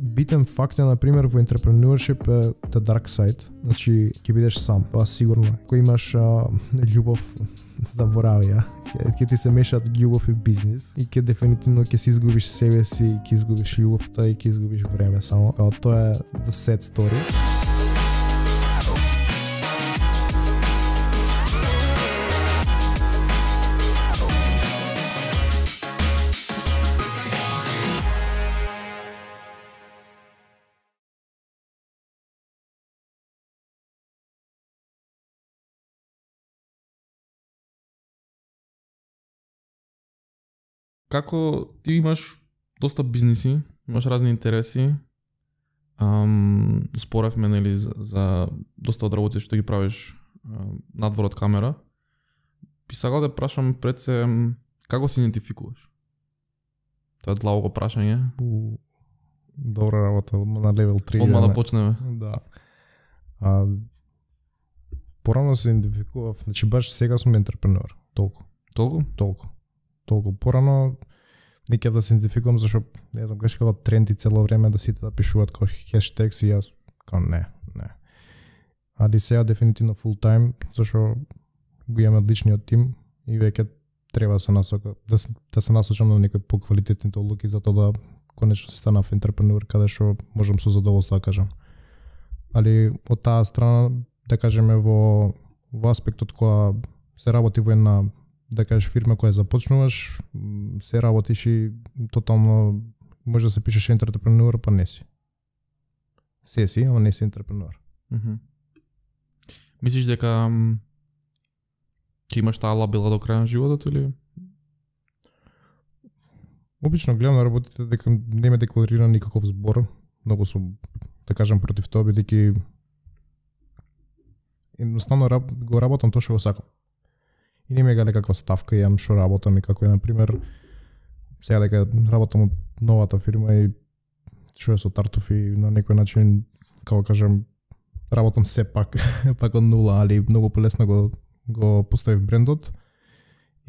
битен факт е, например, во entrepreneurship е the dark side. Значи, ќе бидеш сам, тоа сигурно. Кој имаш љубов, заборави ја. Ќе ти се мешаат љубов и бизнис и ќе дефинитивно ќе си изгубиш себе си, ќе изгубиш љубовта и ќе изгубиш време само. Тоа е the sad story. Како ти имаш доста бизниси, имаш разни интереси, споревме нели за доста од работи што ги правиш надвор од камера. Би сакал да прашам пред се како се идентификуваш? Тоа е длабоко прашање. Добра работа, на левел 3. Одма да почнеме. Да. Порано се идентификував, значи баш сега сум ентрепренер, толку. Толку порано не ќе да се идентификувам зашто не знам гледаш како тренди цело време да сите да пишуваат како хештегс и јас како не. Али сега дефинитивно full time зашто го имаме одличниот тим и веќе треба да се насока да се насочам на некои поквалитетни одлуки за тоа да конечно се станав ентрепренер каде што можам со задоволство да кажам. Али од таа страна да кажеме во аспектот кога се работи во една да кажеш фирма која започнуваш, се работиш и тотално може да се пишеш ентрепренер, па не си. Се си, ама не си ентрепренер. Мислиш дека ќе имаш таа лабела до крај на животот или? Обично гледам на работите дека не ме декларира никаков збор, многу сум да кажам против тоа бидејќи едноставно го работам тоа што го сакам. И не ме гале каква ставка имам што работам и како е, например, сега дека работам од новата фирма и што е со Тартуф и на некој начин, како кажам, работам се пак од нула, али многу полесно го поставив брендот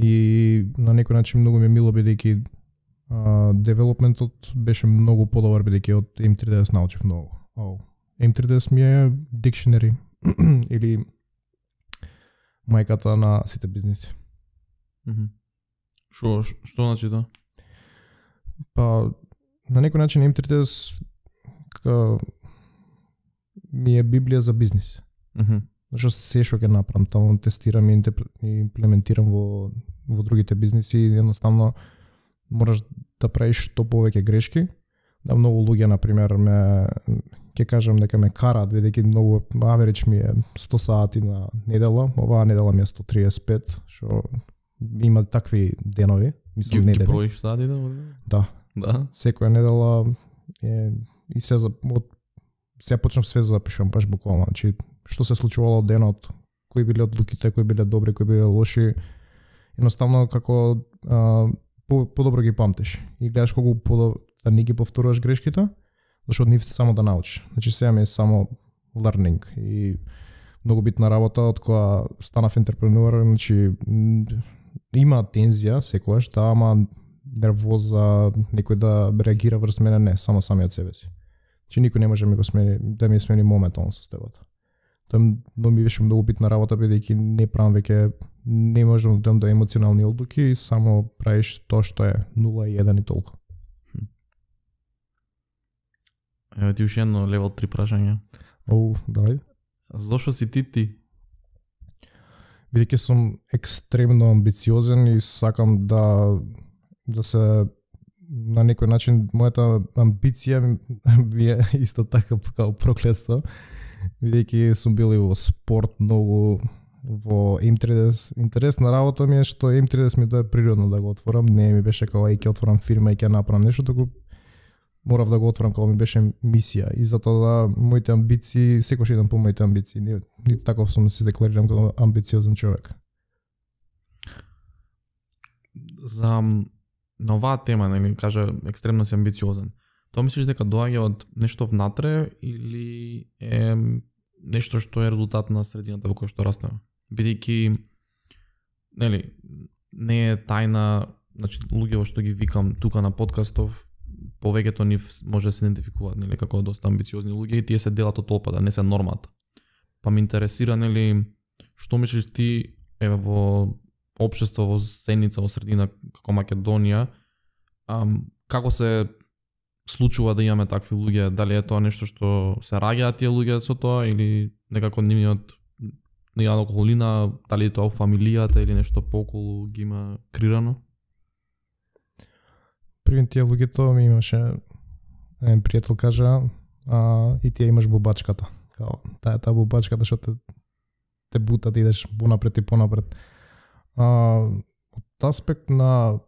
и на некој начин многу ми е мило бидејќи девелопментот беше многу подобар бидејќи од M3DS научив многу. M3DS ми е dictionary или мајката на сите бизниси. Што значи тоа? Па на некој начин M3DS ми е библија за бизнис. Зашто се што ќе направам, таму тестирам и имплементирам во другите бизниси и едноставно мораш да правиш што повеќе грешки. Да многу луѓе на пример ќе кажам дека ме караат бидејќи многу аверидж ми е 100 сати на недела, оваа недела ми е 135, што има такви денови, мислам недели. Ги броиш сати да? Да. Секоја недела и се почнав све да запишувам баш буквално, значи што се случувало од денот, кои биле одлуките, кои биле добри, кои биле лоши. Едноставно како подобро ги памтиш и гледаш колку да не ги повторуваш грешките, зашто нив само да научиш. Значи сега ми е само learning и многу битна работа од која станав ентрепренер, значи има тензија секогаш, да, ама нервоза, некој да реагира врз мене, не, само самиот себе си. Значи никој не може да ми смени моментално состојбата. Тоа ми беше многу битна работа бидејќи не правам веќе, не можам да дадам до емоционални одлуки и само правиш тоа што е 0 и 1 и толку. Еве ти уште едно левел 3 прашање. Давај. Зошто си ти? Бидејќи сум екстремно амбициозен и сакам да се на некој начин мојата амбиција е исто така како проклетство. Бидејќи сум бил и во спорт многу, во M3DS. Интересна работа ми е што M3DS ми дое природно да го отворам, не ми беше како ќе отворам фирма и ќе направам нешто, туку морав да го отворам како ми беше мисија и затоа да моите амбиции, секогаш идам по моите амбиции, ниту таков сум да се декларирам како амбициозен човек. За на оваа тема, нели, кажа екстремно си амбициозен. Тоа мислиш дека доаѓа од нешто внатре или е нешто што е резултат на средината во која што растеме? Бидејќи нели не е тајна, значи луѓето што ги викам тука на подкастов повеќето нив може да се идентификуваат нели како доста амбициозни луѓе и тие се делат од толпата, не се нормата. Па ме интересира нели што мислиш ти во општество во Сеница, во средина како Македонија, како се случува да имаме такви луѓе, дали е тоа нешто што се раѓаат тие луѓе со тоа или некако нивниот околина, дали тоа во фамилијата или нешто пооколу ги има крирано? При тие луѓето ми имаше еден пријател кажа, и ти имаш бубачката. Као, таа бубачката што те бута да идеш понапред и понапред. Од аспект на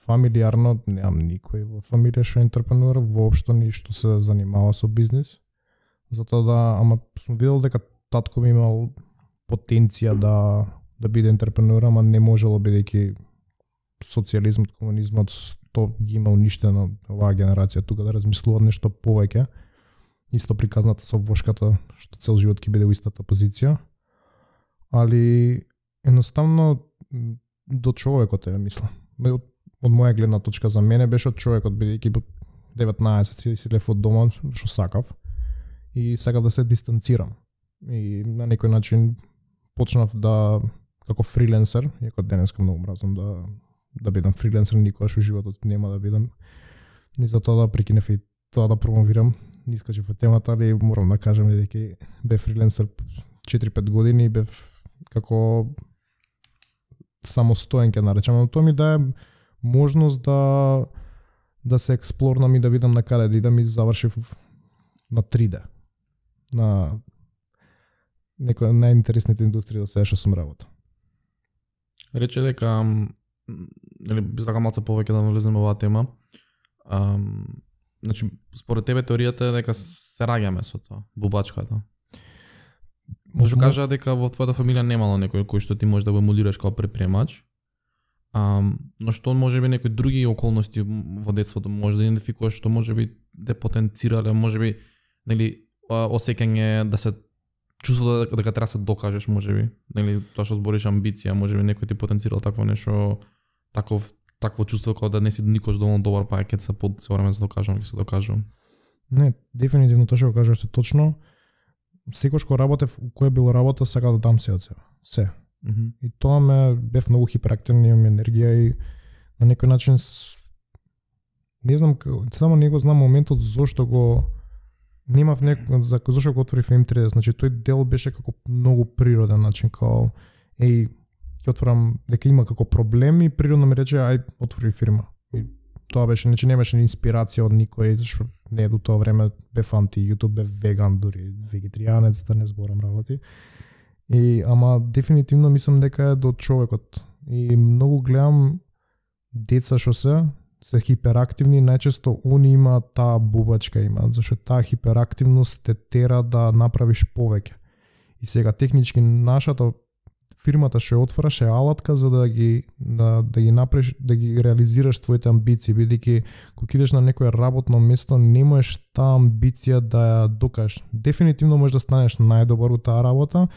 фамилиарно немам никој во фамилија што е ентрепренуер, воопшто ништо се занимава со бизнис. Затоа ама сум видел дека татко ми имал потенција да биде ентрепренуер, ама не можело бидејќи социјализмот, комунизмот тоа ги има уништено оваа генерација тука да размислуваат нешто повеќе. Исто приказната со вошката што цел живот ќе биде во истата позиција. Али едноставно до човекот мислам. Од моја гледна точка за мене беше од човекот, бидејќи 19 си лев од дома што сакав и сакав да се дистанцирам. И на некој начин почнав како фриленсер, иако денеска многу мразам да бидам фриленсер, никогаш во животот нема да бидам. И затоа да прекинев и тоа да промовирам, искачев во темата, али морам да кажам дека бев фриленсер 4-5 години и бев како самостоен ќе наречам, но тоа ми дае можност да се експлорнам и да видам на каде да идам и завршив на 3D. На некоја од најинтересните индустрии до сега што сум работел. Рече дека нели би сакал малку повеќе да навлеземе во оваа тема. Значи според тебе теоријата е дека се раѓаме со тоа, бубачката. Може кажа дека во твојата фамилија немало некој кој што ти може да го емулираш како предприемач. Но што може би некои други околности во детството може да идентификуваш што може би да потенцирале, може би нели осеќање да се чувствува дека треба да се докажеш, може би, нели тоа што збориш амбиција, може би некој ти потенцирал такво нешто, такво чувство како да не си никош доволно добар, па ќе се време да докажам, ќе се докажувам. Не, дефинитивно тоа што го кажуваш е точно. Секој што работев, кој било работа, сакав да дам се од себе. Се. И тоа бев многу хиперактивен, имам енергија и на некој начин не знам, само не го знам моментот зошто го немав зашто го отворив M30, значи тој дел беше како многу природен начин, као ќе отворам дека има како проблем и природно ми рече ај отвори фирма. И тоа беше, значи немаше инспирација од никој, што не до тоа време бев анти YouTube, бев веган, дури вегетаријанец, да не зборам работи. Ама дефинитивно мислам дека е до човекот. И многу гледам деца што се хиперактивни, најчесто они има таа бубачка имаат, зашто таа хиперактивност те тера да направиш повеќе. И сега технички нашата фирмата што ја отвораш е алатка за да ги направиш, да ги реализираш твоите амбиции, бидејќи кога идеш на некое работно место немаш таа амбиција да ја докажеш. Дефинитивно можеш да станеш најдобар во таа работа,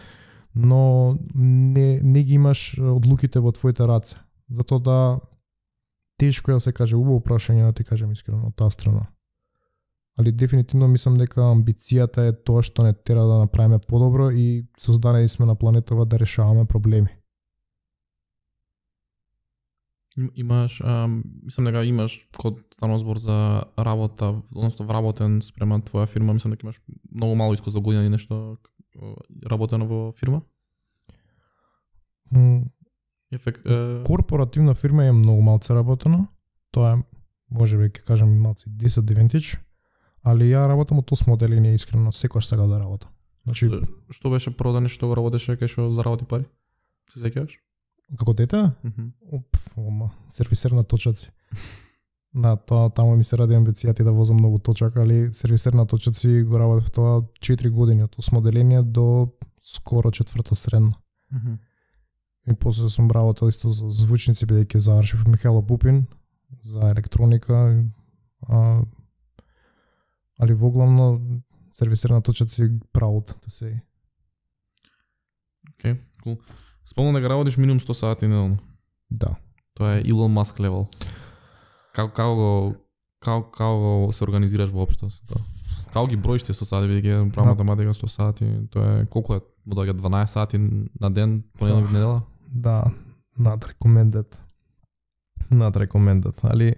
но не ги имаш одлуките во твоите раце. Затоа да тешко е да се каже убаво прашање, да ти кажем искрено од таа страна. Али дефинитивно мислам дека амбицијата е тоа што не тера да направиме подобро и создадени сме на планетава да решаваме проблеми. Имаш, мислам дека имаш код станува збор за работа, односно вработен спрема твоја фирма, мислам дека имаш многу мало искуство за година и нешто работено во фирма? Корпоративна фирма е многу малце работено. Тоа е, може би ќе кажам малце disadvantage, али ја работам од 8 одделение искрено, секогаш сакав да работам. Значи што беше прво нешто го работеше кај што заработи пари? Се сеќаваш? Како дете? Сервисер на точаци. На тоа таму ми се ради амбицијата да возам многу точак, али сервисер на точаци го работев тоа 4 години од 8 одделение до скоро 4-та средна. И после сум работел исто за звучници, бидејќи завршив Михајло Пупин за електроника, али воглавно сервисер на точаци proud да се. Океј, кул. Спомнам дека работиш минимум 100 сати неделно. Да. Тоа е Илон Маск левел. Како го Како се организираш воопшто со тоа? Како ги броиш ти 100 сати, бидејќи правам математика 100 сати, тоа е колку е? Му доаѓа 12 сати на ден, понеделник, недела? Да, not recommended. Али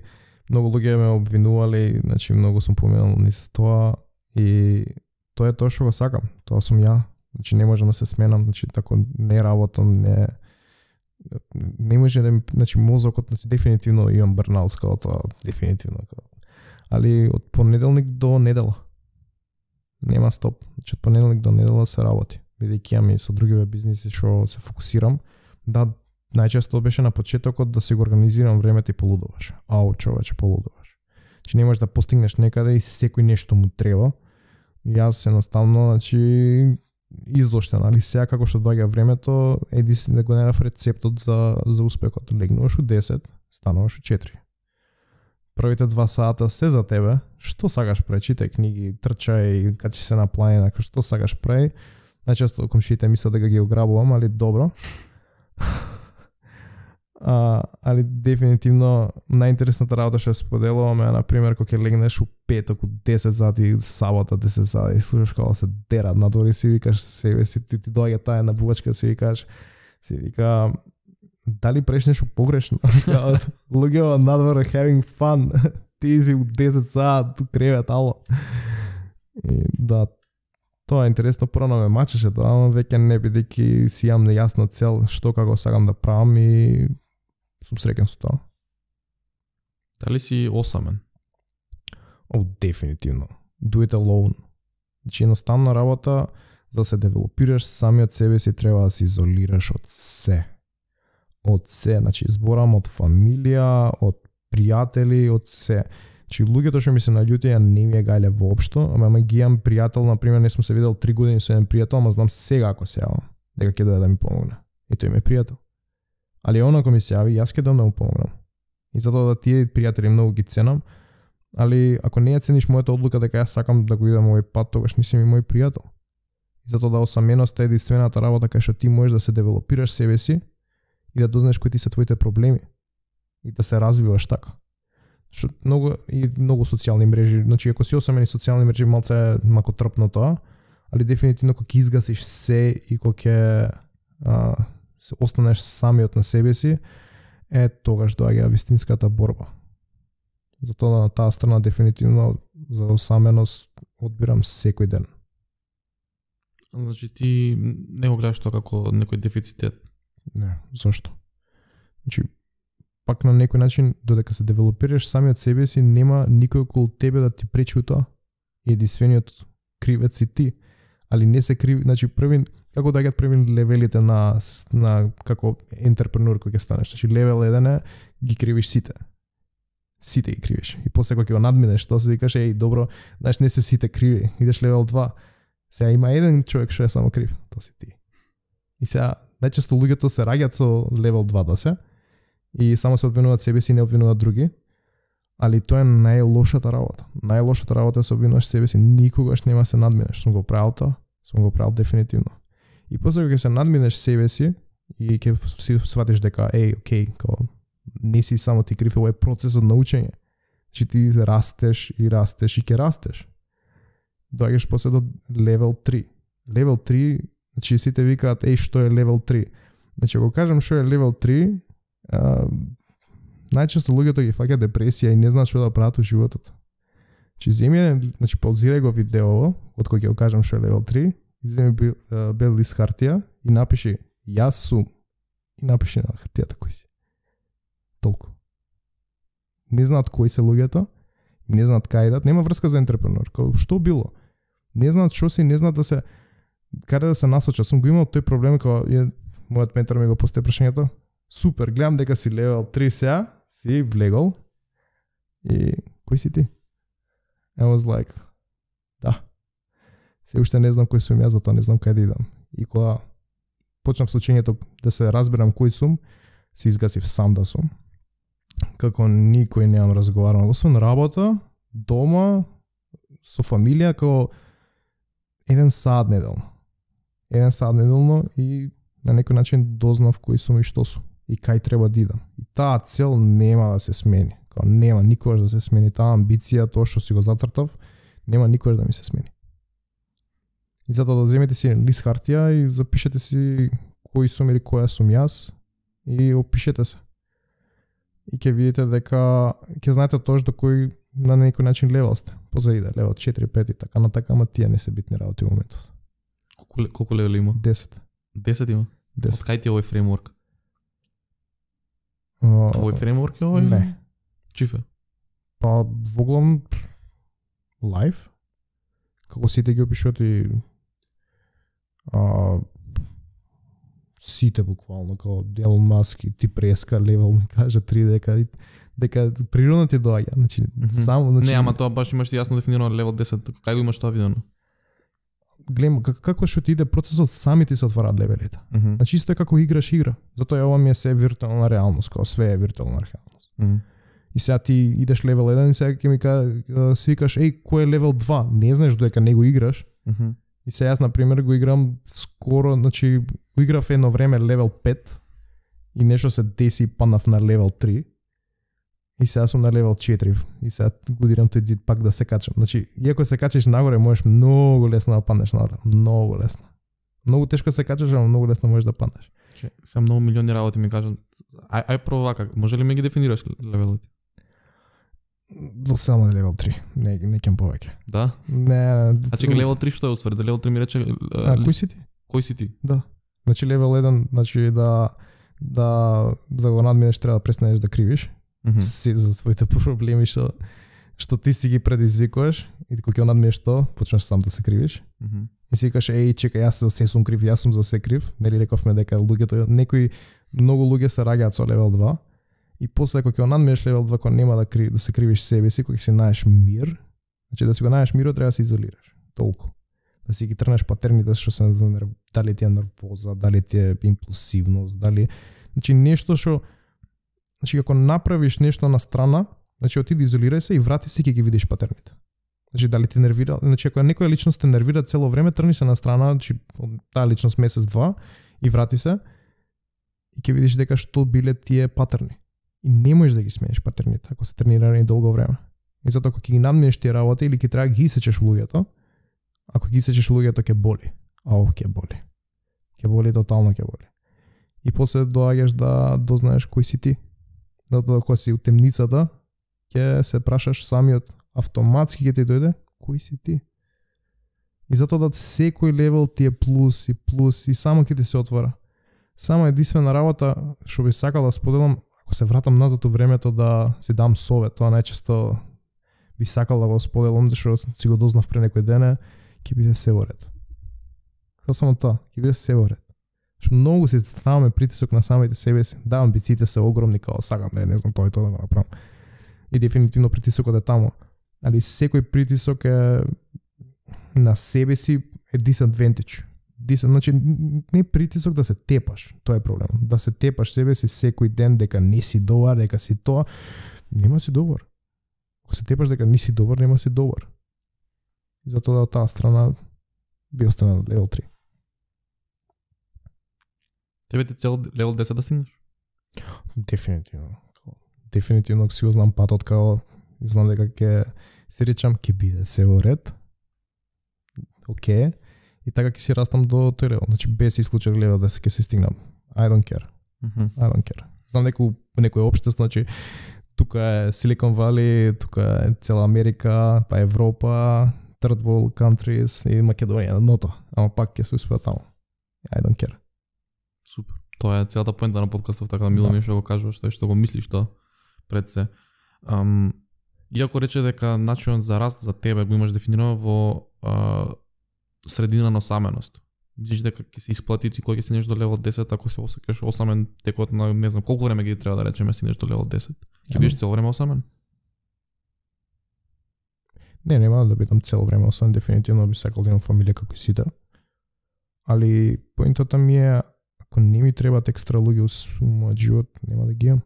многу луѓе ме обвинувале, значи многу сум поменал низ тоа и тоа е тоа што го сакам. Тоа сум ја. Значи не можам да се сменам, значи тако не работам, не може да ми, значи мозокот, значи дефинитивно имам бърнаут као тоа, дефинитивно. Али од понеделник до недела. Нема стоп. Значи од понеделник до недела се работи. Бидејќи имам и со други бизниси што се фокусирам. Да, најчесто беше на почетокот да си го организирам времето и полудуваш. Ау, човече, полудуваш. Значи не можеш да постигнеш некаде и секој нешто му треба. Јас едноставно, значи излоштен, али сега како што доаѓа времето, да го најдов рецептот за успехот. Легнуваш у 10, стануваш у 4. Првите 2 сата се за тебе. Што сакаш прави? Читај книги, трчај, качи се на планина, што сакаш прави. Најчесто комшиите мислат дека ги ограбувам, али добро. Али дефинитивно најинтересната работа што споделуваме е, например, кога ќе легнеш у петок у 10 сати, сабота 10 сати, слушаш како се дерат надвор, си викаш себе си, ти доаѓа таа на бувачка, си вика дали правиш нешто погрешно? Луѓето надвор having fun. Ти си у 10 сат у кревет, ало. И да, тоа е интересно, порано ме мачеше тоа, ама веќе не, бидејќи си имам нејасна цел што како сакам да правам и сум среќен со тоа. Дали си осамен? Дефинитивно. Do it alone. Значи едноставна работа, за да се девелопираш самиот себе си треба да се изолираш од се. Од се, значи зборам од фамилија, од пријатели, од се. Значи луѓето што ми се наљутија не ми е гајле воопшто, ама ги имам пријател, например, не сум се видел 3 години со еден пријател, ама знам сега ако се јавам, дека ќе дојде да ми помогне. И тој ми е пријател. Али он ако ми се јави, јас ќе дојдам да му помогнам. И затоа да тие пријатели многу ги ценам, али ако не ја цениш мојата одлука дека јас сакам да го идам овој пат, тогаш не си ми мој пријател. И затоа да осаменоста е единствената работа кај што ти можеш да се девелопираш себе си и да дознаеш кои ти се твоите проблеми и да се развиваш така. Што многу социјални мрежи, значи ако си осамен и социјални мрежи малце е мако трпно тоа, али дефинитивно кога ќе изгасиш се и кога ќе се останеш самиот на себе си, тогаш доаѓа вистинската борба. Затоа на таа страна дефинитивно за осаменост одбирам секој ден. Значи ти не го гледаш тоа како некој дефицитет? Не, зашто? Значи пак на некој начин, додека се девелопираш самиот себе си, нема никој околу тебе да ти пречи у тоа. Единствениот кривец си ти. Али не се криви, значи како доаѓаат први левелите на како ентерпренур кој ќе станеш. Значи левел 1 ги кривиш сите. Сите ги кривиш. И после кога ќе го надминеш, тоа се викаш добро, знаеш не се сите криви. Идеш левел 2. Сега има еден човек што е само крив, тоа си ти. И сега најчесто луѓето се раѓаат со левел 2 да се и само се обвинуваат себе си, не обвинуваат други. Али тоа е најлошата работа. Најлошата работа е се обвинуваш себе си, никогаш нема се надминеш. Сум го правил тоа, сум го правил дефинитивно. И после кога се надминеш себе си и ќе си сватиш дека окей, не си само ти крив, ова е процес од научење. Значи ти растеш и ќе растеш. Доаѓаш после до левел 3. Левел 3, значи сите викаат што е левел 3. Значи ако кажам што е левел 3, најчесто луѓето ги фаќаат депресија и не знаат што да прават во животот. Значи паузирај го видеово, од кога ќе го кажам што е левел 3, иземи бел лист хартија и напиши јас сум и напиши на хартијата кој си. Толку. Не знаат кои се луѓето, не знаат кај идат, нема врска за ентерпренор. Што било? Не знаат што си, не знаат да се каде да се насочат. Сум го имал тој проблем кога мојот ментор ми го постави прашањето. Супер, гледам дека си левел 3 сега, си влегол и кој си ти? I was like, да. Се уште не знам кој сум јас, затоа не знам кај да идам. И кога почнав со учењето да се разберам кој сум, се изгасив сам да сум. Како никој немам разговарано, освен работа, дома, со фамилија, како 1 сат неделно. 1 сат неделно и на некој начин дознав кој сум и што сум и кај треба да идам. И таа цел нема да се смени. Као нема никогаш да се смени таа амбиција, тоа што си го зацртав, нема никогаш да ми се смени. И затоа да земете си лист хартија и запишете си кој сум или која сум јас и опишете се. И ќе видите дека ќе знаете точно до кој на некој начин левел сте. Позаиде левел 4, 5 и така на така, ама тие не се битни работи во моментот. Колку левели има? 10. 10 има? 10. Од кај ти е овој фреймворк? Твој фреймворк е овој? Не. Чиф е? Па воглавно лайф, како сите ги опишуват и сите буквално, како Елон Маск и ти преска левел, ми кажа 3 дека природно ти доаѓа, значи само значи не, ама тоа баш имаш ти јасно дефинирано левел 10, кај го имаш тоа видено? Гледам како што ти иде процесот, сами ти се отвараат левелите. Значи исто е како играш игра. Затоа ова ми е се виртуелна реалност, како све е виртуелна реалност. И сега ти идеш левел 1 и сега ќе ми свикаш, кој е левел 2? Не знаеш додека не го играш. И сега јас на пример го играм скоро, значи го играв едно време левел 5 и нешто се деси паднав на левел 3. И сега сум на левел 4 и сега годирам тој зид пак да се качам. Значи, иако се качиш нагоре, можеш многу лесно да паднеш нагоре. Многу лесно. Многу тешко се качаш, ама многу лесно можеш да паднеш. Се многу милиони работи ми кажат. Ај прво вака, може ли ми ги дефинираш левелите? До само на левел 3. Не ќе повеќе. Да? Не. Значи левел 3 што е усвари? Да левел 3 ми рече кој си ти? Кој си ти? Да. Значи левел 1, значи да го надминеш треба да престанеш да кривиш. Си за своите проблеми што ти си ги предизвикуваш и кога ќе надмиеш тоа, почнеш сам да се кривиш. И си викаш, чекај, јас за се сум крив, јас сум за се крив. Нели рековме дека луѓето, многу луѓе се раѓаат со левел 2 и после кога ќе надмиеш левел 2, кога нема да се кривиш себе си, кога ќе си најдеш мир, значи да си го најдеш мирот треба да се изолираш. Толку. Да си ги трнеш патерните што се дали ти е нервоза, дали ти е импулсивност, дали значи нешто што значи ако направиш нешто на страна, значи отиди изолирај се и врати се ќе ги видиш патерните. Значи дали те нервира, значи ако некоја личност те нервира цело време, трни се на страна, значи таа личност месец-два и врати се и ќе видиш дека што биле тие патерни. И не можеш да ги смениш патерните ако се тренирани долго време. И затоа ако ќе ги надминеш тие работи или ќе треба да ги исечеш луѓето, ако ги исечеш луѓето ќе боли. Ќе боли. Ќе боли, тотално ќе боли. И после доаѓаш да дознаеш кој си ти. Затоа кога си у темницата, ќе се прашаш самиот, автоматски ќе ти дојде кој си ти. И затоа да секој левел ти е плюс и само ќе ти се отвора. Само единствена работа што би сакал да споделам, ако се вратам назад у времето да си дам совет, тоа најчесто би сакал да го споделам, зашто си го дознав пред некој ден, ќе биде се во ред. Само тоа, ќе биде се во ред. Што многу се ставаме притисок на самите себе си. Да, амбициите се огромни, као сакам не знам тоа и тоа да го направам. И дефинитивно притисокот е таму. Али секој притисок е на себе си е disadvantage. Значи не притисок да се тепаш, тоа е проблем. Да се тепаш себе си секој ден дека не си добар, дека си тоа, нема си добар. Ако се тепаш дека не си добар, нема си добар. И затоа од таа страна би остана на левел 3. Тебе ти цел левел 10 да стигнеш? Дефинитивно, ако си го знам патот, као знам дека ќе се речам, ќе биде се во ред. Океј. И така ќе си растам до тој левел. Значи без исклучок левел 10 ќе се стигнам. I don't care. I don't care. Знам дека у некој општество, значи тука е Silicon Valley, тука е цела Америка, па Европа, third world countries и Македонија, ното. Ама пак ќе се успеа таму. I don't care. Супер. Тоа е целата поента на подкастов, така да мило ми што го кажуваш, што го мислиш тоа пред се. Иако рече дека начинот за раст за тебе го имаш дефинирано во средина на осаменост. Мислиш дека ќе се исплати ти кога ќе стигнеш до левел 10, ако се осеќаш осамен текот на не знам колку време ги треба да речеме стигнеш до левел 10? Ќе бидеш цело време осамен? Не, нема да бидам цело време осамен, дефинитивно би сакал да имам фамилија како сите. Али поентата ми е, ако не ми требаат екстра луѓе во мојот живот, нема да ги имам.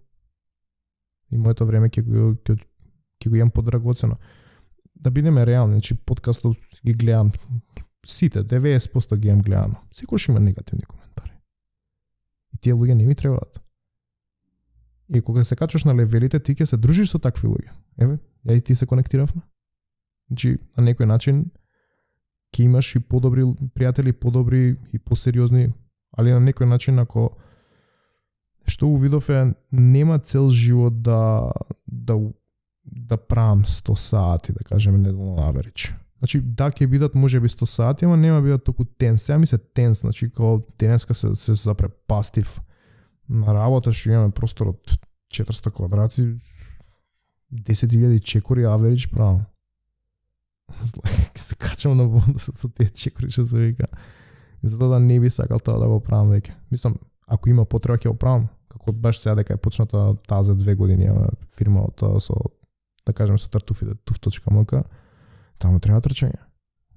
И моето време ќе го имам подрагоцено. Да бидеме реални, значи подкастот ги гледам сите, 90% ги имам гледано. Секојаш има негативни коментари. И тие луѓе не ми требаат. И кога се качуваш на левелите, ти ќе се дружиш со такви луѓе. Еве, ја и ти се конектиравме. Значи, на некој начин ќе имаш и подобри пријатели, подобри и посериозни, али на некој начин ако што увидов е нема цел живот да правам 100 сати, да кажеме неделно аверидж. Значи, да ќе бидат можеби 100 сати, ама нема бидат толку тенс. Сега ми се тенс, значи као денеска се запрепастив на работа, што имаме простор од 400 квадрати, 10.000 чекори аверидж правам. Се качам на вонда со тие чекори што се вика. И затоа да не би сакал тоа да го правам веќе. Мислам, ако има потреба ќе го правам. Како баш сега дека е почната таа за 2 години фирма од со, да кажем, со тартуфите, tuf.mk, таму треба трчање.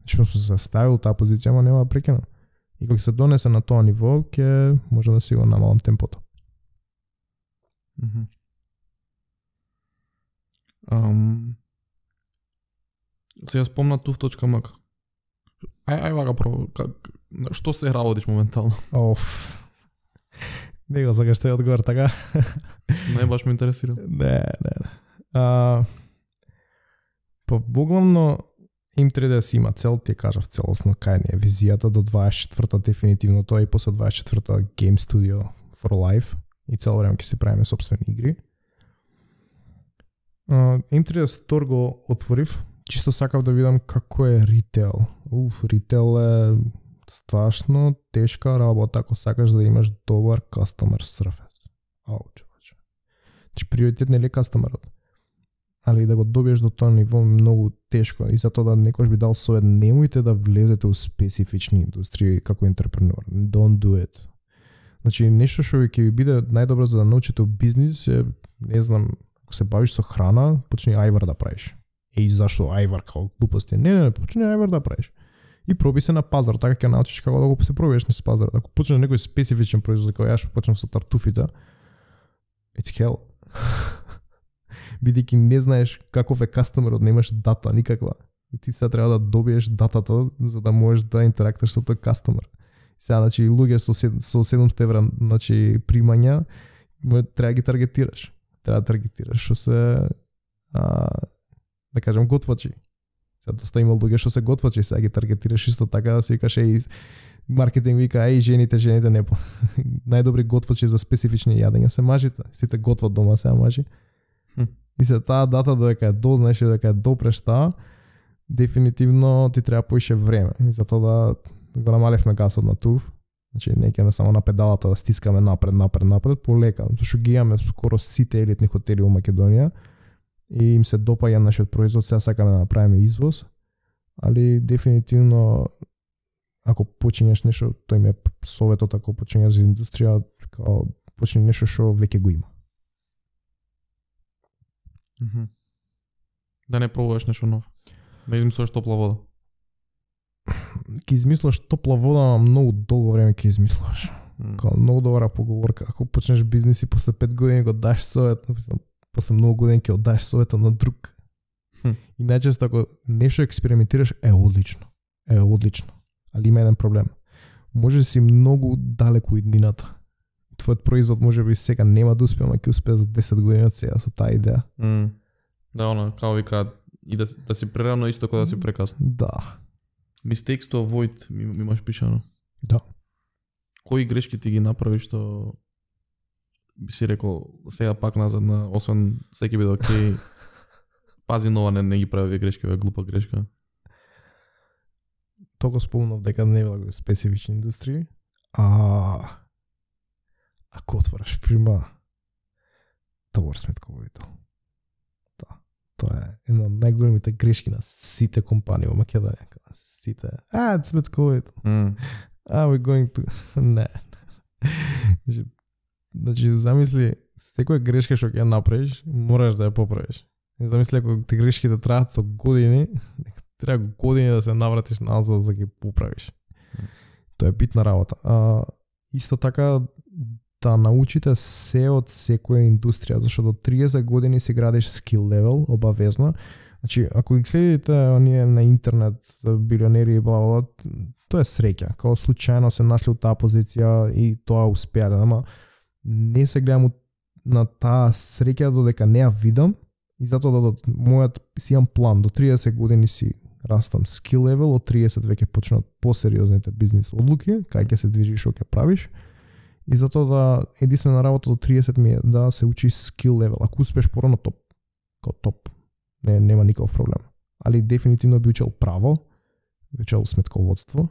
Што сум се ставил таа позиција, ама нема да прекинам. И кога се донесе на тоа ниво, ќе може да си го намалам темпото. Сега спомна tuf.mk. Ај вака про што се работиш моментално? Не го сакаш тој одговор така. Не баш ме интересира. Не. Па воглавно им треба да си има цел, ти кажав целосно кај ни е визијата до 24-та дефинитивно тоа и после 24-та Game Studio for Life и цело време ќе си правиме сопствени игри. Им треба стор го отворив, чисто сакав да видам како е ритейл. Ритейл е страшно тешка работа ако сакаш да имаш добар customer service. Човече. Значи приоритет не е кастомерот, али да го добиеш до тоа ниво многу тешко и затоа да некојаш би дал совет, немојте да влезете у специфични индустрии како интерпренер. Don't do it. Значи нешто што ќе ви биде најдобро за да научите бизнис е, не знам, ако се бавиш со храна, почни ајвар да правиш. Зашто ајвар како глупости? Не, почни ајвар да правиш. И проби се на пазар, така ќе научиш како да го се пробиеш на пазар. Ако почнеш некој специфичен производ, како јас што почнам со тартуфите, it's hell. Бидејќи не знаеш каков е кастомерот, немаш дата никаква. И ти сега треба да добиеш датата за да можеш да интерактуваш со тој кастомер. Сега, значи, луѓе со 700 евра, значи, примања, треба ги таргетираш. Треба да таргетираш што се да кажем готвачи. Сега доста има луѓе што се готвачи, сега ги таргетираш исто така да си викаш маркетинг вика жените не најдобри готвачи за специфични јадења се мажите. Сите готват дома сега мажи. И се таа дата додека ја дознаеш и додека ја допреш таа, дефинитивно ти треба поише време. И затоа да го намалевме гасот на туф. Значи не ќе само на педалата да стискаме напред, полека, зашто ги имаме скоро сите елитни хотели во Македонија. И им се допаѓа нашиот производ, сега сакаме да направиме извоз, али дефинитивно ако почињаш нешто, тој ми е советот ако почињаш за индустрија, као почни нешто што веќе го има. Да не пробуваш нешто ново. Да измислиш топла вода. Ке измислиш топла вода, ама многу долго време ке измислиш. Као многу добра поговорка. Ако почнеш бизнес и после 5 години го даш совет, после многу години ќе одаш советот на друг. И најчесто ако нешто експериментираш е одлично. Али има еден проблем. Може да си многу далеку иднината. Твојот производ може би сега нема да успее, ама ќе успее за 10 години од сега со таа идеја. Да, као вика и да си прерано исто кога да си прекасно. Да. Mistakes to avoid ми имаш пишано. Да. Кои грешки ти ги направи што би си рекол сега пак назад на освен секи биде окей. Пази нова не ги прави грешки, е глупа грешка. Тоа го спомнав дека не било специфични индустрии. Ако отвораш фирма, товар сметководител. Да. Тоа е една од најголемите грешки на сите компании во Македонија. Сите. Сметководител. We're going to... Не. Значи, замисли, секоја грешка што ќе направиш, мораш да ја поправиш. Замисли, ако ти грешките траат со години, треба години да се навратиш назад за да ги поправиш. Тоа е битна работа. Исто така, да научите се од секоја индустрија, зашто до 30 години си градиш skill level, обавезно. Значи, ако ги следите оние на интернет, билионери и бла, тоа е среќа. Као случајно се нашли у таа позиција и тоа успеале, ама не се гледам на таа среќа додека не ја видам и затоа да мојот си имам план до 30 години си растам skill level, од 30 веќе почнат посериозните бизнис одлуки, кај ќе се движиш, што ќе правиш. И затоа да единствена работа до 30 ми е да се учи skill level. Ако успеш порано топ, као топ, нема никаков проблем. Али дефинитивно би учел право, би учел сметководство,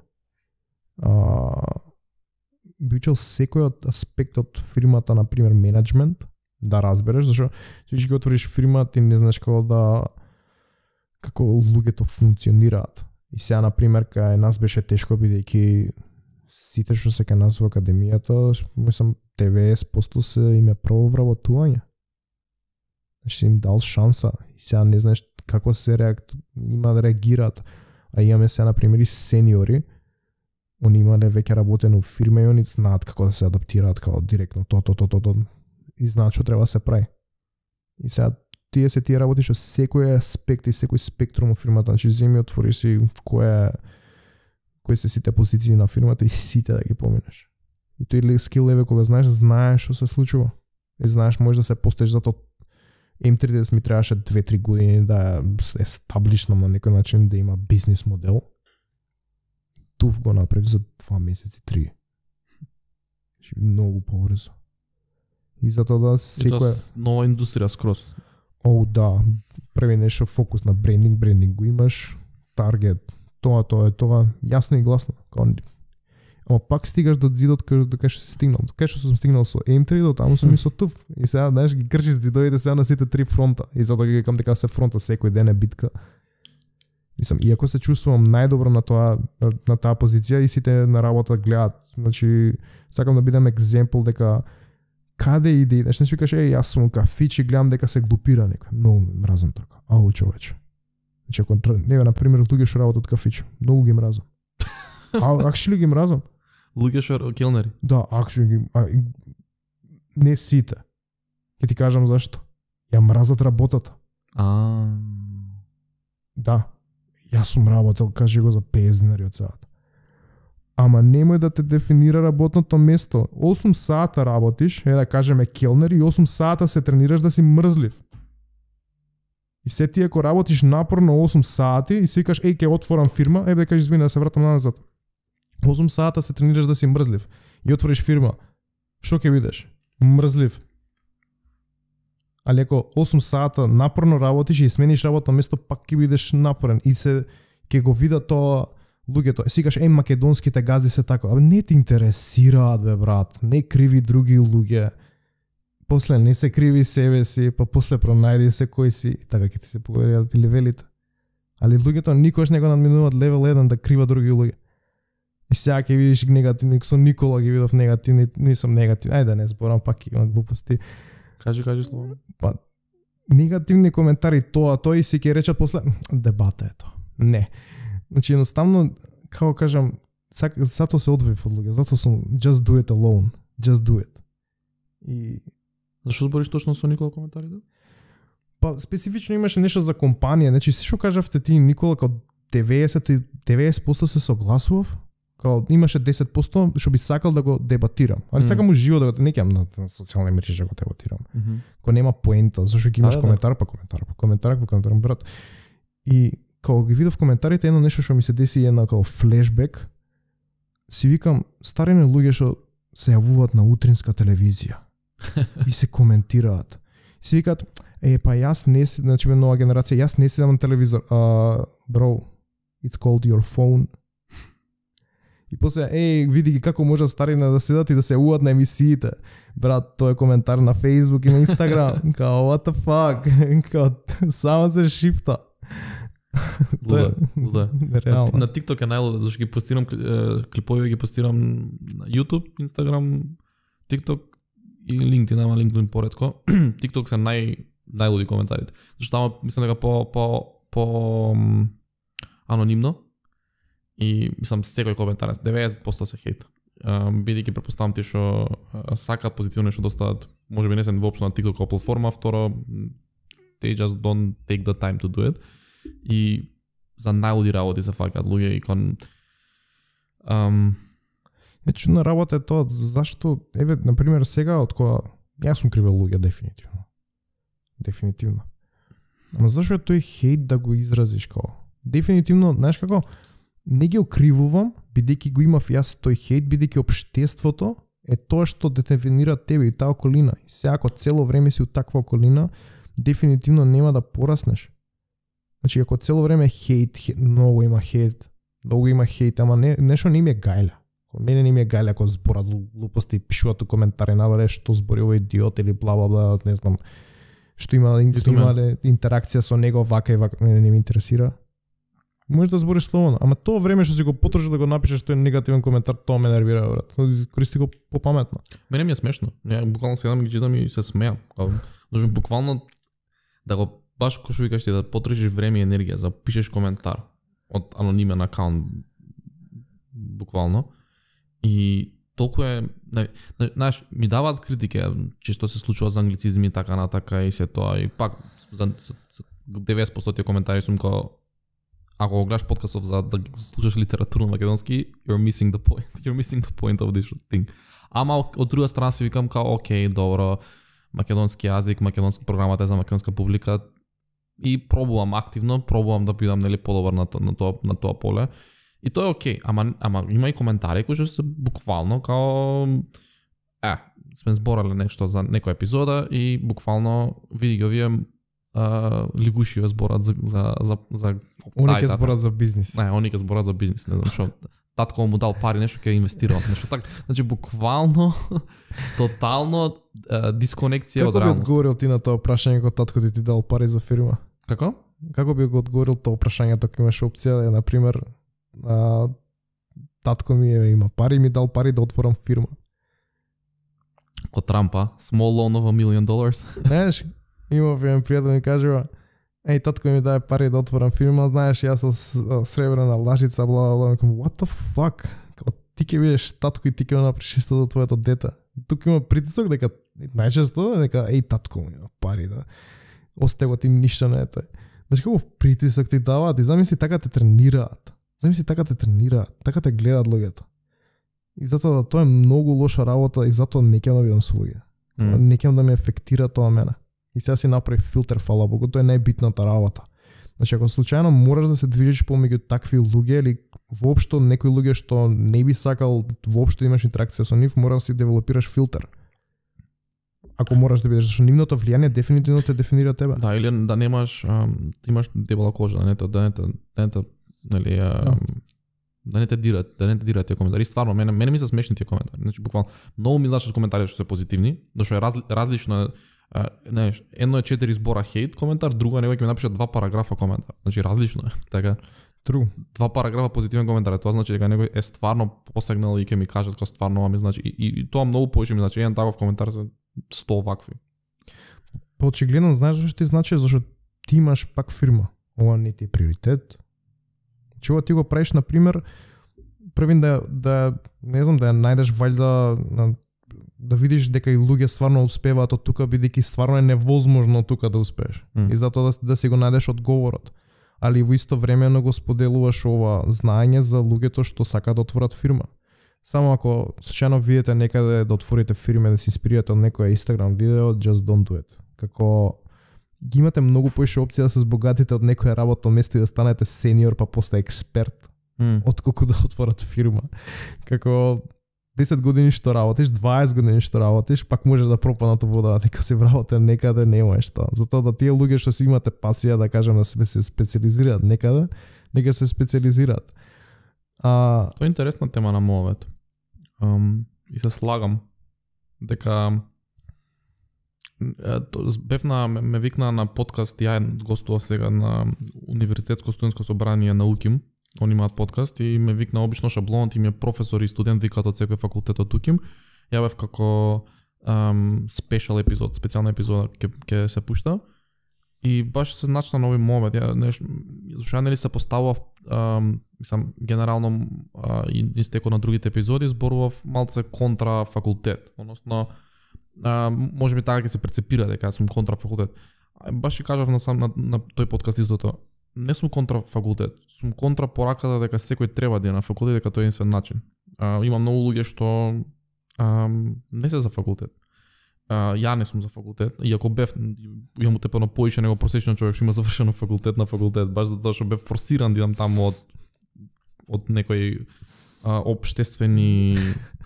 би учел секој од аспект од фирмата, на пример менеджмент, да разбереш, зашто ти ќе отвориш фирма, ти не знаеш како луѓето функционираат. И сега, на пример, кај нас беше тешко, бидејќи сите што се кај нас во академијата, мислам 90% се име прво вработување. Значи им дал шанса и сега не знаеш како се има да реагираат. А имаме сега, на пример, и сениори, они имале веќе работено во фирма и они знаат како да се адаптираат као директно то и знаат што треба да се прави. И сега тие работиш од секој аспект и секој спектрум во фирмата, значи земи отвориш си кои се сите позиции на фирмата и сите да ги поминеш. И тој скил левел кога знаеш што се случува. И знаеш можеш да се постеш, затоа M30 ми требаше 2-3 години да е стаблишнам на некој начин, да има бизнис модел. Туф го направи за 2 месеци, 3. Многу побрзо. И затоа да секоја нова индустрија скроз. Да, прави нешто фокус на брендинг го имаш, таргет, тоа, јасно и гласно. Ама пак стигаш до зидот кај што си стигнал. Кај што сум стигнал со M3, до таму сум и со ТУФ. И сега, знаеш, ги кршиш зидовите сега на сите 3 фронта. И затоа ги викам дека се фронта секој ден е битка. Мислам, иако се чувствувам најдобро на таа позиција и сите на работа гледаат. Значи, сакам да бидам екземпл дека каде иде, значи не си викаш, јас сум кафич и гледам дека се глупира некој. Многу мразам така. Ау, човече. Значи, ако на пример луѓе што работат кафич, многу ги мразам. Actually ги мразам. Луѓе што келнери. Да, actually не сите. Ќе ти кажам зашто. Ја мразат работата. Да. Јас сум работел, кажи го за 50 динари од саат. Ама немој да те дефинира работното место. 8 сата работиш, да кажеме келнер, и 8 сата се тренираш да си мрзлив. И се ти ако работиш напорно 8 сати и си викаш, ќе отворам фирма, да кажеш извини да се вратам назад. 8 сата се тренираш да си мрзлив и отвориш фирма. Што ќе видиш? Мрзлив. Али ако 8 сата напорно работиш и смениш работно место, пак ќе бидеш напорен и ќе го видат тоа луѓето. Си кажеш, македонските газди се така. Не те интересираат, брат. Не криви други луѓе. После не се криви себе си, па после пронајди се кој си, така ќе ти се поголемат левелите. Али луѓето никош не го надминуваат левел 1 да крива други луѓе. И сега ќе видиш негативни, со Никола ги видов негативни, нисам негативни. Ајде не зборам, пак има глупости. Кажи слово. Па негативни коментари тој си ќе речат после дебата е тоа. Не. Значи едноставно, како кажам, затоа се одвоив од луѓе, затоа сум just do it alone. Just do it. И зашто збориш точно со Никола коментарите? Па специфично имаше нешто за компанија, значи се што кажавте ти Никола, као 90% се согласував, као имаше 10% што би сакал да го дебатирам. Али сакам уживо да го не ќам на социјални мрежи да го дебатирам. Кога нема поента, зашто ќе имаш коментар, брат. И кога ги видов коментарите, едно нешто што ми се деси, една као флешбек, си викам, старине луѓе што се јавуваат на утринска телевизија и се коментираат. Си викаат, па јас не си, значи нова генерација, јас не седам на телевизор. Bro, it's called your phone. И после, види ги како може старина да седат и да се јавуваат на емисиите. Брат, тоа е коментар на Facebook и на Instagram. Као, what the fuck? Као, само се шифта. Луда. На TikTok е најлуда, зашто ги постирам клипови, ги постирам на YouTube, Instagram, TikTok и LinkedIn, ама LinkedIn поредко. TikTok се најлуди коментарите. Зашто тamo мислам дека по анонимно и мислам секој коментар 90% се хейт. Бидејќи претпоставам ти што сакаат позитивно што достават, можеби не се воопшто на TikTok како платформа, второ they just don't take the time to do it. И за најлуди работи се факат луѓе и кон чудна работа е тоа, зашто, на пример, сега од кога Јас сум кривел луѓе дефинитивно. Дефинитивно. Ама зашо е тој хейт да го изразиш као? Дефинитивно, знаеш како, не ги окривувам, бидејќи го имав јас тој хейт, бидејќи општеството е тоа што дефинира тебе и таа околина. И сега ако цело време си у таква околина, дефинитивно нема да пораснеш. Значи, ако цело време хейт, многу има хейт, ама нешто не ми е гајле. Мене не ми е гајле ако зборат глупости и пишуваат у коментари надоле што збори овој идиот или бла бла бла, не знам. Што имале интеракција со него вака и вака, не ми интересира. Може да збориш слободно, ама тоа време што си го потрошиш да го напишеш тој негативен коментар, тоа ме нервира, брат. Користи го попаметно. Мене ми е смешно. Ја буквално седам ги читам и се смеам. Должен буквално да го баш кој што викаш ти да потрошиш време и енергија за пишеш коментар од анонимен акаунт буквално. И толку е, знаеш, ми даваат критики, често се случува за англицизми така натака и се тоа и пак за 90% тие коментари сум као ако го гледаш подкастов за да слушаш литературно македонски, you're missing the point. You're missing the point of this thing. Ама од друга страна си викам као окей, добро, македонски јазик, македонска програмата е за македонска публика и пробувам активно, да бидам нели подобар на тоа поле. И тоа е окей, ама има и коментари кои што се буквално као сме зборале нешто за некоја епизода и буквално види ги овие лигуши зборат за они ќе зборат за бизнис. Не, они ќе зборат за бизнис, не знам што. Татко му дал пари, нешто ќе инвестирал, нешто така. Значи буквално тотално дисконекција од реалност. Како би одговорил ти на тоа прашање кога татко ти дал пари за фирма? Како? Како би го одговорил тоа прашање ако имаш опција, на пример, татко ми има пари, ми дал пари да отворам фирма. Ко Трампа, small loan of $1 million. Знаеш, имав еден пријател ми кажува, татко ми даде пари да отворам фирма, знаеш, јас со сребрена лажица, бла бла бла, what the fuck? Ти ќе бидеш татко и ти ќе направиш исто за твоето дете. Тука има притисок дека најчесто дека татко ми има пари да остего ти ништо не е тој. Знаеш како притисок ти даваат и замисли така те тренираат. Така те гледаат луѓето. И затоа тоа е многу лоша работа и затоа не ќе да бидам со луѓе. Не ќе да ме ефектира тоа мене. И сега си направи филтер, фала Богу, тоа е најбитната работа. Значи, ако случајно мораш да се движиш помеѓу такви луѓе или воопшто некои луѓе што не би сакал воопшто имаш интеракција со нив, мораш да си девелопираш филтер. Ако мораш да бидеш, зашто нивното влијание дефинитивно те дефинира тебе. Да, или да немаш, ти имаш дебела кожа, да не те дират тие коментари. Стварно, мене ми се смешни тие коментари. Значи, буквално, многу ми значат коментари што се позитивни, зашто е различно е, знаеш, едно е 4 збора хейт коментар, друго е некој ќе ми напише 2 параграфа коментар. Значи, различно е, така. True. 2 параграфа позитивен коментар, тоа значи дека некој е стварно посегнал и ќе ми кажат како стварно ми значи и тоа многу повеќе ми значи еден таков коментар за 100 вакви. Очигледно знаеш зашто ти значи, зашто ти имаш пак фирма. Ова не ти е приоритет. Чува ти го правиш на пример првин да не знам да ја најдеш вајда да видиш дека и луѓе стварно успеваат од тука бидејќи стварно е невозможно тука да успееш. И затоа да си го најдеш одговорот. Али во исто времено го споделуваш ова знаење за луѓето што сакаат да отворат фирма. Само ако случајно видите некаде да отворите фирма да се инспирирате од некоја Instagram видео, just don't do it. Како ги имате многу поише опции да се збогатите од некоја работно место и да станете сениор па после експерт, отколку да отворат фирма. Како 10 години што работиш, 20 години што работиш, пак може да пропаднат во вода, дека се вработите некаде немаш тоа. Затоа да тие луѓе што си имате пасија, да кажем, да се специализираат некаде, нека се специализираат. Тоа е интересна тема на мовето. И се слагам дека ме викна на подкаст, ја гостував сега на Универзитетско студентско собрание на УКИМ. Они имаат подкаст и ме викна обично шаблонот им е професор и студент викаат од секој факултет од УКИМ. Ја бев како спешал епизод, специјална епизода ќе се пушта. И баш се начна нови момент. Зашто нели се поставував мислам генерално и истеко на другите епизоди зборував малце контра факултет, односно можеби така ќе се прецепира дека сум контра факултет. Баш ќе кажав на тој подкаст истото. Не сум контра факултет, сум контра пораката дека секој треба да е на факултет, дека тоа е единствен начин. Има многу луѓе што не се за факултет. ја не сум за факултет, иако бев имам утепено поише него просечен човек што има завршено факултет на факултет, баш затоа што бев форсиран да идам таму од некои општествени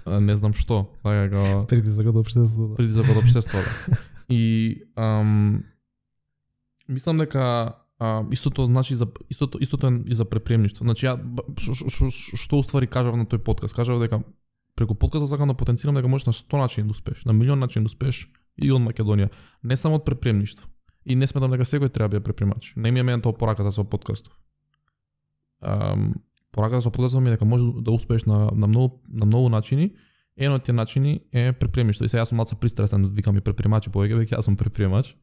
не знам што, така притисок од општеството. Притисок од општеството. И мислам дека истото значи истото е и за препремништво. Значи ја што уствари кажав на тој подкаст, кажав дека преку подкастот сакам да потенцирам дека можеш на 100 начини да успееш, на милион начини да успееш и од Македонија, не само од препремништво. И не сметам дека секој треба да биде препремач. Не ми е мене тоа пораката со подкастот. Пораката со подкастот ми е дека може да успееш на многу начини. Еден од тие начини е препремништво. И сега јас сум малку пристрасен да викам и препремачи повеќе, веќе јас сум препремач.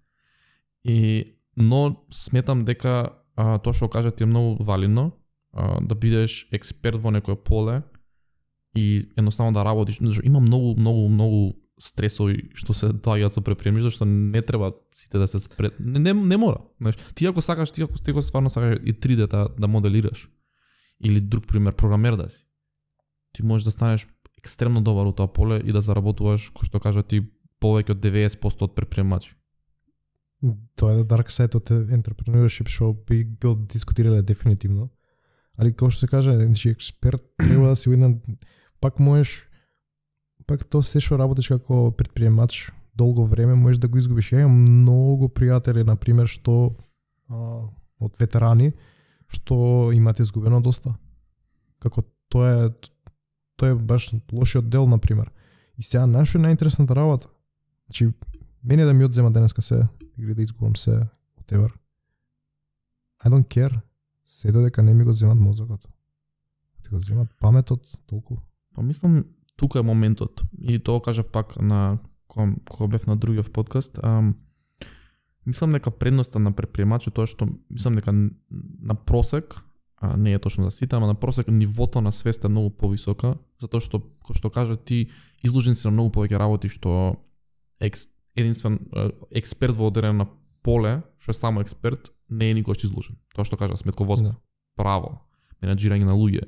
Но сметам дека тоа што кажат е многу валидно, да бидеш експерт во некое поле и едноставно да работиш. Има многу стресови што се доаѓаат со препремништво, што не треба сите да се не мора. Знаеш, ти ако сакаш, ти ако стварно сакаш и 3D да моделираш или друг пример програмер да си, ти можеш да станеш екстремно добар во тоа поле и да заработуваш, кој што кажа ти, повеќе од 90% од препремачи. Тоа е dark side од entrepreneurship што би го дискутирале дефинитивно. Али како што се каже, значи експерт треба да си еден, пак можеш, пак тоа се што работиш како предприемач долго време можеш да го изгубиш. Ја имам многу пријатели на пример што од ветерани што имате изгубено доста. Како тоа е баш лошиот дел на пример. И сега нашо е најинтересната работа. Значи мене да ми одзема денеска се или да изгубам се whatever. I don't care. Се додека не ми го земат мозокот. Ти го земат паметот толку. Па мислам тука е моментот. И тоа кажав пак на кога бев на другиот подкаст. Мислам дека предноста на предприемачот тоа што мислам дека на просек, не е точно за сите, ама на просек нивото на свест е многу повисока, затоа што кој што кажа ти изложен си на многу повеќе работи што единствен експерт во одредено поле, што е само експерт, не е никош изложен. Тоа што кажа сметководство, право, менаџирање на луѓе,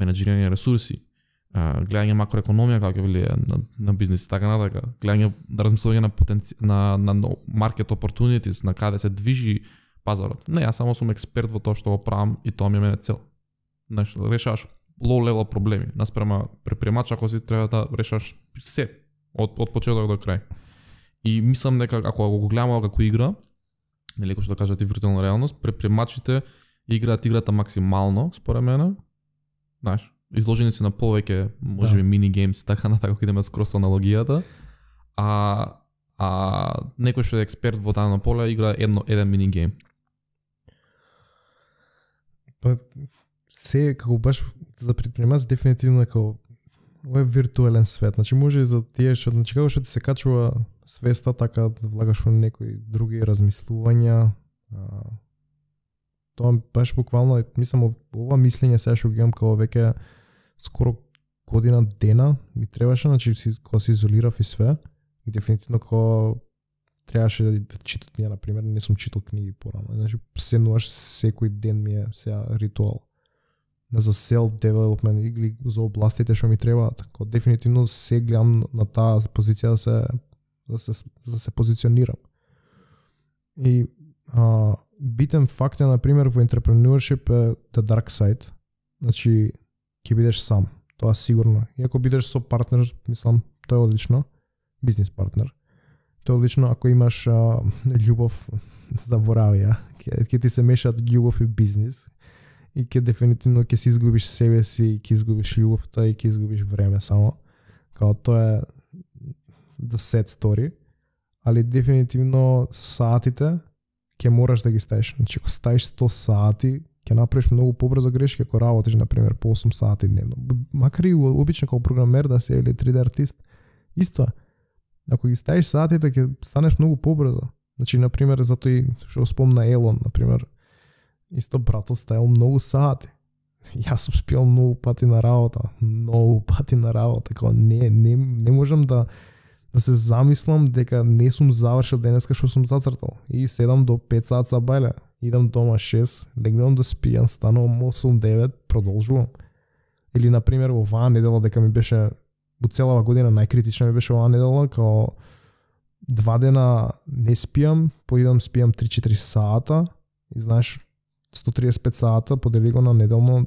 менаџирање на ресурси, гледање макроекономија како ќе влијае на бизнис, така натака, гледање да размислување на market opportunities, на каде се движи пазарот. Не, јас само сум експерт во тоа што го правам и тоа ми е мене цел. Знаеш, решаваш low level проблеми, наспрема предприемач ако си треба да решаш се од почеток до крај. И мислам дека ако го гледаме како игра, нели како што кажат и виртуелна реалност, предприемачите играат играта максимално, според мене. Знаеш, изложени се на повеќе, можеби мини геймс, така натака ако идеме скрос аналогијата. Некој што е експерт во дадено поле игра еден мини гейм. Па се како баш за предприемач дефинитивно како ова е виртуелен свет. Значи може и за тие што значи како што ти се качува свеста така да влагаш во некои други размислувања. Тоа баш буквално мислам ова мислење сега што ги имам како веќе скоро година дена ми требаше, значи кога се изолирав и све и дефинитивно кога требаше да читам, ја на пример не сум читал книги порано. Значи седнуваш секој ден ми е сега ритуал за self development или за областите што ми требаат. Кога дефинитивно се гледам на таа позиција да се позиционирам. И битен факт е на пример во entrepreneurship е the dark side. Значи ќе бидеш сам, тоа сигурно. И ако бидеш со партнер, мислам, тоа е одлично, бизнис партнер. Тоа е одлично ако имаш љубов, заборави ја, ќе ти се мешаат љубов и бизнис. И ќе дефинитивно ќе си изгубиш себе си, ќе изгубиш љубовта и ќе изгубиш време само. Као тоа е the sad story. Али дефинитивно саатите ќе мораш да ги ставиш. Значи ако ставиш 100 сати, ќе направиш многу побрзо грешки ако работиш на пример по 8 сати дневно. Макар и обично како програмер да си или 3D артист, исто. Ако ги ставиш сатите ќе станеш многу побрзо. Значи на пример затоа и што спомна Елон на пример, исто братот ставил многу сати. Јас сум спиел многу пати на работа, како не можам да се замислам дека не сум завршил денеска што сум зацртал. И 7 до 5 сат за бајле. Идам дома 6, легнам да спијам, станувам 8-9, продолжувам. Или на пример оваа недела дека ми беше во целава година најкритична ми беше оваа недела, као 2 дена не спијам, поидам спијам 3-4 сата и знаеш 135 сата подели го на неделно,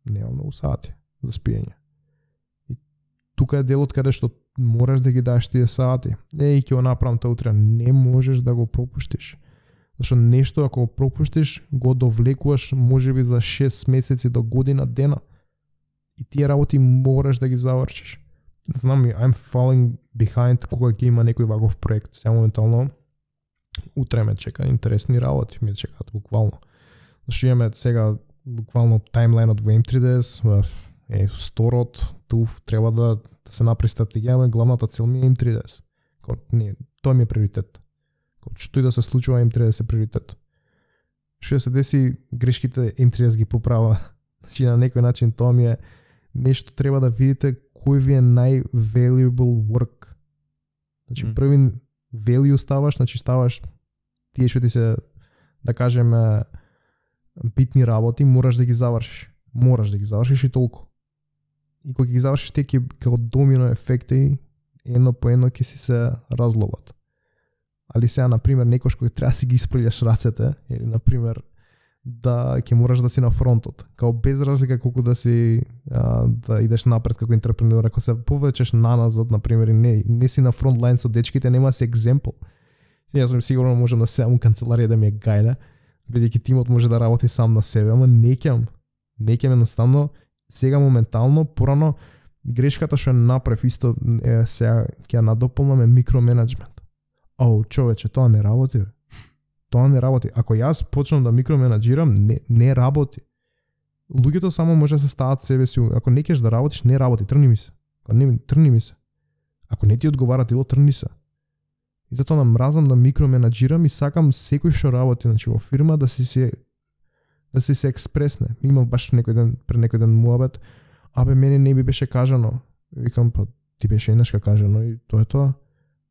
немам многу сати за спиење. И тука е делот каде што мораш да ги дадеш тие сати. Ќе го направам тоа утре, не можеш да го пропуштиш. Зашто нешто ако го пропуштиш, го довлекуваш можеби за 6 месеци до година дена. И тие работи мораш да ги завршиш. Знам, I'm falling behind кога ќе има некој ваков проект. Сега моментално утре ме чека интересни работи, ме чекаат буквално. Зашто имаме сега буквално таймлайнот во M3DS, сторот, туф, треба да се направи стратегија, главната цел ми е M3DS. Не, тоа ми е приоритет. Што и да се случува, M3DS е приоритет. Што се деси, грешките M3DS ги поправа. Значи на некој начин тоа ми е нешто, треба да видите кој ви е най-valuable work. Значи први value ставаш, значи ставаш тие што ти се, да кажеме, битни работи, мораш да ги завршиш. Мораш да ги завршиш и толку. И кога ги завршиш, те ќе како домино ефекти едно по едно ќе си се разловат. Али сега, например, некош кога треба да си ги испрљаш рацете, или, например, да ќе мораш да си на фронтот. Као без разлика колку да си да идеш напред како интерпренер, ако се повлечеш наназад, например, и не си на фронт лайн со дечките, нема си екземпл. Јас сум сигурно можам да седам у канцеларија да ми е гајле, бидејќи тимот може да работи сам на себе, ама не ќам едноставно сега моментално, порано грешката што направив исто е сега ќе надополнаме микроменеджмент. Човече, тоа не работи. Тоа не работи. Ако јас почнам да микроменеджирам, не работи. Луѓето само може да се стават себе си. Ако не кеш да работиш, не работи, тргни ми се. Ако не ти одговара дело, тргни се. И затоа мразам да микроменеджирам и сакам секој што работи, значи во фирма да си се експресне. Имав баш пред некој ден муабет, мене не би беше кажано. Викам, па ти беше еднашка кажано и тоа е тоа.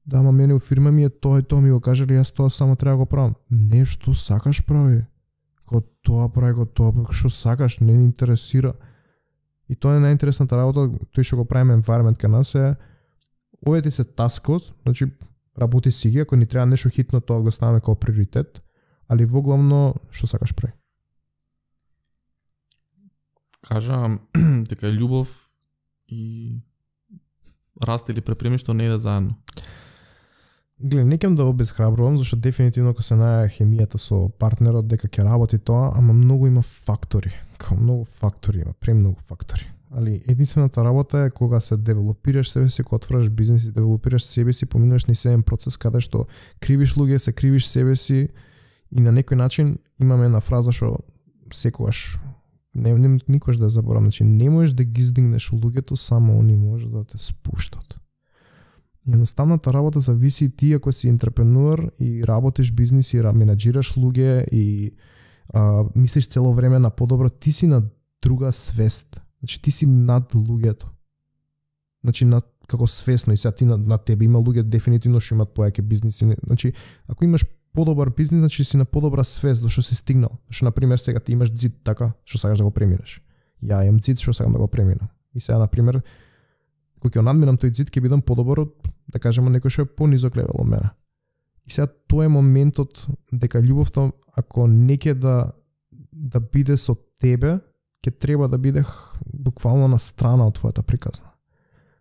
Да, ама мене у фирма ми е тоа и тоа ми го кажали, јас тоа само треба да го правам. Не, што сакаш прави. Ко тоа прави, што сакаш, не ни интересира. И тоа е најинтересната работа, тој што го правиме environment кај нас е, овие ти се таскот, значи работи си ги, ако ни треба нешто хитно, тоа го ставаме како приоритет, али во главно, што сакаш прави. Кажа дека љубов и раст или препремиштво не иде заедно. Гледа, не кем да обезхрабрувам, зашто дефинитивно ако се најде хемијата со партнерот дека ќе работи тоа, ама многу има фактори. Многу фактори има, премногу фактори. Али единствената работа е кога се девелопираш себе си, кога отвараш бизнес и девелопираш себе си, поминуваш низ процес каде што кривиш луѓе, се кривиш себе си и на некој начин имаме една фраза што секогаш никош да заборам, значи не можеш да ги издигнеш луѓето, само они може да те спуштат. Едноставната работа зависи ти ако си ентрепренуер и работиш бизнис и менаџираш луѓе и мислиш цело време на подобро, ти си на друга свест. Значи ти си над луѓето. Значи како свесно и сега ти на тебе има луѓе дефинитивно што имаат појаки бизниси. Значи ако имаш подобар бизнис, значи си на подобра свест зашто си стигнал. Зашто на пример сега ти имаш ѕид така што сакаш да го преминеш. Ја имам ѕид што сакам да го преминам. И сега на пример кога ќе надминам тој ѕид ќе бидам подобар од, да кажеме, некој што е понизок левел од мене. И сега тоа е моментот дека љубовта ако не ќе да биде со тебе, ќе треба да биде буквално на страна од твојата приказна.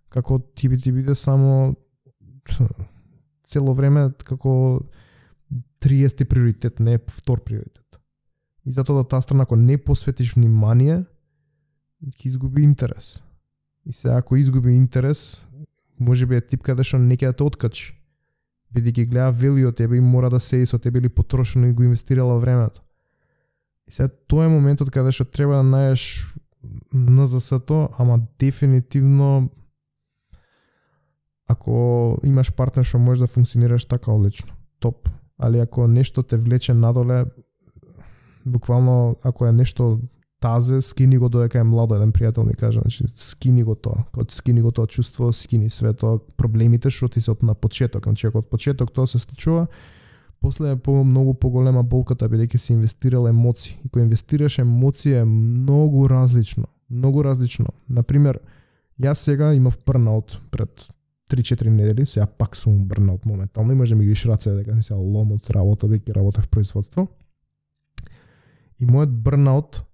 Како ти биде само цело време како 30 приоритет, не втор приоритет. И затоа таа страна ако не посветиш внимание, ќе изгуби интерес. И сега ако изгуби интерес, можеби е тип каде што не ќе да те откачи. Бидејќи гледа вели од тебе и мора да седи со тебе или потрошено и го инвестирала времето. И сега тоа е моментот каде што треба да најдеш НЗС-то, ама дефинитивно ако имаш партнер што може да функционираш така одлично, топ. Али ако нешто те влече надоле, буквално ако е нешто тазе, скини го додека е младо, еден пријател ми кажа, значи скини го тоа, чувство, скини све тоа, проблемите што ти се од на почеток, значи ако од почеток тоа се случува, после е многу поголема болката бидејќи си инвестирал емоции. И кога инвестираш емоции е многу различно. Например, јас сега имав бърнаут пред 3-4 недели, сега пак сум брнаут моментално и може да ми гиш раце дека не се лом од работа, дека работа в производство. И мојот брнаут,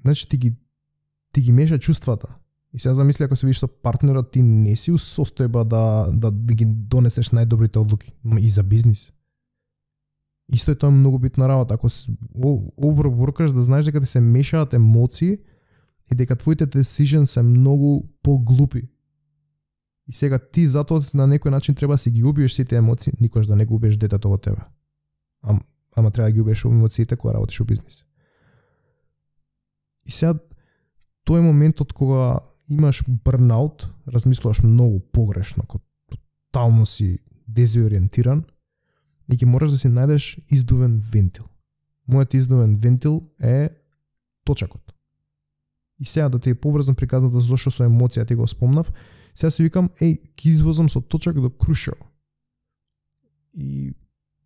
значи ти ги меша чувствата. И сега замисли ако се видиш со партнерот, ти не си у состојба да ги донесеш најдобрите одлуки и за бизнис. Исто е тоа многу битна работа. Ако overworkаш, да знаеш дека ти се мешаат емоции и дека твоите decisions се многу поглупи. И сега ти затоа на некој начин треба да си ги убиеш сите емоции, никош да не го убиеш детето во тебе. Ама треба да ги убиеш емоциите кога работиш во бизнис. И сега тој е моментот кога имаш burnout, размислуваш многу погрешно, кога тотално си дезориентиран и ќе мораш да си најдеш издувен вентил. Мојот издувен вентил е точакот. И сега да ти е поврзан приказната зашто со емоција ти го спомнав, сега си викам, ќе извозам со точак до Крушево. И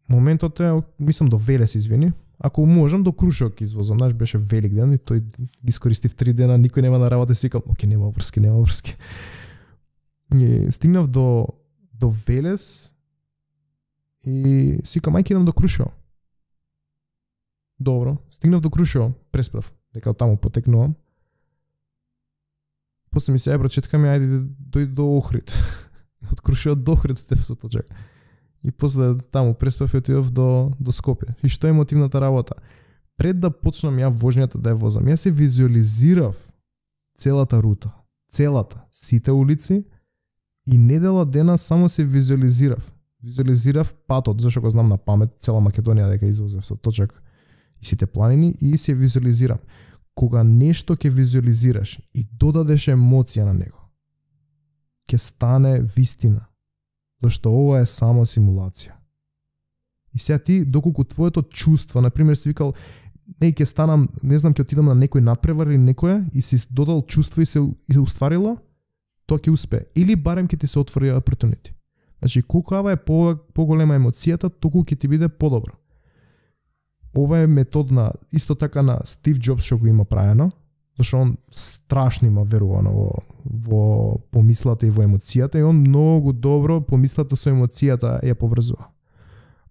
моментот е, мислам до Велес, извини. Ако можам до Крушево ќе извозам, знаеш, беше велик ден и тој ги искористив 3 дена, никој нема на работа, си викам, нема врски. И стигнав до Велес и си викам, ќе идам до Крушево. Добро, стигнав до Крушево, пресправ, дека од таму потекнувам. После ми се прочитка ми, ајде дојди до Охрид. Од Крушево до Охрид те со точак. И после таму преспав и отидов до Скопје. И што е мотивната работа? Пред да почнам ја возњата да ја возам, ја се визуализирав целата рута, сите улици и недела дена само се визуализирав. Визуализирав патот, зашто го знам на памет, цела Македонија дека извозев со точак и сите планини и се визуализирам. Кога нешто ќе визуализираш и додадеш емоција на него, ќе стане вистина. Зашто ова е само симулација. И сега ти, доколку твоето чувство, например, си викал, ќе станам, не знам, ќе отидам на некој надпревар или некоја и си додал чувство и се устварило, тоа ќе успее. Или барем ќе ти се отвори опортунити. Значи, колку е поголема емоцијата, толку ќе ти биде подобро. Ова е метод исто така на Стив Џобс што го има правено, зашто он страшно има верувано во помислата и во емоцијата и он многу добро помислата со емоцијата ја поврзува.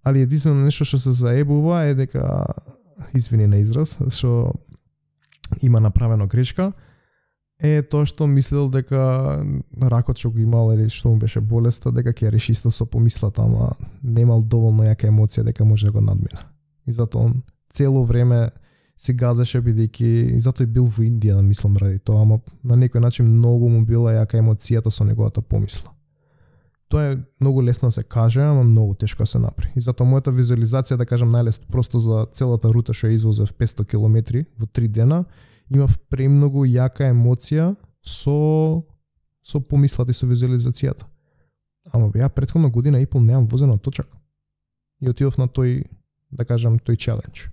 Али единствено нешто што се заебува е дека, извини на израз, што има направено грешка, е тоа што мислел дека ракот што го имал или што му беше болеста, дека ќе реши исто со помислата, ама немал доволно јака емоција дека може да го надмина. И затоа он цело време се газеше бидејќи и затоа и бил во Индија, мислам ради тоа, ама на некој начин многу му била јака емоцијата со неговата помисла. Тоа е многу лесно да се каже, ама многу тешко да се направи. И затоа мојата визуализација, да кажам најлесно, просто за целата рута што ја извозев 500 километри во 3 дена, имав премногу јака емоција со помислата и со визуализацијата. Ама ја претходна година и пол немам возено точак. И отидов на тој, да кажам, тој челендж.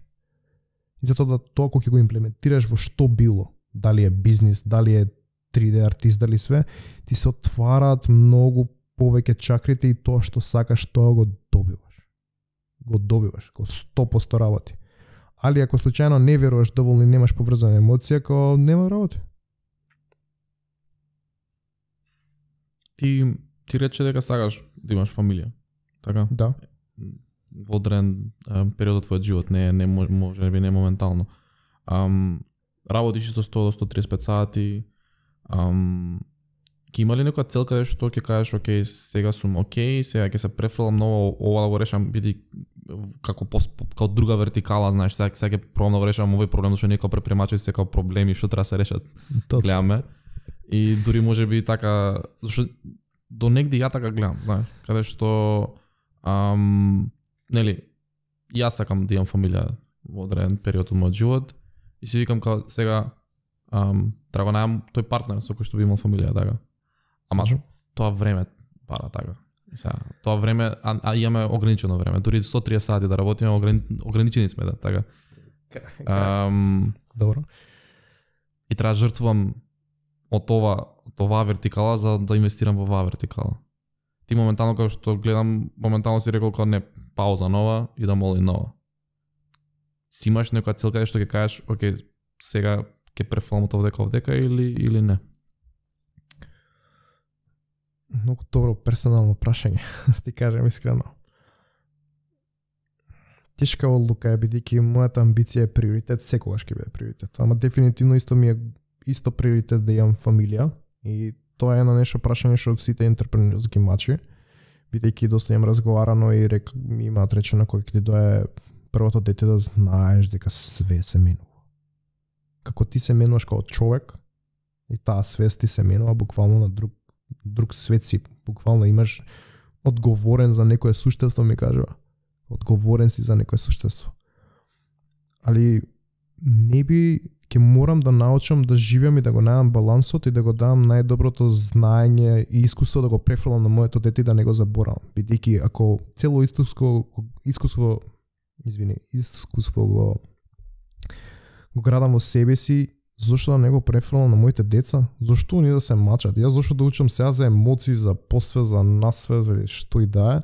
И затоа тоа кога ќе го имплементираш во што било, дали е бизнис, дали е 3D артист, дали све, ти се отвараат многу повеќе чакрите и тоа што сакаш, тоа го добиваш. Го 100% работи. Али ако случајно не веруваш доволно и немаш поврзана емоција, како нема работи. Ти рече дека сакаш да имаш фамилија, така? Да. Во одреден период од твојот живот, не може би не моментално. Работиш со 100 до 135 сати. Ќе има ли некоја цел каде што ќе кажеш, окей, сега сум окей, сега ќе се префрлам ново, ова да го решам, биди како друга вертикала, знаеш, сега ќе пробам да го решам овој проблем, зашто некој предприемачи се како проблеми што треба да се решат. Гледаме. И дури може би така, зашто до негде ја така гледам, знаеш, каде што нели, јас сакам да имам фамилија во одреден период од мојот живот и си викам као сега треба најам тој партнер со кој што би имал фамилија, така. Ама тоа време пара, така. Сега, тоа време, имаме ограничено време, дури 130 сати да работиме, ограничени сме, да, така. Добро. И треба жртвувам од оваа вертикала за да инвестирам во оваа вертикала. Ти моментално како што гледам, моментално си рекол како не, пауза нова и да моли нова. Си имаш некоја цел каде што ќе кажеш, окей, сега ќе префрлам од овдека или не? Многу добро персонално прашање, ти кажам искрено. Тешка одлука е, бидејќи мојата амбиција е приоритет, секогаш ќе биде приоритет. Ама дефинитивно исто ми е исто приоритет да имам фамилија и тоа е на нешто прашање што од сите ентрепренерски мачи, бидејќи доста имам разговарано и ми имаат речено кога ќе ти дое првото дете да знаеш дека све се менува. Како ти се менуваш како човек и таа свест ти се менува буквално на друг свет си, буквално имаш одговорен за некое суштество, ми кажува. Одговорен си за некое суштество. Али не би, ќе морам да научам да живеам и да го најдам балансот и да го дам најдоброто знаење и искуство да го префрлам на моето дете и да не го заборавам. Бидејќи ако цело искуство го градам во себе си, зошто да не го префрлам на моите деца? Зошто они да се мачат? Јас зошто да учам сега за емоции, за посве, за насве, за што и да е,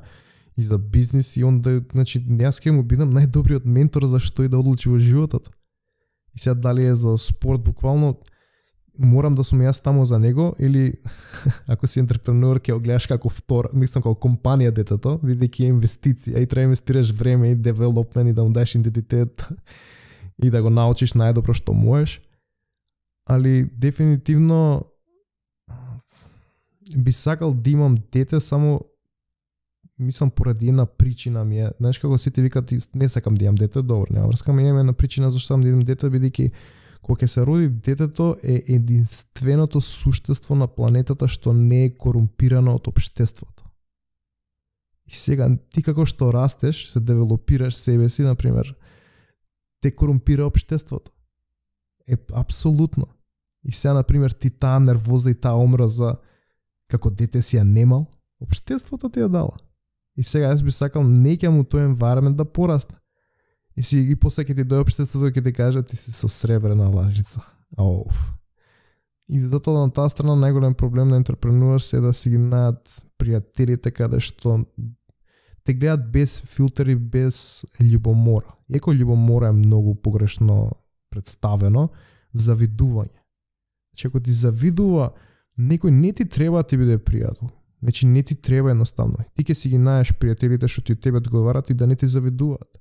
и за бизнис, и он да, значи, јас ќе му бидам најдобриот ментор за што и да одлучи во животот. И сега дали е за спорт, буквално морам да сум јас таму за него, или ако си ентрепренер ќе го гледаш како мислам како компанија детето, бидејќи е инвестиција и треба инвестираш време и девелопмент и да му дадеш идентитет и да го научиш најдобро што можеш. Али дефинитивно би сакал да имам дете, само мислам поради една причина ми е. Знаеш како сите викат не сакам да имам дете, добро, нема врска, ми имам една причина зашто сакам да имам дете, бидејќи кога ќе се роди детето е единственото суштество на планетата што не е корумпирано од општеството. И сега ти како што растеш, се девелопираш себе си, например, те корумпира општеството. Апсолутно. И сега, например, ти таа нервоза и таа омраза како дете си ја немал, општеството ти ја дала. И сега јас би сакал неќе му тој environment да порасне. И после ќе ти дојде општеството ќе ти каже ти си со сребрена лажица. И затоа на таа страна најголем проблем на ентрепренерс е да си ги најдат пријателите каде што те гледат без филтери, без љубомора. Иако љубомора е многу погрешно представено, завидување. Значи ако ти завидува, некој не ти треба да ти биде пријател. Значи не ти треба едноставно. Ти ќе си ги најдеш пријателите што ти тебе одговарат и да не ти завидуваат.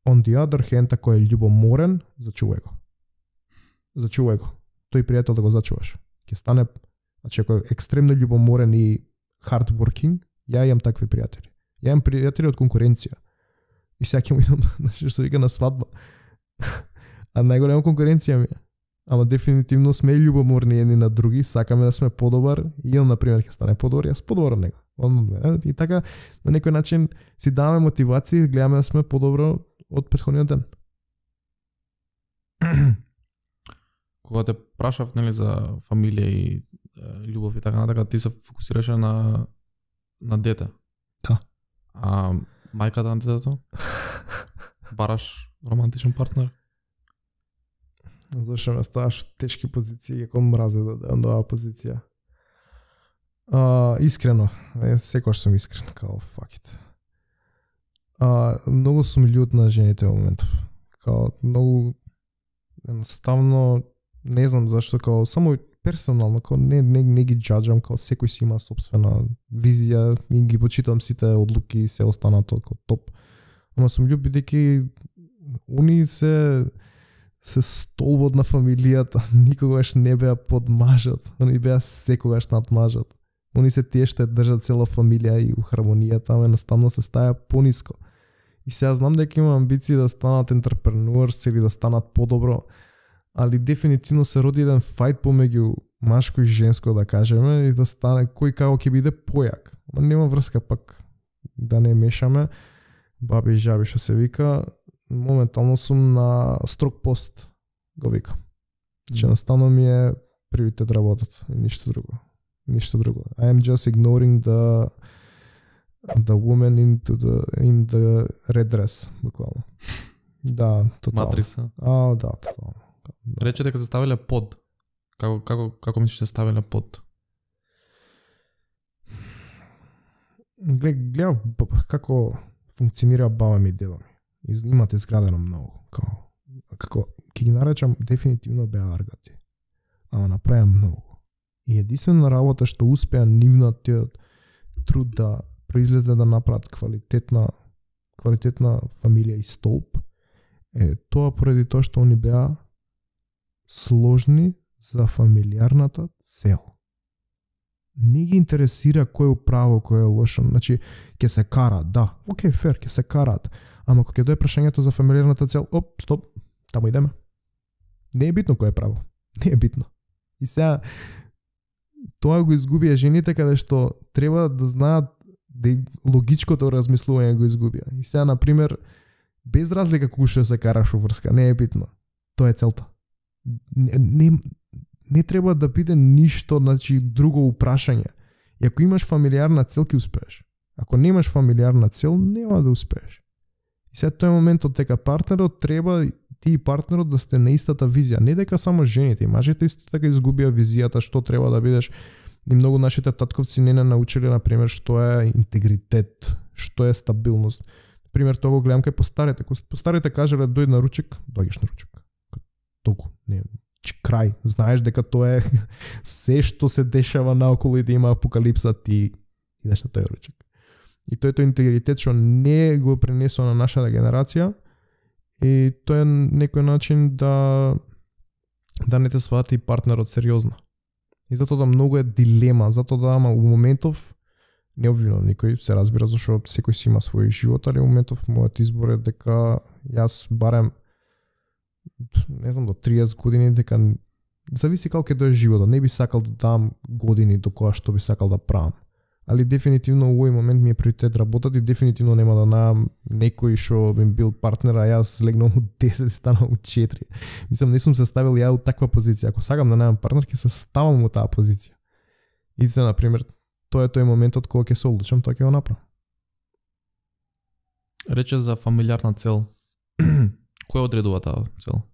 On the other hand, ако е љубоморен, зачувај го. Зачувај го. Тој пријател да го зачуваш. Ќе стане, значи ако е екстремно љубоморен и hardworking, ја имам такви пријатели. Ја имам пријатели од конкуренција. И сега ќе му идам, значи што се вика на свадба. А најголема конкуренција ми е. Ама дефинитивно сме љубоморни едни на други, сакаме да сме подобар и он, например, ќе стане подобар, јас подобар од него. И така, на некој начин си даваме мотивација и гледаме да сме подобро од претходниот ден. Кога те прашав, нели, за фамилија и љубов и така натака, ти се фокусираше на дете. Да. А мајката на детето? Бараш романтичен партнер? Зашто ме ставаш тешки позиции, како мразе да дадам оваа позиција. Искрено, секогаш сум искрен, као fuck it. Многу сум љут на жените во моментов. Као многу едноставно не знам зашто, као само персонално, као не ги џаџам, као секој си има сопствена визија и ги почитам сите одлуки и се останато као топ. Ама сум љут бидејќи они се столбот на фамилијата, никогаш не беа под мажот, они беа секогаш над мажот. Они се тие што држат цела фамилија и у хармонијата, ама едноставно се стаја пониско. И сега знам дека имам амбиции да станат ентрепренерс или да станат подобро, али дефинитивно се роди еден фајт помеѓу машко и женско, да кажеме, и да стане кој како ќе биде појак. Ама нема врска пак да не мешаме, баби и жаби што се вика. Моментално сум на строг пост, го вика. Че едноставно ми е приоритет работата, ништо друго. Ништо друго. I am just ignoring the woman in the red dress, буквално. Да, тотално. Матрица. Да, тотално. Да. Рече дека се ставиле под. Како мислиш се ставиле под? Гледа како функционира баба ми и дедо ми. Имате изградено многу. Како ќе ги наречам, дефинитивно беа аргати. Ама направија многу. И единствена работа што успеа нивниот труд да произлезе да направат квалитетна фамилија и столб, е тоа поради тоа што они беа сложни за фамилиарната цел. Не ги интересира кој е право, кој е лошо. Значи, ќе се караат, да, окей, фер, ќе се караат. Ама кога ќе дое прашањето за фамилиарната цел, стоп, таму идеме. Не е битно кој е право. Не е битно. И сега, тоа го изгубија жените, каде што треба да знаат да логичкото размислување го изгубија. И сега, например, без разлика кој што се караш во врска, не е битно. Тоа е целта. Не треба да биде ништо, значи, друго упрашање. И ако имаш фамилиарна цел, ќе успееш. Ако немаш фамилиарна цел, нема да успееш. И сега тој моментот дека партнерот треба ти и партнерот да сте на истата визија. Не дека само жените, и мажите исто така изгубија визијата што треба да бидеш. И многу нашите татковци не научиле, например, што е интегритет, што е стабилност. Например, тоа го гледам кај постарите. Постарите кажале дојди на ручек, доаѓаш на ручек. Толку, не, крај. Знаеш дека тоа е се што се дешава наоколу и да има апокалипса, ти идеш на тој ручек. И тој интегритет што не го пренесува на нашата генерација, и тоа е некој начин да не те свати партнерот сериозно. И затоа да многу е дилема, затоа да ама у моментов не обвинувам никој, се разбира зашто секој си има свој живот, али у моментов мојот избор е дека јас барем не знам до 30 години дека зависи како ќе дое животот, не би сакал да дам години до која што би сакал да правам. Али дефинитивно во овој момент ми е приоритет работат и дефинитивно нема да најам некој што би бил партнер, а јас легнам у 10 станам у 4. Мислам, не сум се ставил ја у таква позиција. Ако сакам да најам партнер, ќе се ставам у таа позиција. И за например, тоа е тој моментот кога ќе се одлучам, тоа ќе го направам. Рече за фамилиарна цел. Кој одредува таа цел?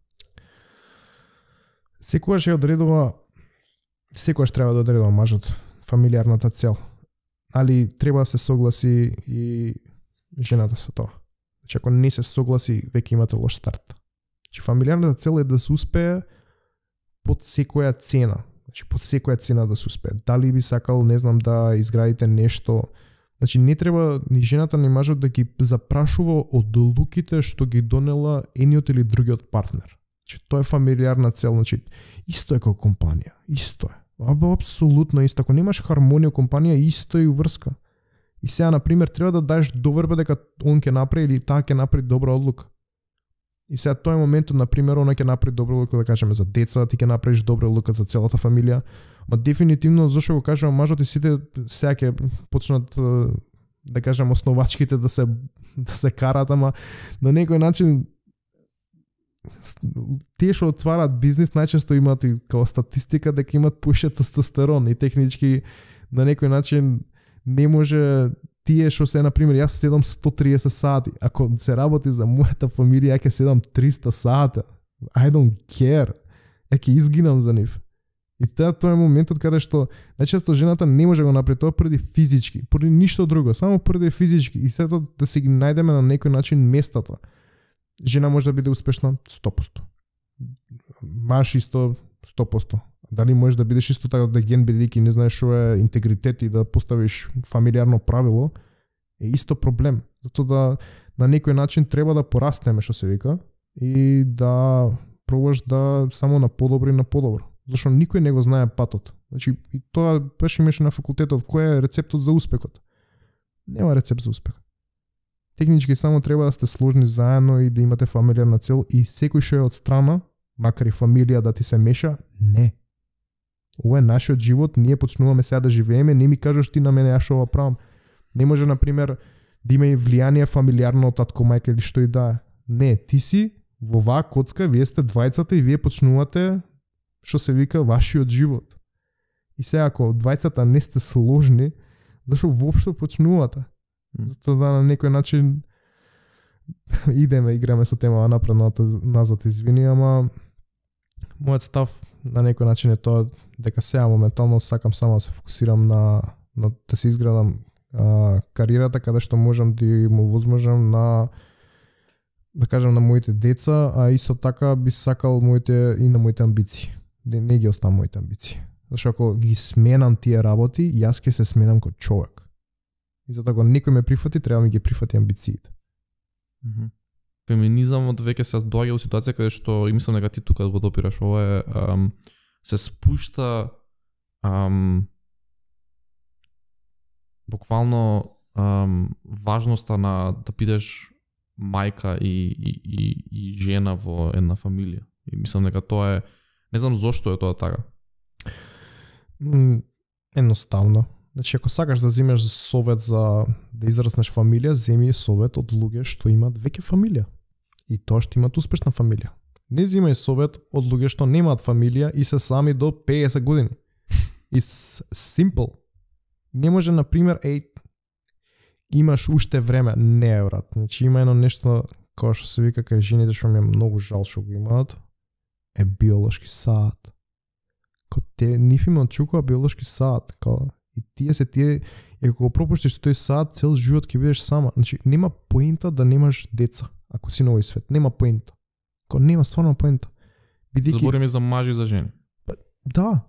Секогаш треба да одредува мажот фамилиарната цел. Али треба да се согласи и жената со тоа. Значи, ако не се согласи, веќе имате лош старт. Значи, фамилиарната цел е да се успее под секоја цена. Значи, под секоја цена да се успее. Дали би сакал, не знам, да изградите нешто. Значи, не треба ни жената ни мажот да ги запрашува од одлуките што ги донела едниот или другиот партнер. Значи, тоа е фамилиарна цел. Значи, исто е како компанија. Исто е. Апсолутно исто. Ако немаш хармонија во компанија, исто и врска. И сега, например, треба да даеш доверба дека он ќе направи или таа ќе направи добра одлука. И сега тој моментот, например, она ќе направи добра одлука, да кажеме, за деца, ти ќе направиш добра одлука за целата фамилија. Ма дефинитивно, зашто го кажувам, мажот и сите сега ќе почнат, да кажем, основачките да се карат, ама на некој начин тие што отварат бизнис најчесто имаат и као статистика дека имаат поише тестостерон и технички на некој начин не може тие што се, например, јас седам 130 сати, ако се работи за мојата фамилија, ја ќе седам 300 сата. I don't care. Ја ќе изгинам за нив. И тоа е моментот каде што најчесто жената не може да го направи тоа поради физички, поради ништо друго, само поради физички. И сето да си ги најдеме на некој начин местата. Жена може да биде успешна 100%. Маж исто 100%. Дали можеш да бидеш исто така да ген бидејќи не знаеш што е интегритет и да поставиш фамилиарно правило, е исто проблем. Затоа да на некој начин треба да порастеме, што се вика, и да пробаш да само на подобро и на подобро. Зашто никој не го знае патот. Значи, и тоа беше имаше на факултетот, кој е рецептот за успехот. Нема рецепт за успех. Технички само треба да сте сложни заедно и да имате фамилиарна цел и секој што е од страна, макар и фамилија да ти се меша, не. Ова е нашиот живот, ние почнуваме сега да живееме, не ми кажеш ти на мене ја што ова правам. Не може, например, да има и влијание фамилиарно од татко, мајка или што и да е. Не, ти си во оваа коцка, вие сте двајцата и вие почнувате што се вика вашиот живот. И сега ако двајцата не сте сложни, зашто воопшто почнувате? Затоа да на некој начин играме со тема напред назад, извини, ама мојот став на некој начин е тоа дека сега моментално сакам само да се фокусирам на да се изградам кариерата каде што можам да му возможам на да кажам на моите деца, а исто така би сакал и на моите амбиции. Не ги оставам моите амбиции. Зашто ако ги сменам тие работи, јас ќе се сменам како човек. И затоа ако некој ме прифати, треба ми ги прифати амбициите. Феминизамот веќе се доаѓа во ситуација каде што, и мислам дека ти тука го допираш, ова е се спушта буквално важноста на да бидеш мајка и жена во една фамилија. И мислам дека тоа е, не знам зошто е тоа така. Едноставно. Значи, ако сакаш да земеш совет за да израснеш фамилија, земи совет од луѓе што имаат веќе фамилија. И тоа што имаат успешна фамилија. Не земај совет од луѓе што немаат фамилија и се сами до 50 години. It's simple. Не може, например, имаш уште време. Не, брат. Значи, има едно нешто, као што се вика кај жените, што ми е многу жал што го имаат, е биолошки саат. Ниф има чукува биолошки саат. И тие, и ако го пропуштиш тој саат, цел живот ќе бидеш сама. Значи, нема поента да немаш деца, ако си на овој свет. Нема поента. Нема стварно поента. Збориме за мажи и за жени. Да.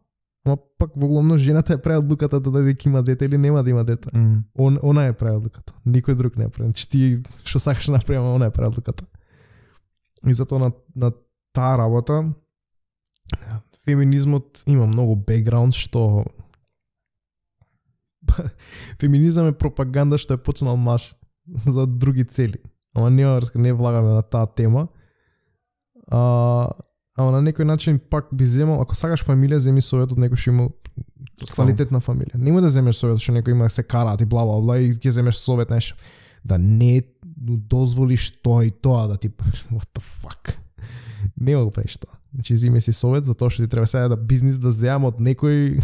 Ама пак во главно жената е прави одлуката дали ќе има дете или нема да има дете. Она е прави одлуката. Никој друг не е прави. Значи ти што сакаш направи, она е прави одлуката. И затоа на таа работа феминизмот има многу бекграунд што феминизам е пропаганда што е почнал маж за други цели. Ама не влагаме на таа тема. Ама на некој начин пак би земал, ако сакаш фамилија, земи совет од некој што има квалитетна фамилија. Нема да земеш совет што некој има се караат и бла бла бла и ќе земеш совет нешто. Да не дозволиш тоа и тоа да ти what the fuck. Не го правиш тоа. Значи земи си совет за тоа што ти треба сега да бизнис да земам од некој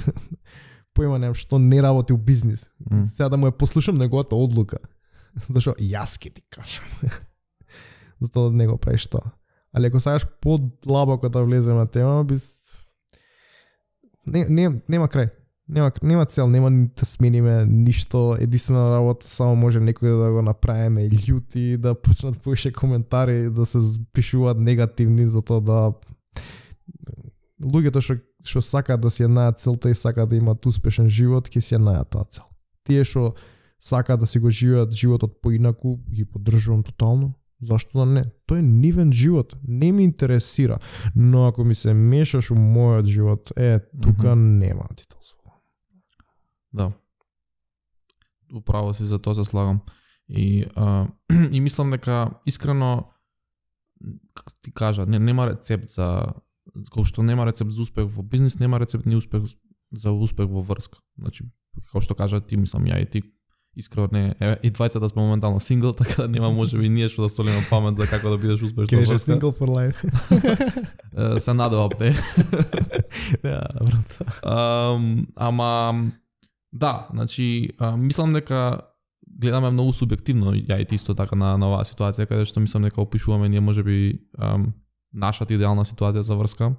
појма немам што не работи у бизнис. Сега да му ја послушам неговата одлука. Зашто јас ќе ти кажам. Затоа не го правиш тоа. Али ако сакаш подлабоко да влеземе на тема, нема крај. Нема цел, нема да смениме ништо, единствена работа, само може некој да го направиме љути, да почнат повише коментари, да се пишуваат негативни, затоа да луѓето што сакаат да си ја најдат целта и сакаат да имаат успешен живот, ќе си ја најдат таа цел. Тие што сакаат да си го живеат животот поинаку, ги поддржувам тотално. Зашто да не? Тој е нивен живот, не ми интересира. Но ако ми се мешаш у мојот живот, тука нема ти дозволам. Да. Управо си, за тоа се слагам. И мислам дека искрено, како ти кажа, нема рецепт за, како што нема рецепт за успех во бизнис, нема рецепт ни успех за успех во врска. Значи, како што кажа ти, мислам ја и ти, искрено не, и двајцата сме моментално сингл, така да нема можеби ние што да солиме памет за како да бидеш успешен во врска. Кеше single for life. Се надевам, не. Да, брат. Ама да, значи мислам дека гледаме многу субјективно, ја и ти исто така на оваа ситуација, каде што мислам дека опишуваме ние можеби нашата идеална ситуација за врска.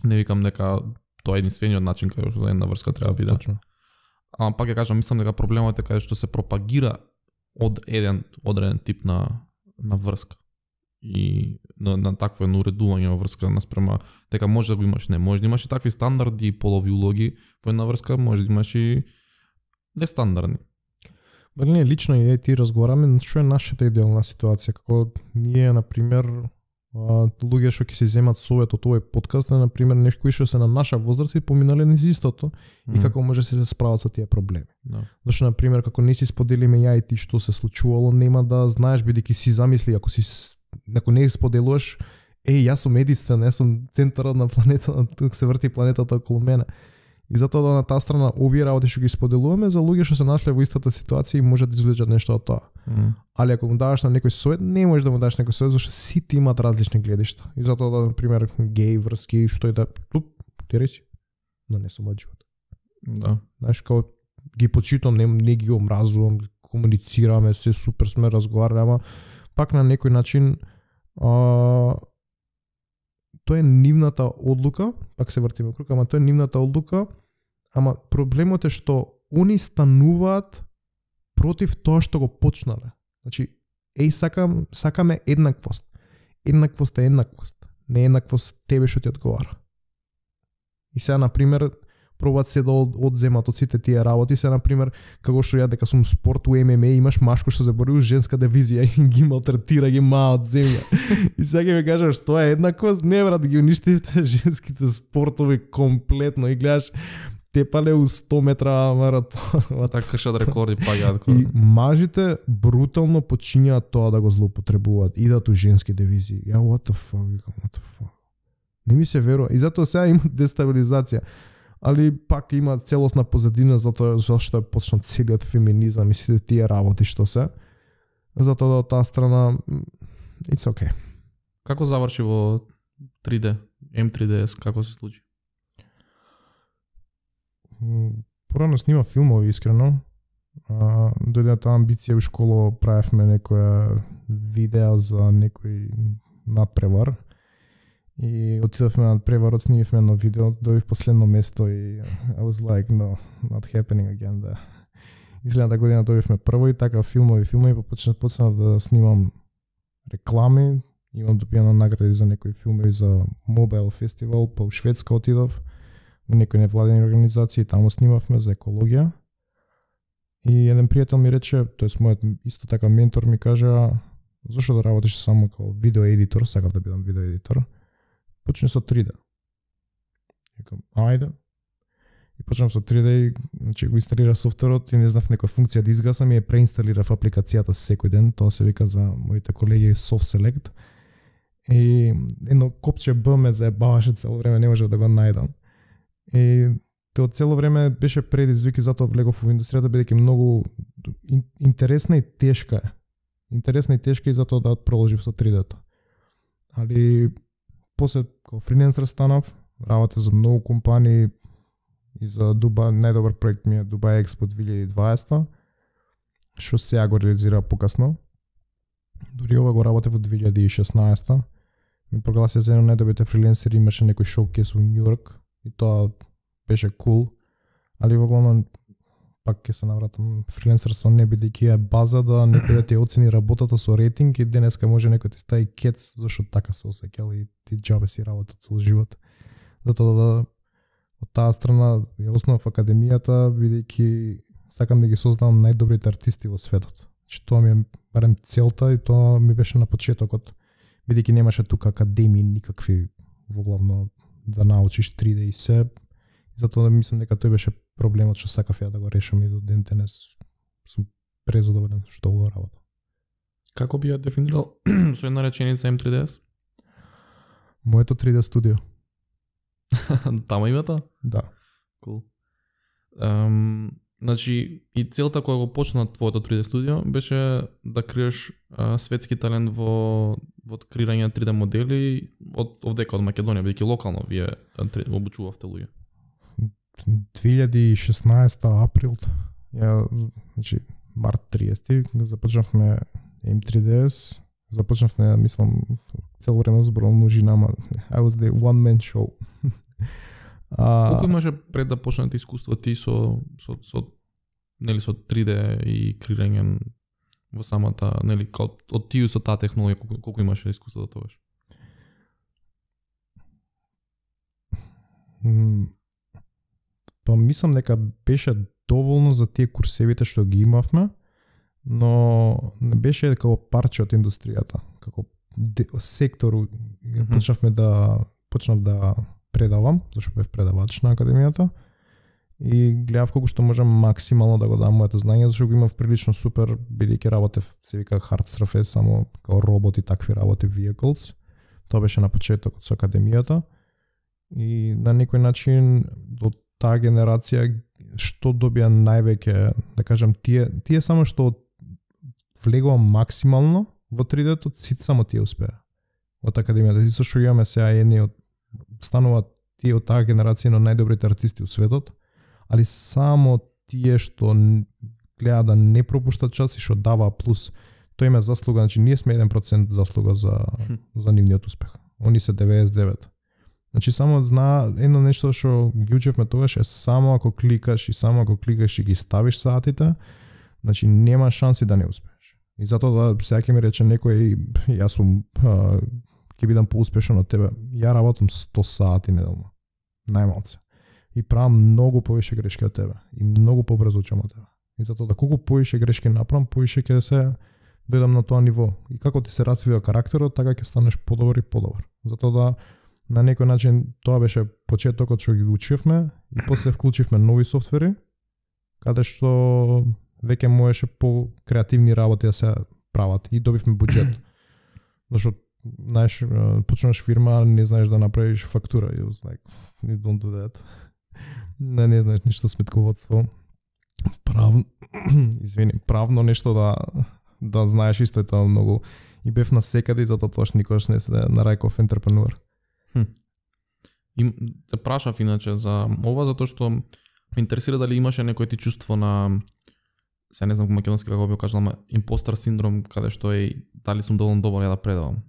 Не викам дека тоа е единствениот начин каде што една врска треба да биде. Точно. Ама пак ја кажам, мислам дека проблемот е каде што се пропагира од еден одреден тип на врска. И на такво едно уредување во врска наспрема дека може да го имаш, не може да имаш и такви стандарди и полови улоги во една врска, може да имаш и нестандардни. Не, лично и ти разговараме што е нашата идеална ситуација, како ние на пример луѓе што ќе се земат совет од овој подкаст, на пример некои што се на наша возраст и поминале низ истото и како може се справат со тие проблеми. Да. Зашто на пример како не си споделиме ја и ти што се случувало, нема да знаеш бидејќи си замисли ако не споделуваш, јас сум единствен, јас сум центарот на планетата, тук се врти планетата околу мене. И затоа да на таа страна овие работи што ги споделуваме за луѓе што се нашле во истата ситуација и може да извлечат нешто од тоа. Али ако му даваш на некој совет, не можеш да му даш некој совет зашто сите имаат различни гледишта. И затоа да на пример геј врски што е да ти речи, но не сум од живот. Да. Знаеш како ги почитам, не ги омразувам, комуницираме, се супер сме разговараме, ама пак на некој начин тоа е нивната одлука, пак се вртиме круг, ама тоа е нивната одлука, ама проблемот е што они стануваат против тоа што го почнале. Значи, сакаме еднаквост. Еднаквост е еднаквост. Не еднаквост тебе што ти одговара. И сега, например, пробаат се да одземат од сите тие работи, се на пример како што ја дека сум спорт у ММА, имаш машко што се бори у женска дивизија и ги малтретира, ги маат земја. И сега ќе ми кажеш што е еднаквост, не брат, ги уништивте женските спортови комплетно и гледаш тепале у 100 метра маратон. Така кршат рекорди паѓаат. И мажите брутално почињаат тоа да го злоупотребуваат, идат у женски дивизии. Ја what the fuck. Не ми се верува. И затоа сега има дестабилизација. Али пак има целосна позадина затоа зашто е почна целиот феминизам и сите тие работи што се. Затоа да од таа страна it's okay. Како заврши во 3D, M3DS, како се случи? Порано снима филмови искрено. Дојде таа амбиција у школа, правевме некоја видео за некој надпревар. И отидовме на преварот, снимивме едно видео, дојдов последно место и I was like, no, not happening again, да. Изгледната година дојдовме прво и така филмови, почнав да снимам реклами, имам добиено награди за некои филмови за Mobile Festival, па у Шведска отидов, у некои невладени организации, таму снимавме за екологија. И еден пријател ми рече, тоест мојот исто така ментор ми кажа, зашто да работиш само како видео едитор, сакав да бидам видео едитор. Почне со 3D. Викам, ајде. И почнав со 3D и значи го инсталирав софтверот и не знав некоја функција да изгасам и ја преинсталирав апликацијата секој ден, тоа се вика за моите колеги Soft Select. И едно копче Б ме заебаваше цело време, не можев да го најдам. И тоа цело време беше предизвик и затоа влегов во индустријата бидејќи многу интересна и тешка е. Интересна и тешка и затоа да продолжив со 3D-то. Али после како фрилансер станав, работев за многу компании и за Дубај, најдобар проект ми е Dubai Expo 2020, што сега го реализира покасно. Дори ова го работев во 2016. Ми прогласија за едно најдобрите фрилансери, имаше некој шоукейс во Њу Йорк и тоа беше кул, али во главно пак ќе се навратам фрилансерство не бидејќи е база да некој да ти оцени работата со рейтинг и денеска може некој ти стави кец зашто така се осеќал и ти џабе си работа цел живот. Затоа да од таа страна ја основав академијата бидејќи сакам да ги создавам најдобрите артисти во светот. Че тоа ми е барем целта и тоа ми беше на почетокот бидејќи немаше тука академии никакви во главно да научиш 3D и се. Затоа мислам дека тој беше проблемот што сакав ја да го решам и до ден денес сум презадоволен што го работам. Како би ја дефинирал со една реченица M3DS? Моето 3D студио. Тама името? Да. Cool. Значи, и целта која го почна твоето 3D студио беше да криеш светски талент во креирање на 3D модели од овдека од Македонија, бидејќи локално вие обучувавте луѓе. 2016 април, значи март 30 започнавме M3DS, започнавме, мислам, цело време зборувам множина, I was the one man show. Колку имаше пред да почнете искуство ти со 3D и креирање во самата, нели, од тие со таа технологија, колку имаше искуство до тогаш? Па мислам дека беше доволно за тие курсевите што ги имавме, но не беше како парче од индустријата, како сектор. Почнав да предавам, зашто бев предавач на академијата и гледав колку што можам максимално да го дам моето знаење, зашто го имав прилично супер, бидејќи работев, се вика hard surface, само како роботи, такви работи, vehicles. Тоа беше на почетокот со академијата и на некој начин од таа генерација што добија највеќе, да кажам, тие само што влегува максимално во 3D-то, сите само тие успеа од академијата. И со што имаме сега едни од стануваат тие од таа генерација на најдобрите артисти у светот, али само тие што гледа да не пропуштат час и што дава плюс. Тој има заслуга, значи ние сме 1% заслуга за нивниот успех. Они се 99. Значи само знаа едно нешто што ги учевме тогаш е само ако кликаш и ги ставиш саатите, значи нема шанси да не успееш. И затоа да сега ќе ми рече некој јас сум ќе бидам поуспешен од тебе. Ја работам 100 сати неделно. Најмалце. и правам многу повише грешки од тебе и многу побрзо учам од тебе. И затоа да колку повише грешки направам, повише ќе се дојдам на тоа ниво. И како ти се развива карактерот, така ќе станеш подобар и подобар. Затоа да на некој начин тоа беше почетокот што ги учевме и после вклучивме нови софтвери каде што веќе можеше по креативни работи да се прават и добивме буџет. Зашто знаеш, почнуваш фирма, не знаеш да направиш фактура. И like, you don't do that. Не знаеш ништо сметководство. Правно нешто да знаеш исто е тоа многу. И бев насекаде и затоа тоаш никогаш не се нареков ентрепренуер. И те прашав иначе за ова затоа што ме интересира дали имаше некој ти чувство на се не знам македонски како би кажал, ама импостер синдром каде што е дали сум доволно добар ја да предавам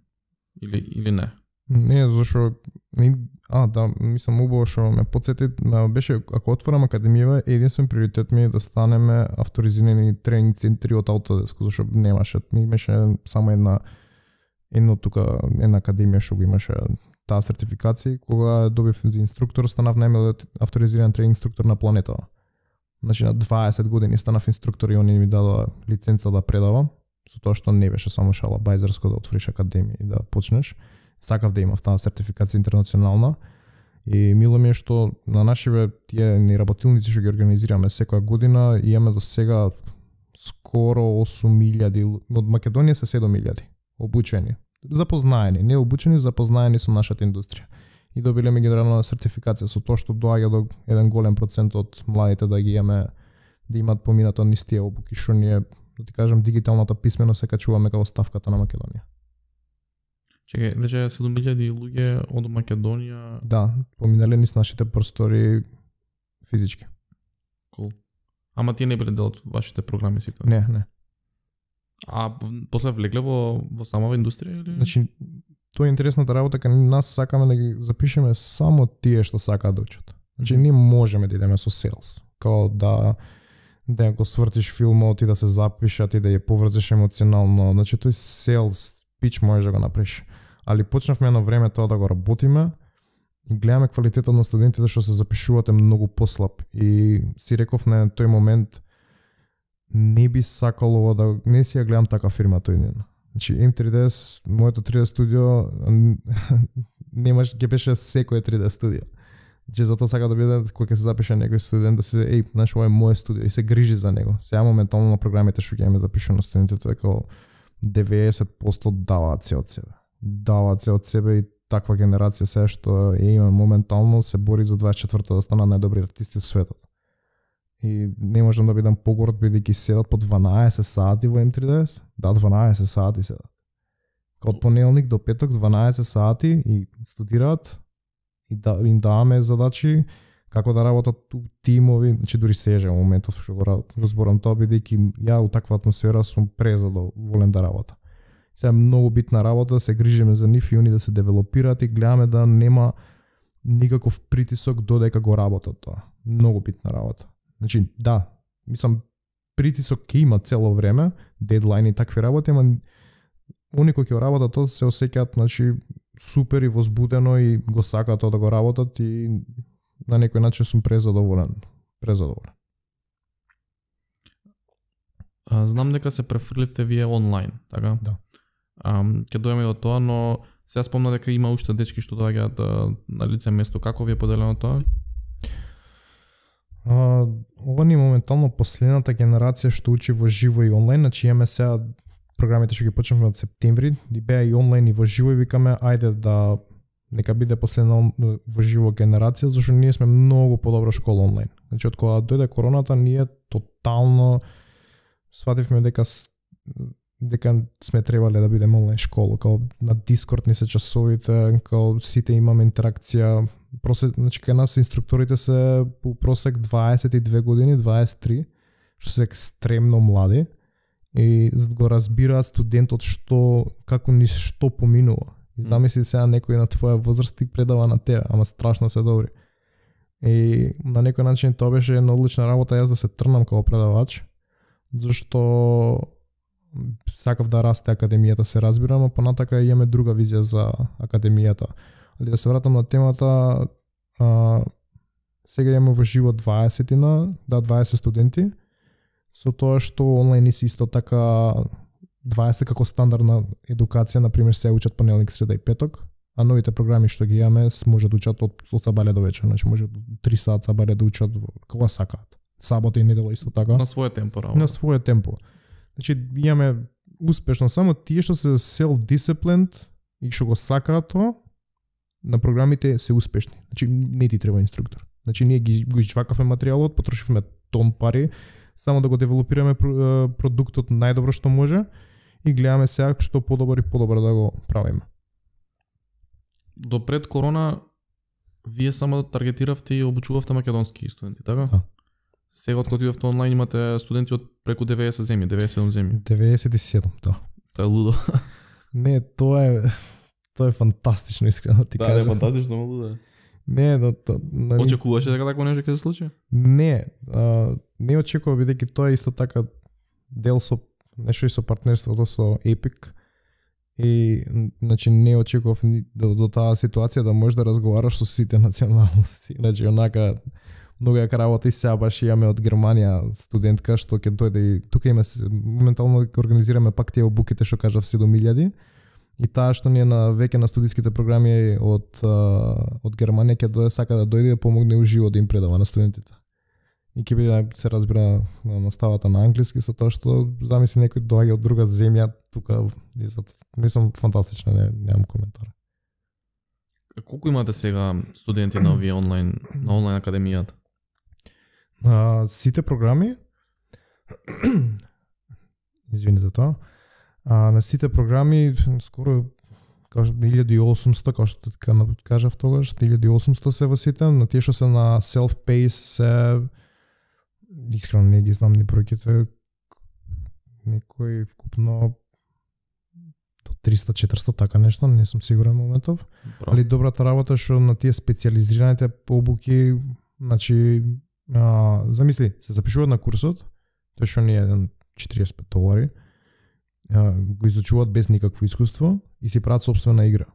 или не. Не, зашо да, мислам убаво што ме потсети, беше ако отворам академија, единствен приоритет ми е да станеме авторизирани тренинг центри од Autodesk, зашо немаше, ми имаше само една академија што го имаше таа сертификација, кога добив за инструктор, станав најмладиот авторизиран тренинг инструктор на планетава. Значи на 20 години станав инструктор и они ми дадоа лиценца да предавам, со тоа што не беше само шалабајзерско да отвориш академија и да почнеш. Сакав да имав таа сертификација интернационална и мило ми е што на нашиве тие ни работилници што ги организираме секоја година имаме до сега скоро 8.000, од Македонија се 7.000 обучени, запознаени, не обучени, запознаени со нашата индустрија. И добиле меѓународна сертификација со тоа што доаѓа до еден голем процент од младите да ги имаме, да имаат поминато низ тие обуки што ние, да ти кажам, дигиталната писменост се качуваме како ставката на Македонија. Чекај, рече 7.000 луѓе од Македонија. Да, поминале низ нашите простори физички. Cool. Ама тие не биле дел од вашите програми сите? Не. А после влегле во самава индустрија или? Значи, тоа е интересната работа, кога нас сакаме да ги запишеме само тие што сакаат да учат. Значи, ние можеме да идеме со селс, као да го свртиш филмот и да се запишат и да ја поврзеш емоционално. Значи, тој селс пич можеш да го направиш. Али почнавме едно време тоа да го работиме и гледаме квалитетот на студентите што се запишуваат е многу послаб. И си реков на тој момент не би сакало да не си ја гледам така фирма тој ден. Значи M3DS, моето 3D студио ќе беше секој 3D студио. Значи затоа сака да биде кога ќе се запише некој студент да се знаеш ова е моје студио и се грижи за него. Сега моментално на програмите што ќе имаме запишано студентите како 90% даваат се од себе. Даваат се од себе и таква генерација се што има моментално се бори за 24-та да станат најдобри артисти во светот. И не можам да бидам погорд бидејќи седат по 12 сати во M3DS. Да, 12 сати седат. Од понеделник до петок 12 сати и студираат и им даваме задачи како да работат тимови, значи дури сежа во моментов што го разборам тоа бидејќи ја у таква атмосфера сум презадоволен да работам. Сега е многу битна работа, се грижиме за нив и они да се девелопираат и гледаме да нема никаков притисок додека го работат тоа. Многу битна работа. Значи, да, мислам, притисок ќе има цело време, дедлайн и такви работи, ама они кои ќе работат тоа се осеќаат, значи, супер и возбудено и го сакаат тоа да го работат и на некој начин сум презадоволен. Знам дека се префрливте вие онлайн, така? Да. Ќе дојдеме до тоа, но сега спомна дека има уште дечки што доаѓаат на лице место. Како ви е поделено тоа? Ова ни моментално последната генерација што учи во живо и онлайн, значи имаме сега програмите што ги почнавме од септември, и беа и онлайн и во живо и викаме ајде да нека биде последна во живо генерација, зашто ние сме многу подобра школа онлайн. Значи од кога дојде короната ние тотално свативме дека сме требале да бидеме онлайн школа, као на Discord ни се часовите, као сите имаме интеракција. Значи кај нас инструкторите се по просек 22 години, 23, што се екстремно млади и го разбираат студентот што поминува. И замисли сега некој на твоја возраст и предава на тебе, ама страшно се добри. И на некој начин тоа беше една одлична работа јас да се трнам како предавач, зашто сакав да расте академијата, се разбирам, а понатака имаме друга визија за академијата. Али да се вратам на темата, Сега имаме во живо 20 студенти, со тоа што онлайн си исто така 20 како стандардна едукација, например се учат понеделник, среда и петок, а новите програми што ги имаме може да учат од сабајле до вечер, значи може 3 сат сабајле да учат кога сакаат. Сабота и недела исто така. На своје темпо работа. На своје темпо. Значи имаме успешно само тие што се self-disciplined и што го сакаат тоа, на програмите се успешни. Значи не ти треба инструктор. Значи ние го извакавме материјалот, потрошивме тон пари само да го девелопираме продуктот најдобро што може и гледаме сега што подобро и подобро да го правиме. До пред корона вие само таргетиравте и обучувавте македонски студенти, така? Да. Сега од кога идовте онлайн имате студенти од преку 90 земји, 97 земји. 97, да. Тоа е лудо. Не, тоа е фантастично, искрено ти кажам. Да, е фантастично, лудо. Не, очекуваше дека такво нешто ќе се случи? Не очекував, бидејќи тоа е исто така дел со нешто и со партнерството со Epic. И значи не очекував до таа ситуација да можеш да разговараш со сите националности. Значи онака многу јака работа и сега баш имаме од Германија студентка што ќе дојде и тука има моментално организираме пак тие обуките што кажав 7000 и таа што ние на веќе на студиските програми од Германија ќе дојде сака да дојде да помогне уживо да им предава на студентите. И ќе биде се разбира на наставата на англиски со тоа што замисли некој доаѓа од друга земја тука и мислам фантастично, немам коментар. Колку имате сега студенти на овие онлайн академијата? Сите програми извини за тоа. На сите програми скоро 1800, како што кажав тогаш, 1800 се во сите, на тие што се на self-pay се искрено не ги знам ни бројките, некој вкупно до 300-400 така нешто, не сум сигурен моментов. Али добрата работа што на тие специјализираните обуки, значи замисли, се запишуваат на курсот, тој што ни е $45, го изучуваат без никакво искуство и си прават собствена игра.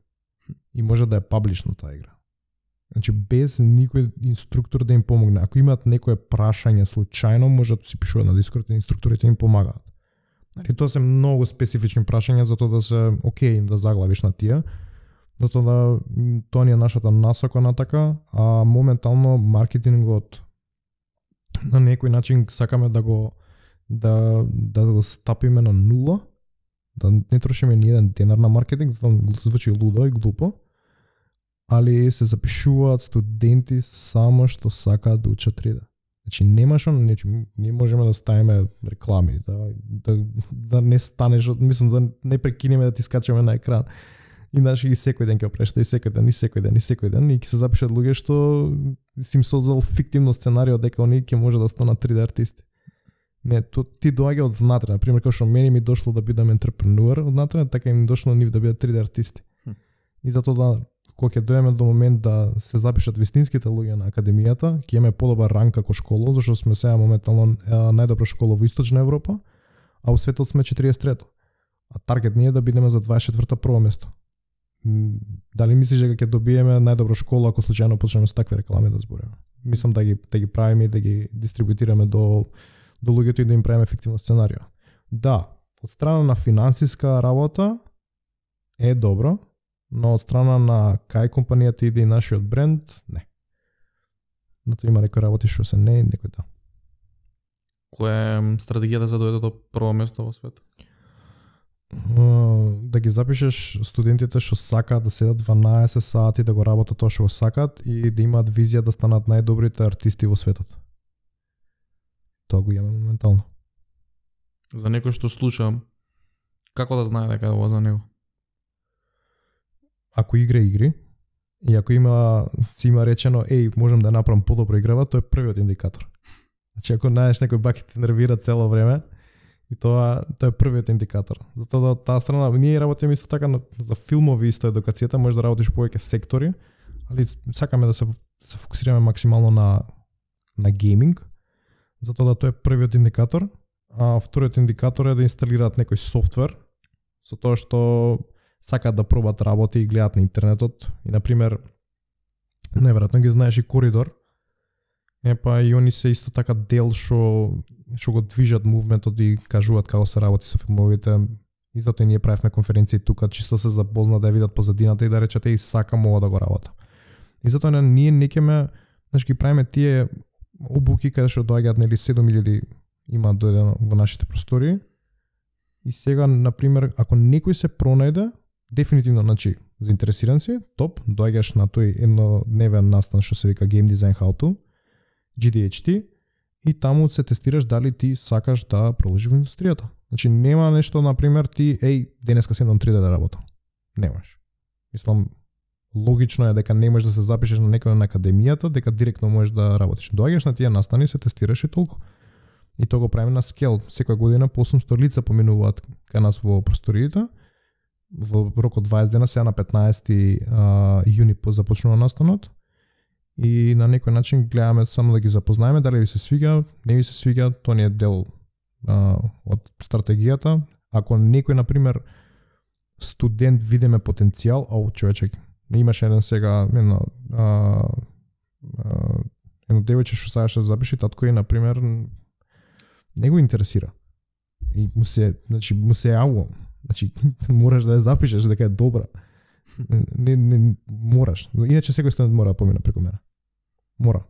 И може да е паблишна таа игра. Значи без никој инструктор да им помогне. Ако имаат некое прашање случајно, може да си пишуваат на Discord и инструкторите им помагаат. Значи тоа се многу специфични прашања за тоа да се окей да заглавиш на тие. Затоа да тоа ни е нашата насока на така, а моментално маркетингот на некој начин сакаме да го стапиме на нула, да не трошиме ни еден денар на маркетинг, звучи лудо и глупо, али се запишуваат студенти само што сакаат да учат 3D. Значи немаш ние можеме да ставиме реклами, да не станеш, мислам да не прекинеме да ти скачаме на екран. И наши и секој ден ќе прешта, и секој ден и ќе се запишат луѓе што си им создал фиктивно сценарио дека оние ќе може да станат 3D артисти. Не, ти доаѓа од внатре, на пример како што мене ми дошло да бидам ентрепренуер од внатре, така им дошло нив да бидат 3D артисти. И затоа да кога ќе дојдеме до момент да се запишат вистинските луѓе на академијата, ќе имаме подобар ранг како школа, зашто сме сега моментално најдобра школа во Источна Европа, а во светот сме 43-то. А таргет ни е да бидеме за 24-то прво место. Дали мислиш дека ќе добиеме најдобра школа ако случајно почнеме со такви реклами да збориме? Мислам да ги правиме и да ги дистрибутираме до луѓето и да им правиме ефективно сценарио. Да, од страна на финансиска работа е добро, но од страна на кај компанијата иде и нашиот бренд, не. Нато има некои работи што се не, некои да. Која е стратегијата за да дојде до прво место во светот? Да ги запишеш студентите што сакаат да седат 12 сати да го работат тоа што го сакаат и да имаат визија да станат најдобрите артисти во светот. Тоа го имаме моментално. За некој што слуша, како да знае дека е ова за него? Ако игра игри и ако си има речено можам да направам подобро играва, тоа е првиот индикатор. Значи ако најдеш некој бак те нервира цело време, и тоа е првиот индикатор. Затоа од таа страна ние работиме исто така за филмови исто едукацијата, може да работиш повеќе сектори, али сакаме да се фокусираме максимално на гейминг. Затоа тоа е првиот индикатор, а вториот индикатор е да инсталираат некој софтвер со тоа што сакаат да пробат работи и гледаат на интернетот. И на пример, најверојатно ги знаеш и Коридор. Па и они се исто така дел што го движат мувментот и кажуваат како се работи со филмовите. И затоа ние правевме конференции тука, чисто се запозна да видат позадината и да речете и сакам ова да го работам. И затоа ние некеме, ги правиме тие обуки каде што доаѓаат нели 7000 има дојдено во нашите простори. И сега на пример ако некој се пронајде, дефинитивно заинтересиран си, топ, доаѓаш на тој еднодневен настан што се вика Game Design How To, GDHT, и таму се тестираш дали ти сакаш да продолжиш во индустријата. Нема нешто, например, ти, денеска седам 3D да работам. Немаш. Мислам, логично е дека не можеш да се запишеш на некој на академијата, дека директно можеш да работиш. Доаѓаш на тие настани, се тестираш и толку. И тоа го правиме на скел. Секоја година по 800 лица поминуваат кај нас во просториите. Во рок од 20 дена, сега на 15 јуни започнува настанот. И на некој начин гледаме само да ги запознаеме, дали ви се свига, не ви се свига, тоа не е дел од стратегијата. Ако некој, например, студент видиме потенцијал, човечек, имаше еден сега, едно девојче што сакаше да запише, татко и, например, не го интересира. И му се јавувам. Мораш да ја запишеш дека е добра. Не мораш. Иначе секој студент мора да помине преку мене. Мора.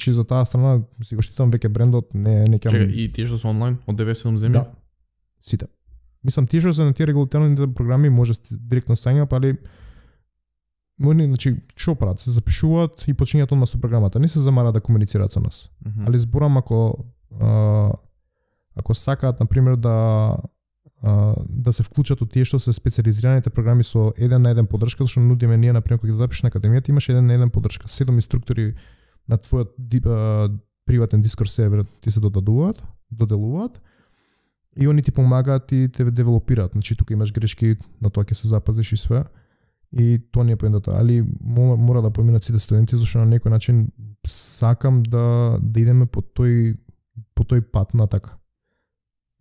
За таа страна си го штитам веќе брендот, не ќе. Чекај, и тие што се онлайн од 97 земји? Да. Сите. Мислам тие што се на тие регулаторните програми може директно сања, али што прават? Се запишуваат и почињаат одма со програмата. Не се замара да комуницираат со нас. Али зборам ако сакаат, например, да се вклучат од тие што се специализираните програми со 1 на 1 поддршка, зашто нудиме ние, например, кога ќе запишеш на академијата, имаш 1 на 1 поддршка. 7 инструктори на твојот приватен Discord сервер ти се доделуваат и они ти помагаат и те девелопираат. Тука имаш грешки, на тоа ќе се запазиш и све. И тоа не е поентата, али мора да поминат сите студенти, зашто на некој начин сакам да идеме по тој пат на така.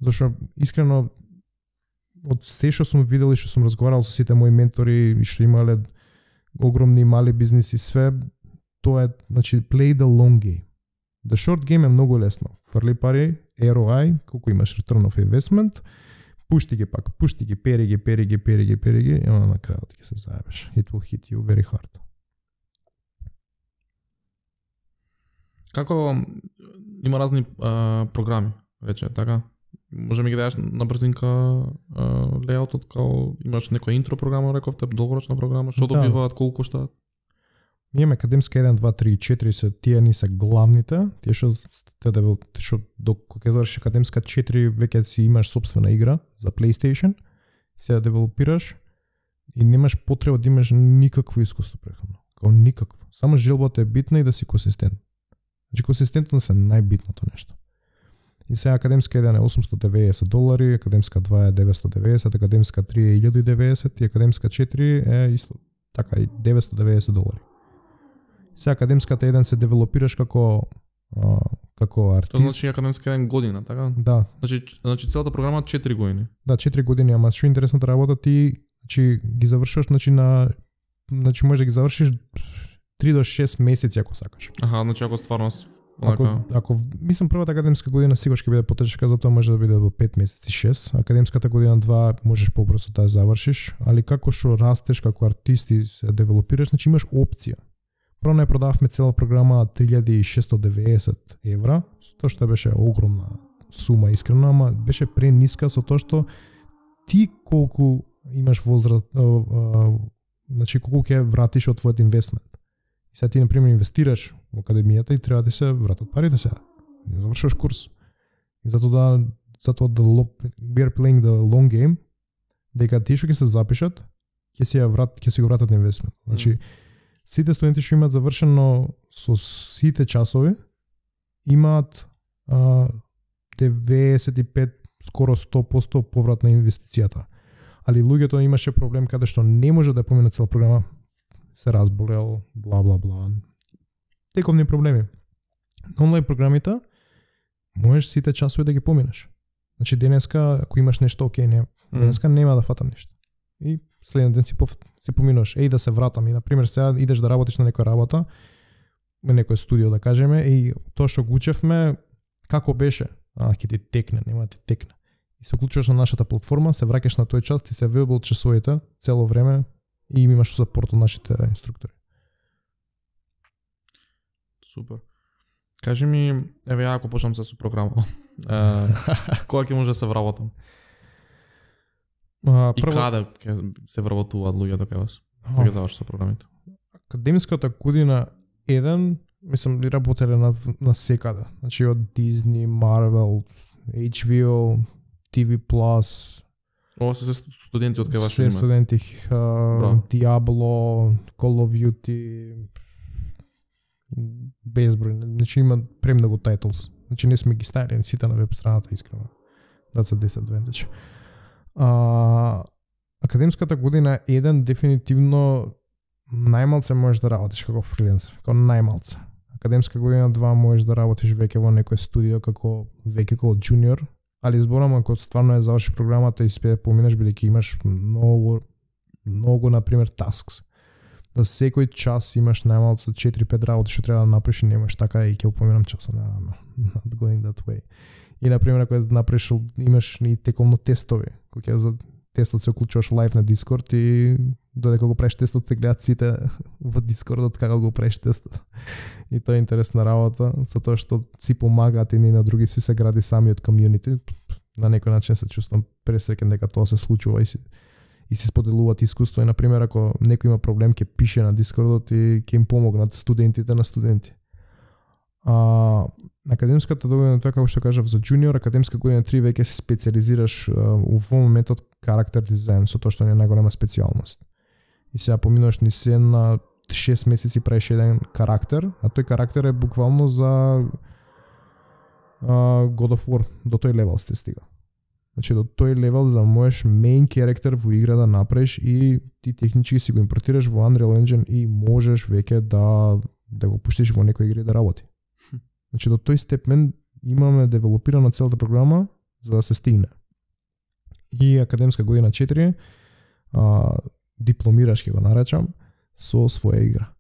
Зашто искрено од се што сум видел и што сум разговарал со сите мои ментори и што имале огромни мали бизниси, све тоа е, play the long game. The short game е многу лесно. Фрли пари, ROI, колку имаш return of investment, пушти ги, пери ги, и на крајот ќе се заебеш. It will hit you very hard. Како има разни програми, рече, така? Може ми ги даеш на брзинка лејаутот, као имаш некоја интро програма, рековте, долгорочна програма, што добиваат, колку коштаат? Ние имаме академска 1, 2, 3 и 4, се тие ни се главните, тие што кога ќе завршиш академска 4 веќе си имаш сопствена игра за PlayStation, се ја девелопираш и немаш потреба да имаш никакво искуство претходно, као никакво. Само желбата е битна и да си консистентен. Консистентност е најбитното нешто. И сега академска 1 е $890, академска 2 е 990, академска 3 е 1090 и академска 4 е исто така и $990. Сега академската 1 се девелопираш како артист. Тоа значи академска 1 година, така? Да. Значи целата програма 4 години. Да, 4 години, ама што интересната работа ти, ги завршуваш можеш да ги завршиш 3 до 6 месеци ако сакаш. Ако стварно Ако мислам првата академска година сигурно ќе биде потешка, затоа може да биде во 5 месеци 6. Академската година 2 можеш побрзо да ја завршиш, али како што растеш како артист и се девелопираш, имаш опција. Прво не продававме цела програма €3690, тоа што беше огромна сума искрено, ама беше прениска со тоа што ти колку имаш возраст, колку ќе вратиш од твојот инвестмент. Сега ти, например, инвестираш во академијата и треба да се вратат парите сега. Не завршуваш курс. И затоа we are playing the long game, дека тие што ќе се запишат, ќе си го вратат инвестмент. Сите студенти што имаат завршено со сите часови, имаат 95, скоро 100% поврат на инвестицијата. Али луѓето имаше проблем каде што не може да поминат цела програма, се разболел, бла. Тековни проблеми. На онлайн програмите можеш сите часови да ги поминеш. Денеска, ако имаш нешто, денеска нема да фатам нешто. И следен ден си поминуваш, да се вратам. И, например, сега идеш да работиш на некоја работа, некој студио да кажеме и тоа што го учевме како беше, ќе ти текне, нема ти текне. И се уклучуваш на нашата платформа, се враќаш на тој час, ти се вебил часовите цело време и имаш сапорт од нашите инструктори. Супер. Кажи ми, еве ја ако почнам со програма, кога ќе може да се вработам? И каде ќе се вработуваат луѓето кај вас? Кога ќе заврши со програмите? Академската година 1, мислам, работеле на секаде. Значи од Disney, Marvel, HBO, TV+. Ова се студенти од кај вас? Се студенти, Diablo, Call of Duty, безброј. Значи има премногу titles. Значи не сме ги ставили сите на веб страната, искрено. That's a disadvantage. Академската година 1 дефинитивно најмалце можеш да работиш како фриленсер, како најмалце. Академска година 2 можеш да работиш веќе во некој студио како джуниор, али зборам ако стварно е завршиш програмата и спе поминеш бидејќи имаш многу на пример tasks. За секој час имаш најмалце 4-5 работи што треба да направиш и немаш така и ќе упоминам часа на not going that way. И на пример ако направиш имаш и теколно тестови, кога за тестот се уклучуваш лайв на Discord и додека го правиш тестот те гледат сите во Discordот како го правиш тестот. И тоа е интересна работа, со тоа што си помагаат и на други си се гради самиот комјунити. На некој начин се чувствам пресреќен дека тоа се случува и си споделуваат искуство и на пример ако некој има проблем ќе пише на Discordот и ќе им помогнат студентите на студенти. Академската година 2, како што кажав за джуниор, академска година 3 веќе се специализираш во моментот карактер дизајн, со тоа што не е најголема специјалност. И сега поминуваш ни се на 6 месеци правиш еден карактер, а тој карактер е буквално за God of War, до тој левел се стига. Значи до тој левел за можеш main character во игра да направиш и ти технички си го импортираш во Unreal Engine и можеш веќе да го пуштиш во некој игри да работи. Значи до тој степен имаме девелопирана целата програма за да се стигне. И академска година 4 дипломираш ќе го наречам со своја игра.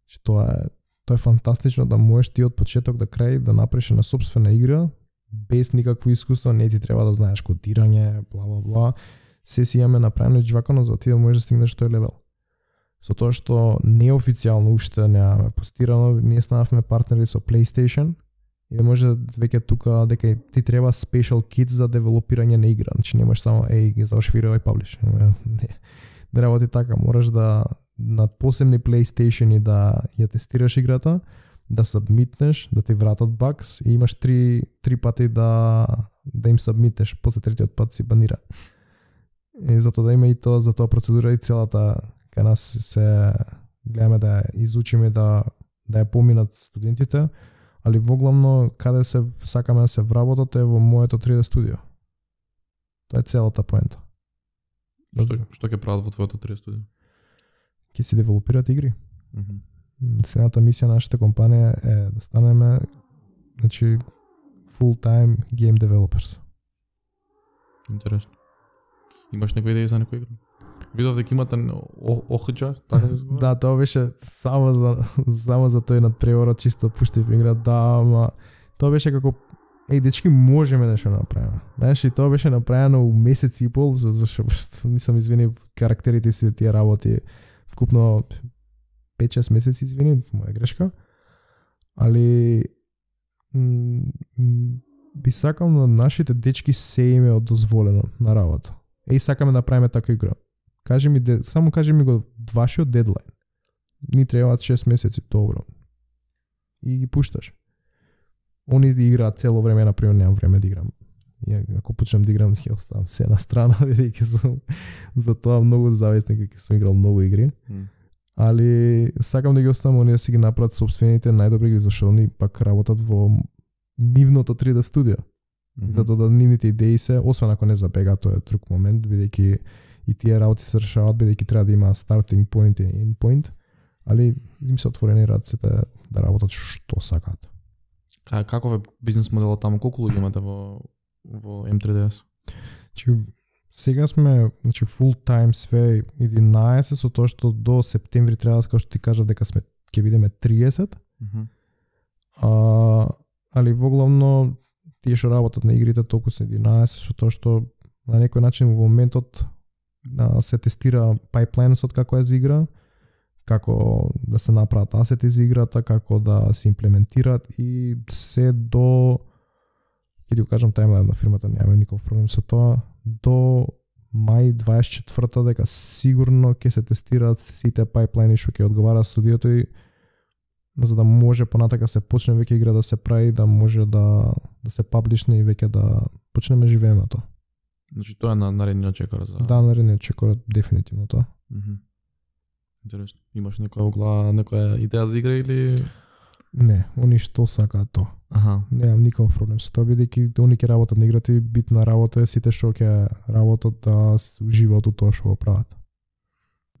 Значи тоа е фантастично да можеш ти од почеток до крај да направиш на сопствена игра без никакво искуство, не ти треба да знаеш кодирање, бла бла бла. Се си имаме направено џвакано за ти да можеш да стигнеш тој левел. Со тоа што неофицијално уште немаме постирано, ние станавме партнери со PlayStation и да може веќе тука дека ти треба special kit за девелопирање на игра. Значи немаш само ги заврши игра и паблиш. Не работи така, мораш да на посебни PlayStation и да ја тестираш играта, да сабмитнеш, да ти вратат багс и имаш три пати да им сабмитнеш, после третиот пат си банира. И затоа да има и тоа, за тоа процедура и целата кај нас се гледаме да изучиме да ја поминат студентите, али воглавно каде се сакаме да се вработат е во моето 3D студио. Тоа е целата поента. Што ќе прават во твоето 3D студио? Ќе си девелопират игри. Следната мисија на нашата компанија е да станеме full-time game developers. Интересно. Имаш некоја идеја за некоја игра? Видов дека имате ОХД, така се збора? Да, тоа беше само за тој надпреворот, чисто пуштив игра, да, ама тоа беше како дечки, можеме нешто да направиме. Знаеш, и тоа беше направено у месец и пол, зашто нисам извини карактерите си тие работи вкупно 5-6 месеци, извини, моја грешка. Али би сакал на нашите дечки се им е одозволено на работа. Сакаме да правиме така игра. Само кажи ми го вашиот дедлайн. Ни требаат 6 месеци, добро. И ги пушташ. Они играат цело време, например, немам време да играм. И ако почнам да играм, ќе оставам се на страна, бидејќи сум за тоа многу зависник, дека сум играл многу игри. Али сакам да ги оставам они да си ги направат собствените најдобри игри, зашто они пак работат во нивното 3D студио. Затоа да нивните идеи се, освен ако не забега, тоа е друг момент, бидејќи и тие работи се решаваат, бидејќи треба да има starting point и end point, али им се отворени рацете да работат што сакаат. Каков е бизнес моделот таму? Колку луѓе имате во M3DS? Сега сме full time све 11, со тоа што до септември треба, како што ти кажав, дека ќе бидеме 30. Али воглавно тие што работат на игрите толку се 11 со тоа што на некој начин во моментот се тестира пайплайнсот како е за игра, како да се направат асети за играта, како да се имплементираат и се до, ќе ти го кажам таймлайн на фирмата, нямаме никаков проблем со тоа, до мај 24-та дека сигурно ќе се тестираат сите пайплайни што ќе одговара студиото и за да може понатака се почне веќе игра да се прави, да може да се паблишне и веќе да почнеме живееме тоа. Значи тоа е на наредниот чекор за... Да, наредниот чекор дефинитивно тоа. Интересно. Имаш некоја идеја за игра или... Не, они што сакаат тоа. Немам никаков проблем со тоа, бидејќи они ќе работат на играта и битна работа е сите што ќе работат да уживаат од тоа што го прават.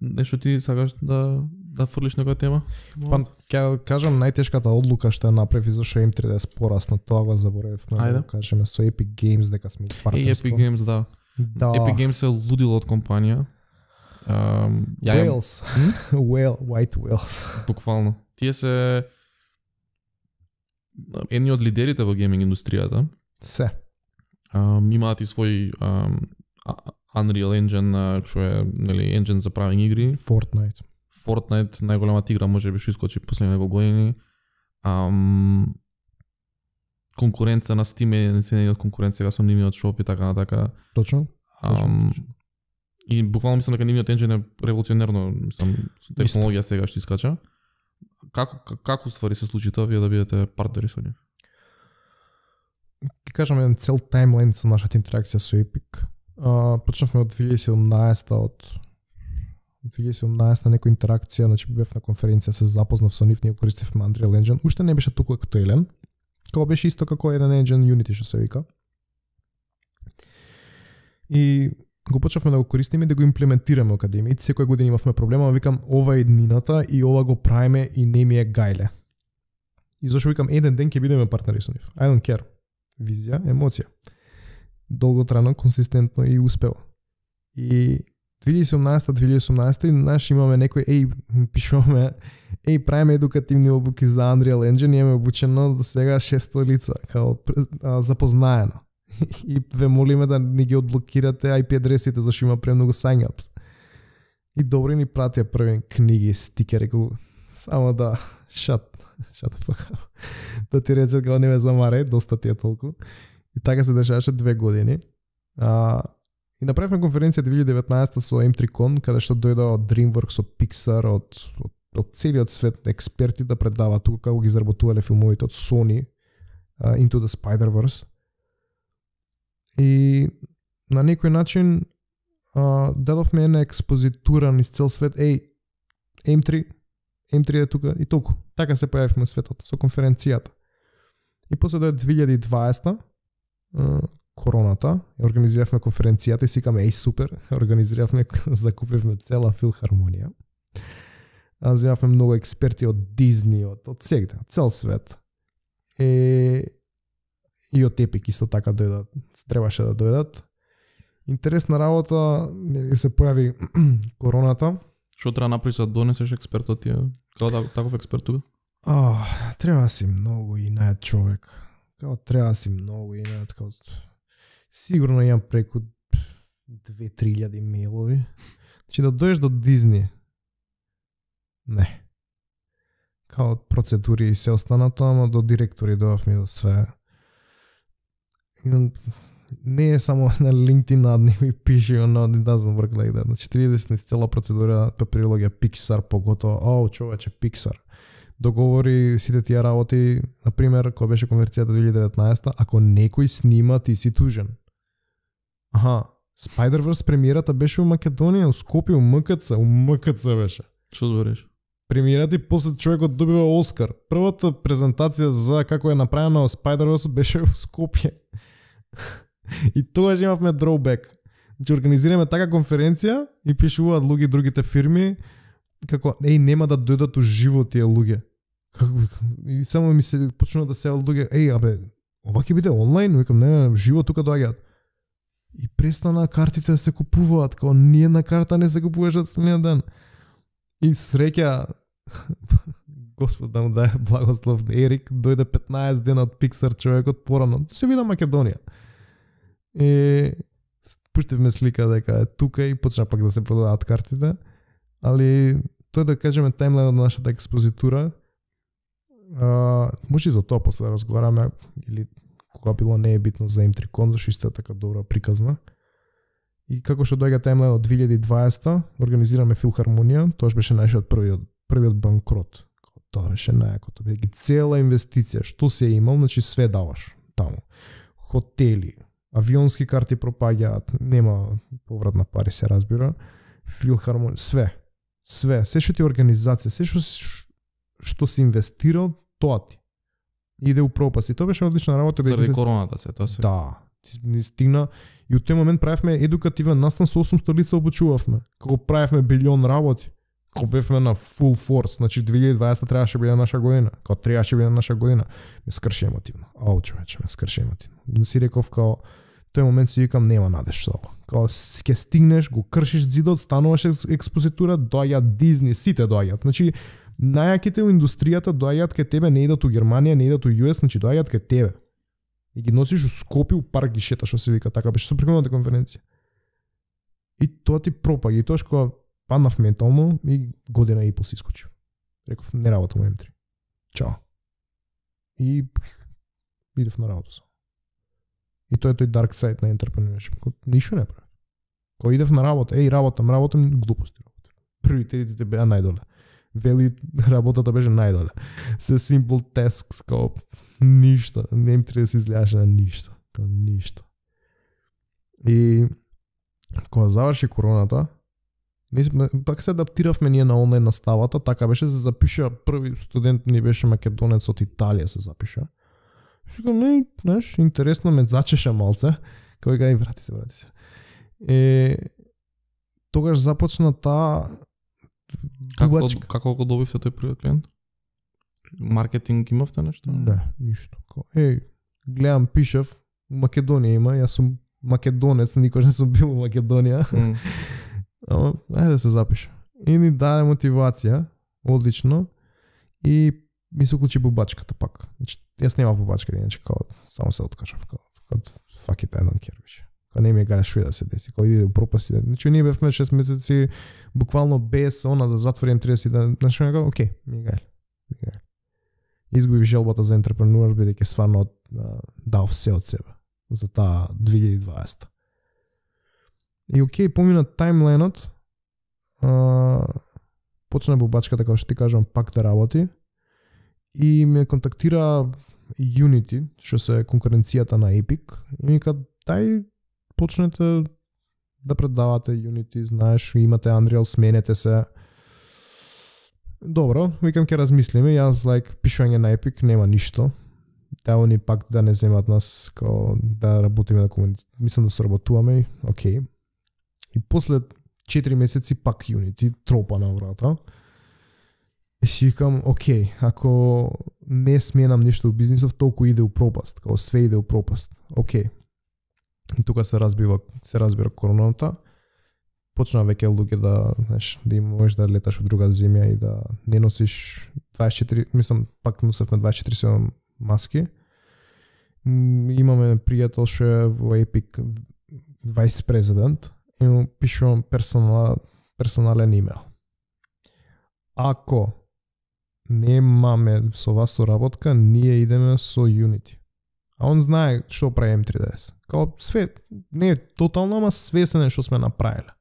Нешто ти сакаш да фрлиш некоја тема? Па ќе кажам најтешката одлука што ја направив и зашто М3 да е спорасно, тоа го заборавив. Да кажеме со Epic Games дека сме партнерство. Epic Games, да. Epic Games е лудило од компанија. Whales. White whales. Буквално. Тие се едни од лидерите во гейминг индустријата. Се. Имаат и свој Unreal Engine, што е, нели, engine за правење игри. Fortnite, најголемата игра можеби што искочи последните неколку години. Конкуренција на Steam е не од конкуренција со нивниот шоп и така натака. Точно. И буквално мислам дека нивниот engine е револуционерно, мислам, со технологија сега што искача. Како ствари се случи тоа вие да бидете партнери со нив? Ќе кажам еден цел таймлайн со нашата интеракција со Epic. Почнавме од 2017 на некоја интеракција, значи бев на конференција, се запознав со нив, ние користевме Unreal Engine. Уште не беше толку актуелен. Кога беше исто како еден engine Unity што се вика. И го почнавме да го користиме и да го имплементираме во академијата. Секоја година имавме проблема, викам ова е еднината и ова го правиме и не ми е гајле. И зашто викам еден ден ќе бидеме партнери со нив. I don't care. Визија, емоција. Долготрано, консистентно и успева. И 2018 наш имаме некој пишуваме правиме едукативни обуки за Unreal Engine и имаме обучено до сега 600 лица као запознаено. И ве молиме да ни ги одблокирате IP адресите зашто има премногу sign-ups. И добро ни пратија први книги, стикери, само да shut the fuck up. Да ти речат као не ме замарај, доста ти е толку. И така се дешаваше 2 години. И направивме конференција 2019 со M3Con, каде што дојдоа од DreamWorks, од Pixar, од целиот свет експерти да предаваат тука како ги изработувале филмовите од Sony, Into the Spider-Verse. И на некој начин дадовме една експозитура низ цел свет. M3 е тука и толку. Така се појавивме во светот со конференцијата. И после дојде 2020 короната, организиравме конференцијата и сикаме супер, организиравме, закупивме цела филхармонија. Земавме многу експерти од Дизни, од сегде, од цел свет. И од Epic исто така дојдат, требаше да дојдат. Интересна работа, се појави короната. Што треба направиш да донесеш експерт од тие? Како таков експерт тука? Треба си многу инат човек. Треба си многу инат. Сигурно имам преку 2-3 мејлови. Значи да дојдеш до Дизни. Не. Као процедури и се останато, ама до директори дојавме до све. Не е само на LinkedIn надни и пише it doesn't work like that. Значи 30 цела процедура папирологија Pixar поготово. Човече Pixar. Договори сите тие работи, например, кога беше конверцијата 2019, ако некој снима, ти си тужен. Spider-Verse премиерата беше у Македонија, у Скопје, у МКЦ беше. Што збориш? Премиерата и после човекот добива Оскар. Првата презентација за како е направено Spider-Verse беше у Скопје. И тогаш имавме drawback. Значи организираме така конференција и пишуваат луѓе другите фирми како нема да дојдат уживо тие луѓе. И само ми се почнува да се луѓе, ова ќе биде онлайн, викам не, живо тука доаѓаат. И престана картите да се купуваат, како ниедна карта не се купуваше од следниот ден. И среќа Господ да му даде благослов, Ерик дојде 15 дена од Pixar човекот порано. Се вида Македонија. Пуштивме слика дека е тука и почна пак да се продаваат картите, али тој да кажеме таймлайн од нашата експозитура, може и за тоа после да разговараме, или кога било не е битно за М3Кон, зашто исто е така добра приказна. И како што доаѓа таймлайн од 2020, организираме Филхармонија, тоа беше нашиот првиот банкрот. Тоа беше најакото, бидејќи цела инвестиција, што се имал, значи све даваш таму. Хотели, авионски карти пропаѓаат, нема поврат на пари, се разбира. Филхармонија, све, се што ти е организација, се што си инвестирал, тоа ти иде у пропаст. И тоа беше одлична работа. Заради короната се, тоа се. Да, ни стигна. И од тој момент правевме едукативен настан со 800 лица обучувавме. Како правевме билион работи. Како бевме на full force, значи 2020 требаше биде наша година. Како требаше биде наша година. Ме скрши емотивно. Ау, човече, ме скрши емотивно. Не си реков као тој момент си викам нема надеж со ова. Као ќе стигнеш, го кршиш зидот, стануваш експозитура, доаѓаат Дизни, сите доаѓаат. Значи најаките во индустријата доаѓаат кај тебе, не идат у Германија, не идат у US, значи доаѓаат кај тебе. И ги носиш у Скопје, у парк ги шеташ, што се вика, така беше со прекомната конференција. И тоа ти пропаѓа, и тоа што паднав ментално и година и пол си искочив. Реков, не работам у М3. Чао. И идев на работа сам. И тоа е тој dark side на entrepreneurship. Ништо не правам. Кога идев на работа, работам, глупости работам. Приоритетите беа најдоле. Вели работата беше најдоле. Се simple tasks, као ништо. Не им треба да се изгледаше на ништо. Као ништо. И кога заврши короната, пак се адаптиравме ние на онлайн наставата, така беше, се запиша, први студент ни беше македонец од Италија се запиша. Викам, знаеш, интересно ме зачеша малце. Кај гај, врати се. Тогаш започна таа Како го добивте тој првиот клиент? Маркетинг имавте нешто? Не, ништо. Гледам, пишав, у Македонија има, јас сум македонец, никош не сум бил у Македонија. Ама, ајде да се запиша. И ни даде мотивација, одлично, и ми се уклучи бубачката пак. Значи, јас нема бубачка, иначе као само се откажав, као fuck it, I don't care више. Као не ми е галя шо да се деси, као иде у пропаст. Значи, ние бевме 6 месеци буквално без она да затворим 30 дена. Значи, као, окей, ми е галя. Изгубив желбата за ентрепренуар, бидејќи стварно дав се од себе за таа 2020. И окей, помина таймлайнот, почна бубачката, како што ти кажам, пак да работи и ме контактира Unity, што се конкуренцијата на Epic, и ми кажа, дај почнете да предавате Unity, знаеш, имате Unreal, сменете се. Добро, викам ќе размислиме, јас пишување на Epic нема ништо. Да они пак да не земат нас као да работиме на комуниција. Мислам да соработуваме, окей. И после 4 месеци пак Unity тропа на врата. И си викам, окей, ако не сменам ништо у бизнисов, толку иде у пропаст, као све иде у пропаст. Окей. И тука се разбира короната. Почна веќе луѓе да, знаеш, да им можеш да леташ од друга земја и да не носиш 24, мислам, пак носевме 24/7 маски. Имаме пријател што е во Epic vice president и му пишувам персонален имейл. Ако немаме со вас соработка, ние идеме со Unity. А он знае што прави M3DS. Као све, не е тотално, ама свесен што сме направиле.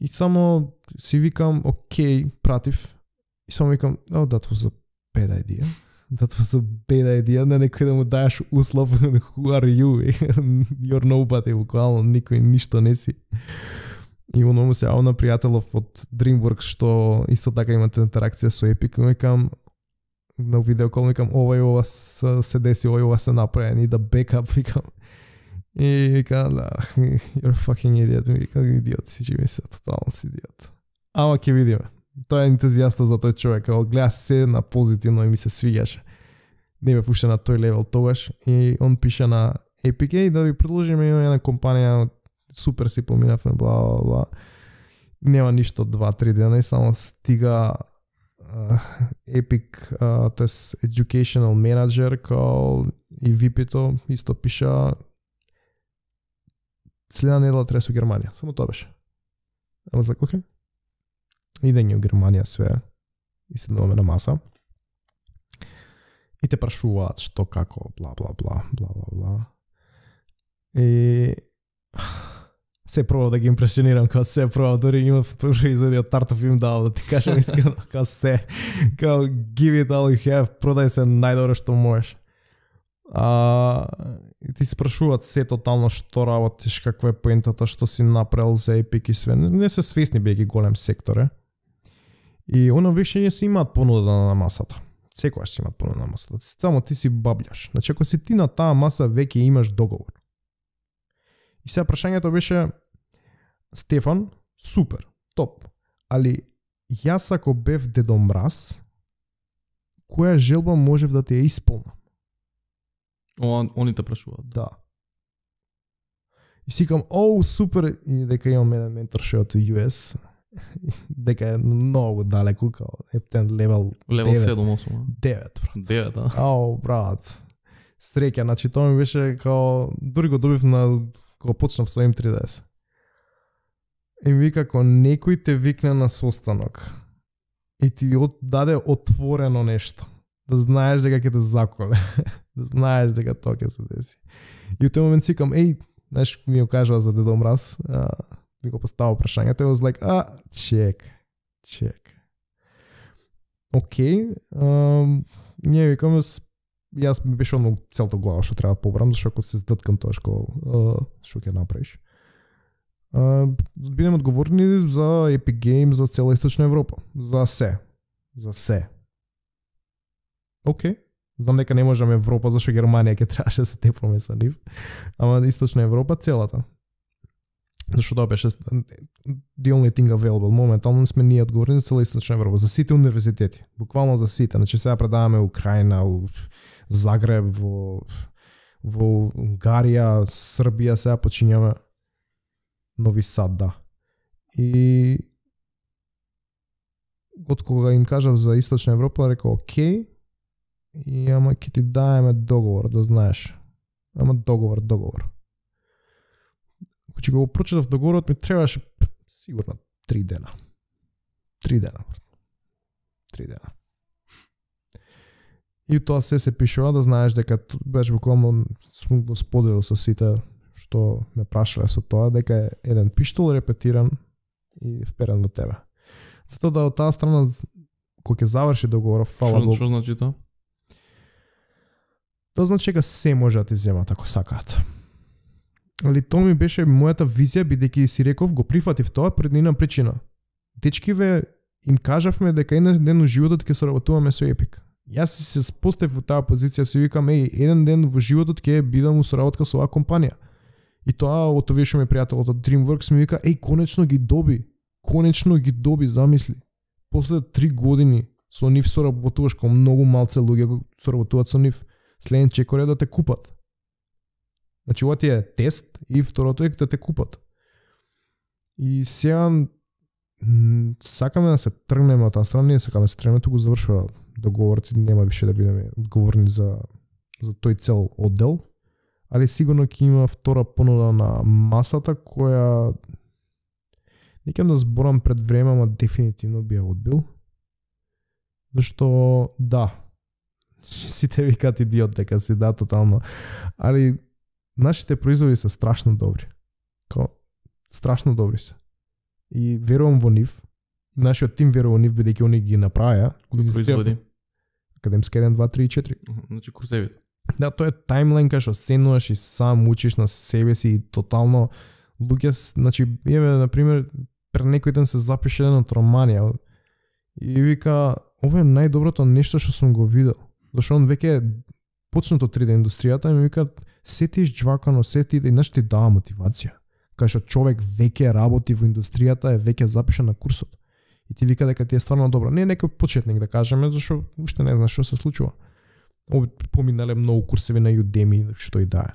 И само си викам, окей, пратив. И само викам, oh, that was a bad idea. That was a bad idea. На некој да му даеш услов, who are you? You're nobody, буквално, никој ништо не си. И оно му се јавил на пријателов од DreamWorks, што исто така имате интеракција со Epic. Викам, на видеокол, викам, ова се деси, ова се направи, и да бекап, викам. И викам, you're fucking idiot, викам, идиот си, че ми се, тотално си идиот. Ама ќе видиме. Тој е ентузијаста за тој човек, као гледа се на позитивно и ми се свиѓаше. Не ме пушта на тој левел тогаш и он пише на Epic и да ви предложиме една компанија, супер си поминавме, бла. Нема ништо 2-3 дена и само стига Epic, тоест Educational Manager, као и VP-то исто пиша следна недела треба со Германија. Само тоа беше. I was like, okay. Идење у Германија све. И седнуваме на маса. И те прашуваат што, како, бла, бла, бла, бла, бла, бла. И се пробав да ги импресионирам, као се пробав, дори имав производи од тартов им дал, да ти кажам искрено, као се, као give it all you have, продај се најдобро што можеш. Ти се спрашуваат се тотално што работиш, каква е поентата, што си направил за Epic и све. Не се свесни бејќи голем сектор, И оно веќе си имаат понуда на масата. Секогаш си имаат понуда на масата. Само ти си бабљаш. Значи, ако си ти на таа маса, веќе имаш договор. И сега прашањето беше, Стефан, супер, топ, али јас ако бев Дедо Мраз, која желба можев да те ја исполнам? Они те прашуваат. Да. И си кам, супер, и дека имам еден ментор што е од US, дека е многу далеку, као ептен левел 7-8. 9, брат. 9, брат. Среќа, значи тоа ми беше као, дури го добив на, кога почнав со M3DS. И ми вика, ако некој те викне на состанок и ти даде отворено нешто, да знаеш дека ќе те заколе, да знаеш дека тоа ќе се деси. И у тој момент си кам, знаеш, ми го кажува за Дедо Мраз, ми го поставил прашањето, и was like, чек. Окей, ние викаме, јас ми беше одно целото глава што треба да побрам, зашто ако се здъткам тоа што ќе направиш. Бидем одговорни за Epic Games, за цела Источна Европа. За се. Окей. Знам дека не можеме Европа, зашто Германија ќе требаше да се тепнеме со нив. Ама Источна Европа целата. Зашто тоа беше the only thing available. Моментално сме ние одговорни за цела Источна Европа, за сите универзитети. Буквално за сите. Значи сега предаваме Украина, у Загреб, во Унгарија, Србија, сега почињаме Нови Сад, да. И од кога им кажав за Источна Европа, рекол окей, и ама ќе ти даеме договор, да знаеш. Ама договор. Кога го прочитав договорот, ми требаше сигурно 3 дена. 3 дена. И тоа се пишува, да знаеш дека беше буквално сум го споделил со сите што ме прашале со тоа, дека е еден пиштол репетиран и вперен во тебе. Затоа да од таа страна, кога ќе заврши договорот, фала Богу. Што значи тоа? Тоа значи дека се може да ти земат ако сакаат. Али тоа ми беше мојата визија, бидејќи си реков, го прифатив тоа пред една причина. Дечкиве им кажавме дека еден ден во животот ќе соработуваме со Epic. Јас се поставив во таа позиција, си викам, еден ден во животот ќе бидам у соработка со оваа компанија. И тоа од овие што ми пријателот од DreamWorks ми вика, конечно ги доби, замисли. После 3 години со нив соработуваш, кога многу малце луѓе го соработуваат со нив, следен чекор е да те купат. Значи ова ти е тест и второто е да те купат. И сега сакаме да се тргнеме од таа страна, ние сакаме да се тргнеме, туку завршува договорот и нема више да бидеме одговорни за тој цел оддел, али сигурно ќе има втора понуда на масата која не ќе да зборам пред време, ама дефинитивно би ја одбил. Зашто да, сите викаат идиот дека си да тотално, али нашите производи се страшно добри. Страшно добри се. И верувам во нив. Нашиот тим верува во нив, бидејќи они ги направија. Производи? Академски 1, 2, 3 и 4. Значи курсевите. Да, тоа е таймлайн кај што седнуваш и сам учиш на себе си и тотално луѓе, значи, на пример, пред некој ден се запише еден од Романија и вика, ова е најдоброто нешто што сум го видел. Зашто он веќе почнато 3D индустријата и ми вика, се ти изџвакано, се ти, и нешто ти дава мотивација. Кај што човек веќе работи во индустријата, е веќе запишан на курсот. И ти вика дека ти е стварно добро. Не е некој почетник да кажеме, зашто уште не знаеш што се случува. Поминале многу курсеви на Udemy, што и да е.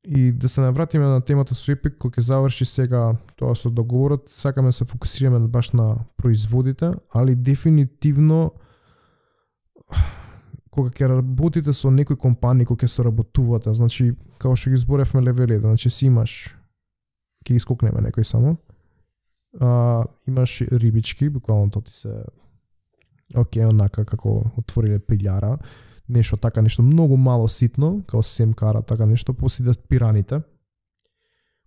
И да се навратиме на темата со Epic, кој ќе заврши сега тоа со договорот, сакаме да се фокусираме баш на производите, али дефинитивно кога ќе работите со некои компании, кога ќе соработувате, значи како што ги зборевме левелите, значи си имаш, ќе ги скокнеме некој само, имаш рибички, буквално тоа ти се онака како отвориле пилјара, нешто така, нешто многу мало ситно, као семкара, така нешто, после идат пираните.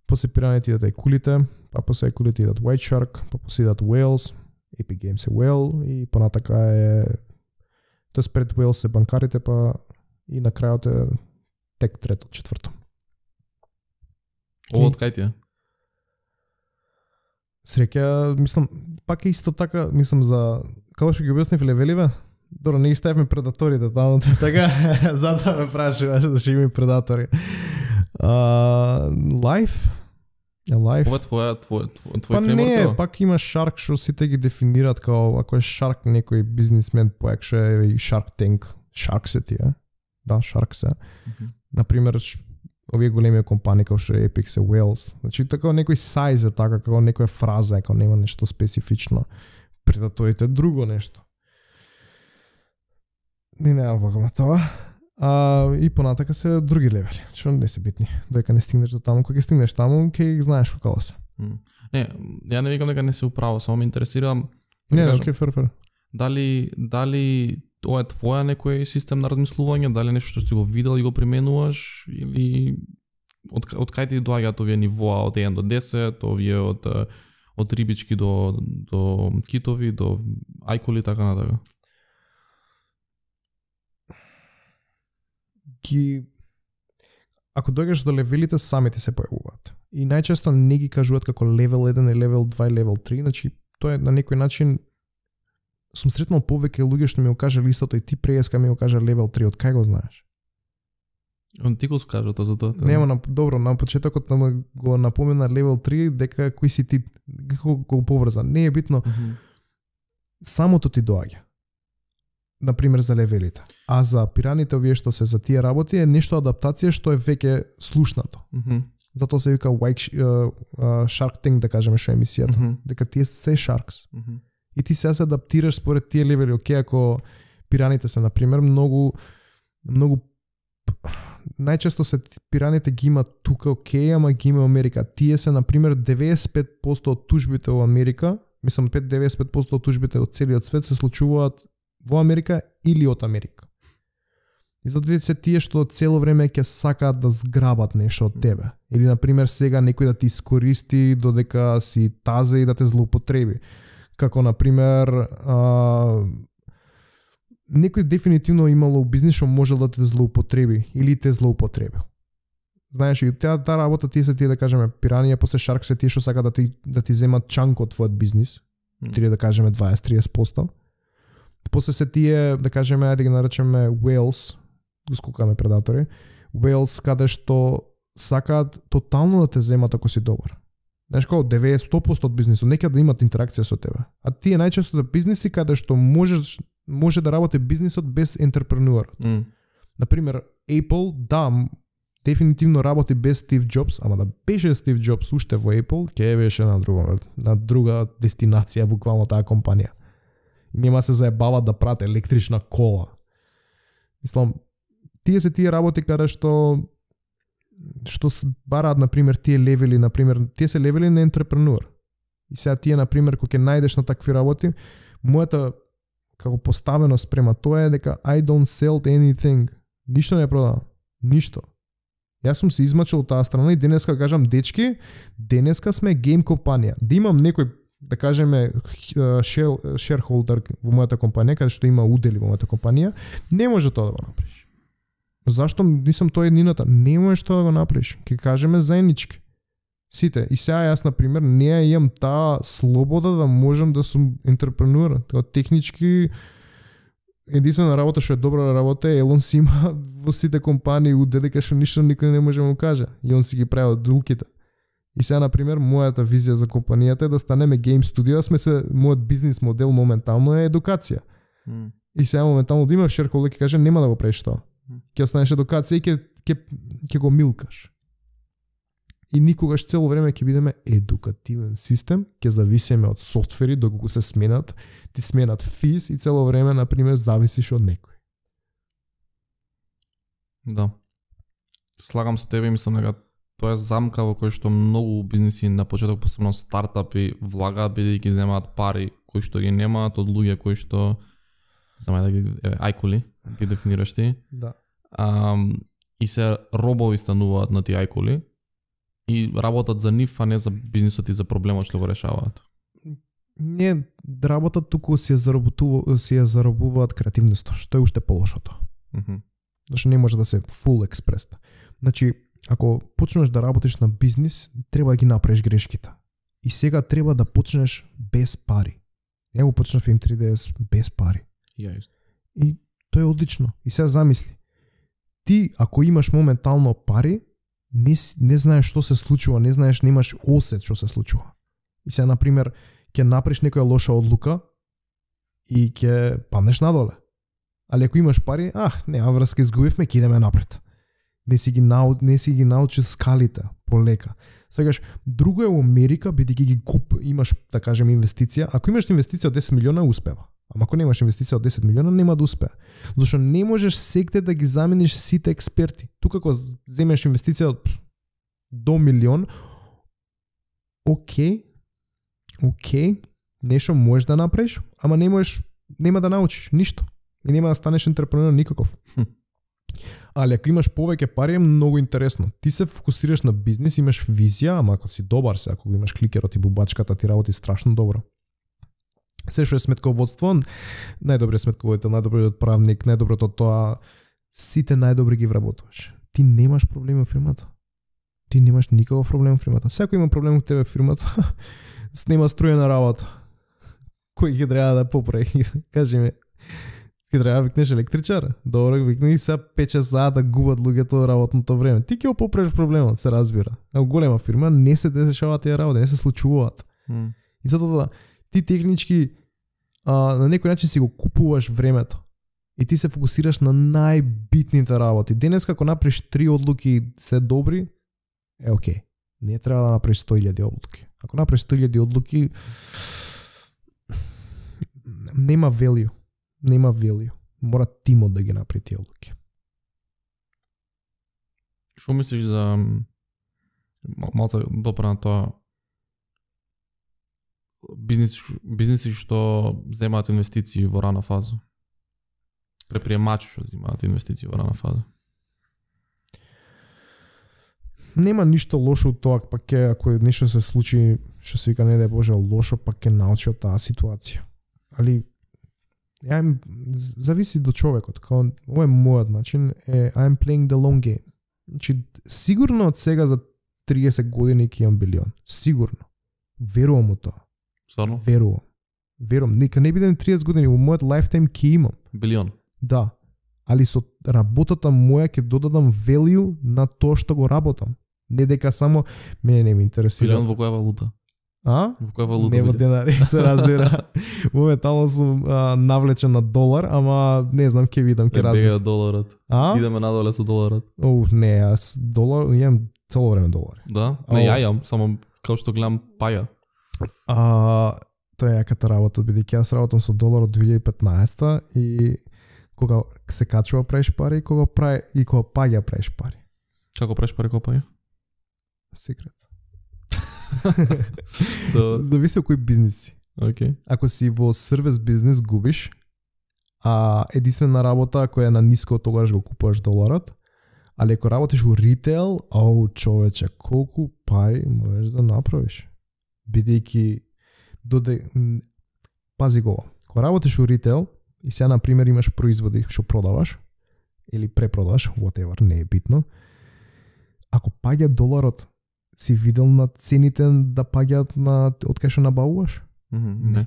После пираните идат ајкулите, па после ајкулите идат White Shark, па после идат Whales, Epic Games е Whale и понатака е тоест пред Whales се банкарите, па и на крајот е тек трето, четврто. Ово од кај ти е? Среќа, мислам, пак е исто така, мислам за како што ги објаснив левеливе. Добро, не ги ставивме предаторите таму, така, затоа ме прашуваш да ќе има и предатори. Life? Ова е твој фреймворк? Не, пак има Shark, што сите ги дефинираат као, ако е Shark некој бизнисмен поек, што е и Shark Tank. Shark се тие. Да, Shark се. Например, овие големи компании како што е Epic се Whales. Значи, така некој size е така, како некоја фраза, како нема нешто специфично. Предаторите друго нешто. Не влагам на тоа. И понатака се други левели, што не се битни. Додека не стигнеш до таму, кога ќе стигнеш таму, ќе знаеш како се. Не, ја не викам дека не се управо, само ме интересира. Не, окей, фер. Дали тоа е твоја некој систем на размислување, дали нешто што си го видел и го применуваш, или од кај ти доаѓаат овие нивоа од 1 до 10, овие од рибички до китови, до ајкули, така натака? Ако дојдеш до левелите, самите се појавуваат. И најчесто не ги кажуваат како левел 1 и левел 2 и левел 3, значи тоа е на некој начин сум сретнал повеќе луѓе што ми го кажале истото и ти преска ми го кажа левел 3, од кај го знаеш? Ти го скажа тоа за тоа. Нема, добро, на почетокот го напомена левел 3 дека кој си ти, како го поврза. Не е битно. Самото ти доаѓа. Например за левелите. А за пираните овие што се за тие работи е нешто адаптација што е веќе слушнато. Затоа се вика Shark Tank, да кажеме, што е емисијата. Дека тие се Sharks. И ти се адаптираш според тие левели. Океј, ако пираните се, например, многу најчесто се пираните ги има тука, океј, ама ги има Америка. Тие се, например, 95% од тужбите во Америка, мислам 95% од тужбите од целиот свет се случуваат во Америка или од Америка. И затоа се тие што цело време ќе сакаат да зграбат нешто од тебе. Или, например, сега некој да ти искористи додека си тазе и да те злоупотреби. Како, например, некој дефинитивно имало бизнис што можел да те злоупотреби или те злоупотребил. Знаеш, и таа работа тие се тие, да кажеме, пиранија, после Shark се тие што сака да ти земат чанк од твојот бизнис, тие да кажеме 20-30%. После се тие, да кажеме, ајде ги наречеме Whales, го скукаме предатори, Whales каде што сакаат тотално да те земат ако си добар. Знаеш, како 90% од бизнисот, некаде да имат интеракција со тебе. А тие најчесто бизниси каде што може да работи бизнисот без ентерпренуерот. Например, Apple, да, дефинитивно работи без Стив Джобс, ама да беше Стив Джобс уште во Apple, ќе беше на друга дестинација, буквално таа компанија. И нема се заебават да прате електрична кола. Мислам, тие се тие работи каде што бараат, например, тие левели, например, тие се левели на ентерпренуер. И сега тие, например, кога ќе најдеш на такви работи, мојата како поставеност према тоа е дека I don't sell anything. Ништо не продавам. Ништо. Јас сум се измачил од таа страна и денеска кажам, дечки, денеска сме гейм компанија. Да имам некој, да кажеме, shareholder во мојата компанија, каде што има удели во мојата компанија, не може тоа да го направиш. Зашто нисам тоа еднината? Не можеш тоа да го направиш. Ке кажеме заеднички. Сите. И сега јас, например, не ја имам таа слобода да можам да сум ентерпренуер. Тоа технички единствена работа што е добра работа е Елон си има во сите компании удели кај што ништо никој не може да му каже. И он си ги прави од дулките. И сега, например, мојата визија за компанијата е да станеме гейм студио, мојот бизнис модел моментално е едукација. И сега моментално да имаш шерхолдер ќе каже нема да го правиш тоа. Ќе останеш едукација и ќе го милкаш. И никогаш цело време ќе бидеме едукативен систем, ќе зависиме од софтвери доколку се сменат, ти сменат физ и цело време на пример зависиш од некој. Да. Слагам со тебе и мислам дека тоа е замка во кој што многу бизниси на почеток, посебно стартапи, влагаат бидејќи земаат пари кои што ги немаат од луѓе кои што да ги ајкули, ги дефинираш ти. Да. И се робови стануваат на тие ајкули и работат за нив, а не за бизнисот и за проблемот што го решаваат. Не работат, туку си ја заробуваат креативноста, што е уште полошото. Зашто не може да се full експрес. Значи, ако почнеш да работиш на бизнис, треба да ги направиш грешките. И сега треба да почнеш без пари. Ја го почнав M3DS без пари. И тоа е одлично. И сега замисли. Ти, ако имаш моментално пари, не знаеш што се случува, немаш осет што се случува. И сега, например, ќе направиш некоја лоша одлука и ќе паднеш надоле. Али ако имаш пари, нема врска, изгубивме, ќе идеме напред. Не си ги научи скалите полека. Сегаш, друго е во Америка, бидејќи имаш, да кажем, инвестиција. Ако имаш инвестиција од 10 милиона, успева. Ама ако немаш инвестиција од 10 милиона, нема да успее. Зашто не можеш секте да ги замениш сите експерти. Тука ако земеш инвестиција до милион, окей, нешто можеш да направиш, ама нема да научиш ништо. И нема да станеш ентрепренер никаков. Али ако имаш повеќе пари е многу интересно. Ти се фокусираш на бизнис, имаш визија, ама ако си добар ако имаш кликерот и бубачката, ти работи страшно добро. Се што е сметководство, најдобриот сметководител, најдобриот правник, најдоброто тоа, сите најдобри ги вработуваш. Ти немаш проблеми во фирмата. Ти немаш никаков проблем во фирмата. Секој има проблем во тебе во фирмата, снема струјена работа. Кој ги треба да поправи? Кажи ми. Ти треба да викнеш електричар. Добро, викни и сега 5 сата да губат луѓето работното време. Ти ќе го поправиш проблемот, се разбира. А во голема фирма не се дешаваат тие работи, не се случуваат. И затоа ти технички на некој начин си го купуваш времето. И ти се фокусираш на најбитните работи. Денес како направиш 3 одлуки се добри, окей. Не треба да направиш 100.000 одлуки. Ако направиш 100.000 одлуки, нема value. Нема value. Мора тимот да ги направи тие одлуки. Што мислиш за малце допра на тоа бизниси што земаат инвестиции во рана фаза? Предприемачи што земаат инвестиции во рана фаза? Нема ништо лошо од тоа, пак ако нешто се случи, што се вика не дај Боже лошо, пак ќе научи од таа ситуација. Али зависи до човекот. Као ова е мојот начин, I'm playing the long game. Значи сигурно од сега за 30 години ќе имам билион. Сигурно. Верувам во тоа. Стварно? Верувам. Нека не бидем 30 години, во мојот лайфтайм ќе имам билион. Да. Али со работата моја ќе додадам value на тоа што го работам. Не дека само мене не ме интересира. Билион во која валута? Во која валута? Не во денари, се разбира. Моментално сум навлечен на долар, ама не знам, ќе видам, ќе разбирам. Бега доларот. Идеме надоле со доларот. Не, јас долар, имам цело време долари. Да? Не, ја имам, само као што гледам паја. Тоа е јаката работа, бидејќи јас работам со долар од 2015 и кога се качува правиш пари, кога паѓа правиш пари. Како правиш пари, кога паѓа? Секрет. Зависи од кој бизнис си. Okay. Ако си во сервис бизнес губиш, а единствена работа која е на ниско, тогаш го купуваш доларот, али ако работиш во ритейл, човече, колку пари можеш да направиш? Бидејќи пази го, кога работиш во ритейл и сега на пример имаш производи што продаваш или препродаваш, whatever, не е битно. Ако паѓа доларот, си видел на цените да паѓаат на од кај што набавуваш? Не.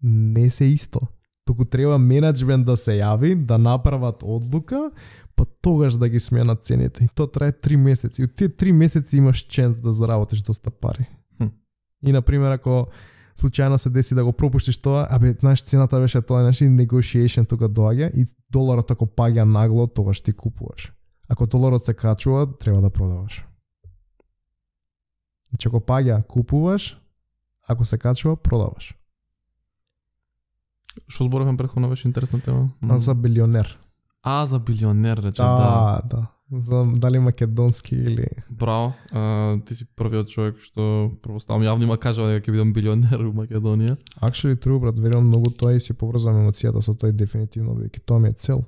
Не се исто. Туку треба менаџмент да се јави, да направат одлука, па тогаш да ги сменат цените. И тоа трае 3 месеци. И од тие 3 месеци имаш шанс да заработиш доста пари. И на пример ако случајно се деси да го пропуштиш тоа, знаеш цената беше тоа, значи negotiation тука доаѓа и доларот ако паѓа нагло, тогаш ти купуваш. Ако доларот се качува, треба да продаваш. Значи ако паѓа купуваш, ако се качува продаваш. Што зборавме претходно, беше интересна тема. За билионер. За билионер, рече, да. За дали македонски или... Браво, ти си првиот човек што претпоставам јавно има кажува дека ќе бидам билионер во Македонија. Actually true, брат, верувам многу тоа и си поврзувам емоцијата со тоа дефинитивно, веќе тоа ми е цел.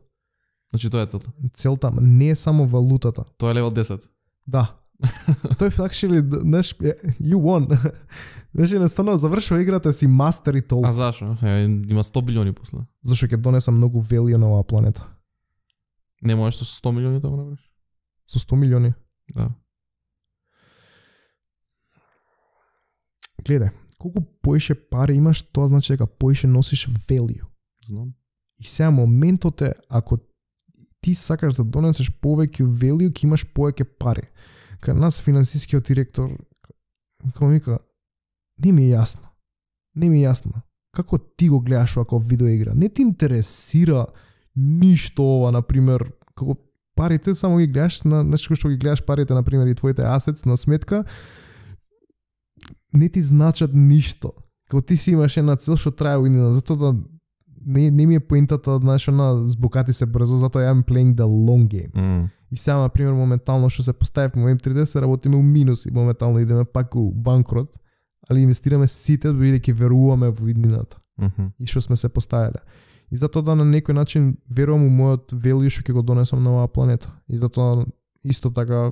Значи тоа е целта. Целта не е само валутата. Тоа е левел 10. Да. Тој actually, знаеш, you won. Значи настанува завршува играта си мастер и толку. Зашо? Има 100 билиони после. Зашо ќе донеса многу value на оваа планета. Не можеш со 100 милиони да го направиш? Со 100 милиони? Да. Гледај, колку поише пари имаш, тоа значи дека поише носиш value. Знам. И сега моментот е, ако ти сакаш да донесеш повеќе value, ќе имаш повеќе пари. Кај нас финансискиот директор, како вика, не ми е јасно. Како ти го гледаш ако видеоигра? Не ти интересира ништо ова, например, како парите само ги гледаш на нешто што ги гледаш парите, например, и твоите асетс на сметка, не ти значат ништо. Како ти си имаш една цел што трае година, затоа да не ми е поентата, знаеш, на збокати се брзо, затоа I'm playing the long game. И сега, например, моментално што се постави во M3D, се работиме у минус и моментално идеме пак у банкрот, али инвестираме сите бидејќи веруваме во иднината. И што сме се поставиле. И затоа да на некој начин верувам у мојот value што ќе го донесам на оваа планета. И затоа исто така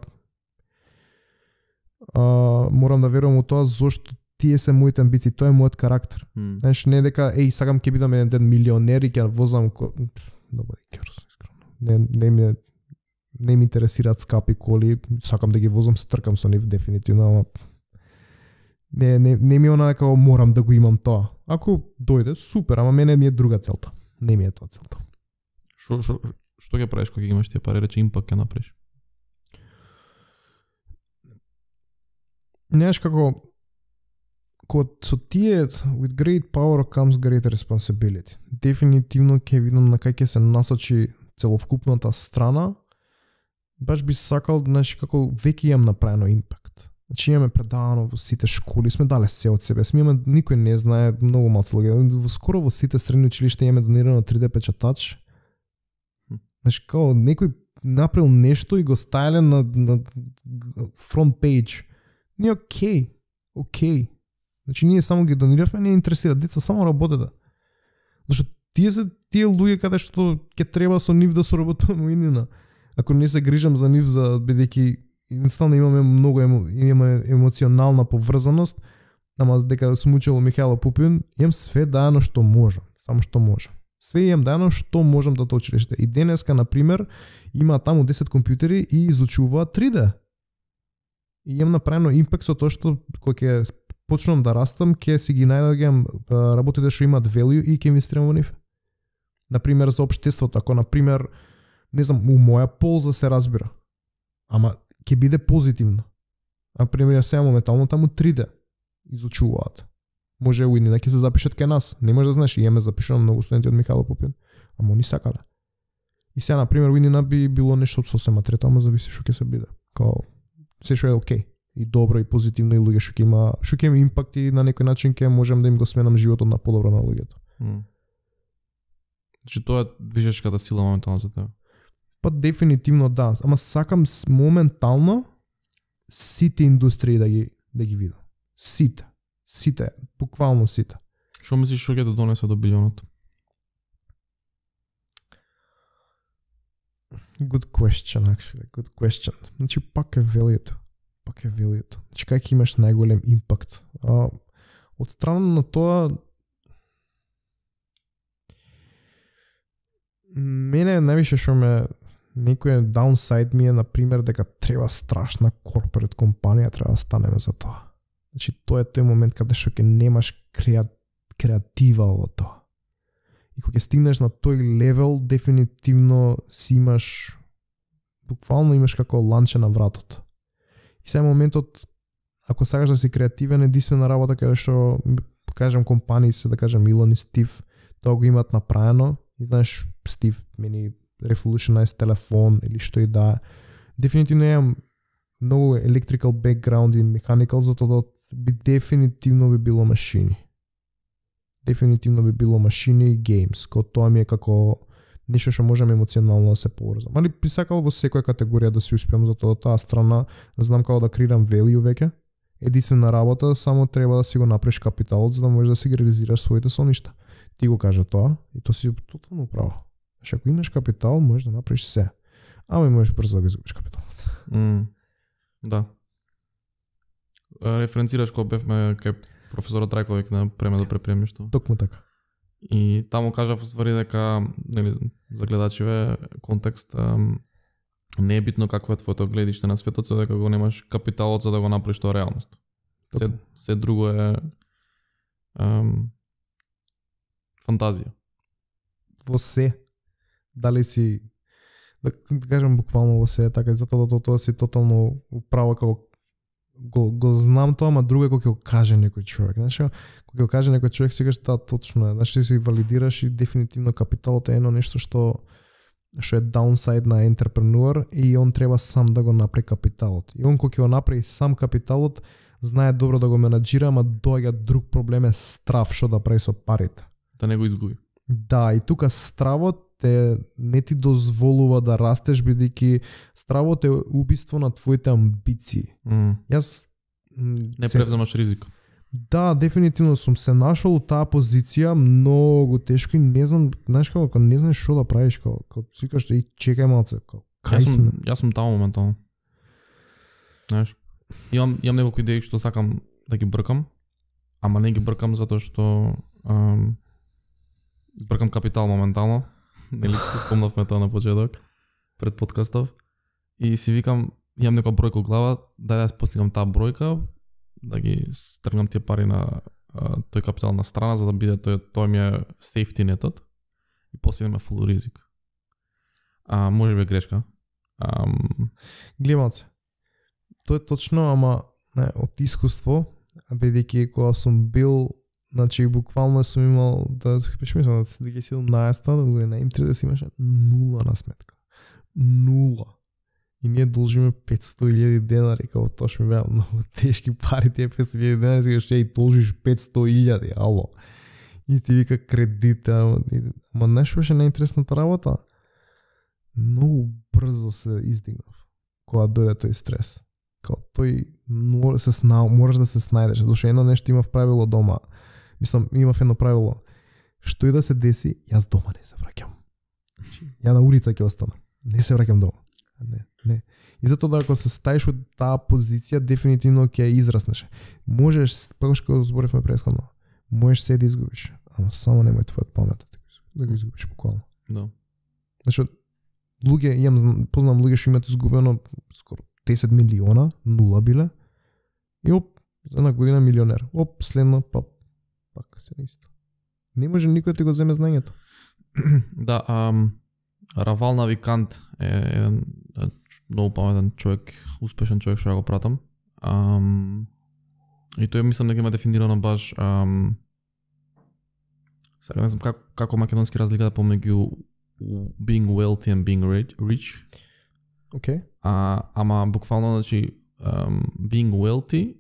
морам да верувам у тоа зошто тие се моите амбиции, тоа е мојот карактер. Знаеш, не дека сакам ќе бидам еден ден милионер и ќе возам добар керос, искрено. Не ми интересираат скапи коли, сакам да ги возам, се тркам со нив дефинитивно, ама не ми е она дека морам да го имам тоа. Ако дојде, супер, ама мене ми е друга целта. Не ми е тоа целта. Што ќе правиш кога имаш тие пари, рече импакт ќе направиш? Знаеш како со тие with great power comes great responsibility. Дефинитивно ќе видам на кај ќе се насочи целокупната страна. Баш би сакал, знаеш, како веќе имам направено импакт. Значи имаме предавано во сите школи, сме дале се од себе. Никој не знае, многу малци луѓе. Скоро во сите средни училишта имаме донирано 3D печатач. Значи како некој направил нешто и го ставиле на фронт пейдж. Не окей. Значи ние само ги дониравме, не интересира деца, само работете. Зашто тие луѓе каде што ќе треба со нив да соработуваме иднина. Ако не се грижам за нив, за бидејќи едноставно имаме емоционална поврзаност, ама дека сум учел Михајло Пупин, имам све дајано што можам, само што можам. Све имам дајано што можам да училиште. И денеска, например, има таму 10 компјутери и изучуваат 3D. И имам направено импакт со тоа што кога ќе почнам да растам, ќе си ги најдоѓам работите што имаат value и ќе инвестирам во нив. Например, за општеството, ако, например, не знам, у моја полза се разбира. Ама ќе биде позитивно. Например, сега моментално таму 3D изучуваат. Може уидни да ќе се запишат кај нас. Не може да знаеш, имаме запишано многу студенти од Михајло Пупин. Ама они сакале. И сега, например, уиднина би било нешто сосема трето, ама зависи што ќе се биде. Као се што е окей. И добро и позитивно и луѓе што ќе има импакт и на некој начин ќе можам да им го сменам животот на подобро на луѓето. Значи тоа е движечката сила моментално за тебе. Па дефинитивно да, ама сакам моментално сите индустрии да ги видам. Сите, буквално сите. Што мислиш што ќе да донесе до билионот? Good question, actually. Good question. Значи пак е value-то. Значи кај ќе имаш најголем импакт? Од страна на тоа, мене највише што некој даунсайд ми е, например, дека треба страшна корпорат компанија, треба да станеме за тоа. Значи тоа е тој момент каде што ќе немаш креатива во тоа. И кога ќе стигнеш на тој левел, дефинитивно си имаш, буквално имаш како ланче на вратот. И сега моментот, ако сакаш да си креативен, единствена работа каде што, кажам, компании се, да кажам, Илон и Стив, тоа го имаат направено. И знаеш, Стив мени revolutionize телефон или што и да. Дефинитивно имам многу electrical background и mechanical, затоа би дефинитивно би било машини. Дефинитивно би било машини и games, кој тоа ми е како нешто што можам емоционално да се поврзам. Али би сакал во секоја категорија да се успеам, затоа таа страна знам како да креирам value веќе. Единствена работа, само треба да си го направиш капиталот за да можеш да си ги реализираш своите соништа. Ти го кажа тоа и тоа си тотално право. Значи ако имаш капитал, можеш да направиш се. Ама и можеш брзо да го изгубиш капиталот. Да. Референцираш кога бевме кај професорот Трајковик на Преме до препремишто. Токму така. И таму кажав ствари дека, нели, за гледачиве контекст, не е битно какво е твоето гледиште на светот, со дека го немаш капиталот за да го направиш тоа реалност. Се друго е фантазија. Во се. Дали си, да кажем буквално во се, така затоа тоа си тотално управо како го знам тоа, ама друго е кога ќе го каже некој човек. Знаеш, кога ќе го каже некој човек, сега што точно е. Значи си валидираш и дефинитивно капиталот е едно нешто што е даунсайд на ентерпренуер и он треба сам да го направи капиталот. И он кога ќе го направи сам капиталот, знае добро да го менаџира, ама доаѓа друг проблем е страв што да прави со парите. Да не го изгуби. Да, и тука стравот не ти дозволува да растеш, бидејќи стравот е убиство на твоите амбиции. Јас не превземаш ризик. Да, дефинитивно сум се нашол у таа позиција многу тешко и не знам, знаеш како не знаеш што да правиш, како викаш и чекај малце, Јас сум таму моментално. Знаеш, имам неколку идеи што сакам да ги бркам, ама не ги бркам затоа што бркам капитал моментално. Нели спомнавме тоа на почеток пред подкастов и си викам имам некоја бројка во глава, да ја постигнам таа бројка, да ги стргнам тие пари на тој капитал на страна за да биде тој ми е safety нетот и после има full ризик. Може би е грешка. Глемаце. Тоа е точно, ама од искуство, бидејќи кога сум бил, значи буквално сум имал мислам да 2017-та година им 30 имаше 0 на сметка. 0. И ние должиме 500.000 денари, како тоа што ми беа многу тешки пари, тие 500.000 денари, сега што ја должиш 500.000, ало. И ти вика кредит, ама нешто беше најинтересната работа. Многу брзо се издигнав кога дојде тој стрес. Као тој мораш да се снајдеш, зашто едно нешто имав правило дома. Мислам, имав едно правило. Што и да се деси, јас дома не се враќам. Ја на улица ќе останам. Не се враќам дома. Не. И затоа ако се стаиш од таа позиција, дефинитивно ќе израснеш. Можеш, како што зборевме претходно, можеш се да изгубиш, ама само немој твојот памет да го изгубиш буквално. Да. Значи, познам луѓе што имаат изгубено скоро 10 милиона, 0 биле, и за една година милионер. Следно, пак се исто. Не може никој да ти го земе знаењето. Да, Равал Навикант е еден многу паметен човек, успешен човек што ја го пратам. И тој мислам дека има дефинирано баш сега не знам како македонски разликата помеѓу being wealthy and being rich. Okay. Ама буквално, значи, being wealthy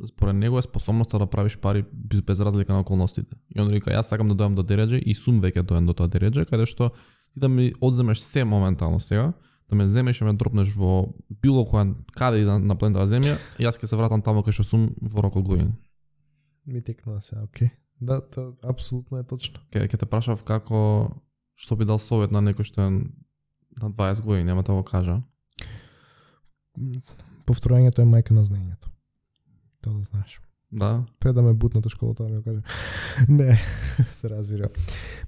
според него е способноста да правиш пари без разлика на околностите. И он река, јас сакам да дојам до дередже и сум веќе дојам до тоа дередже, каде што ти да ми одземеш се моментално сега, да ме земеш и ме дропнеш во било каде и на планетава земја, јас ќе се вратам таму кај што сум во рок од години. Ми текнува се, окей. Да, тоа апсолутно е точно. Ќе те прашав како, што би дал совет на некој што е на 20 години, нема да го кажа. Повторањето е мајка на знаењето. Тоа да знаеш. Да. Пред да ме бутнат од школата, да ми го каже. Не, се разбира.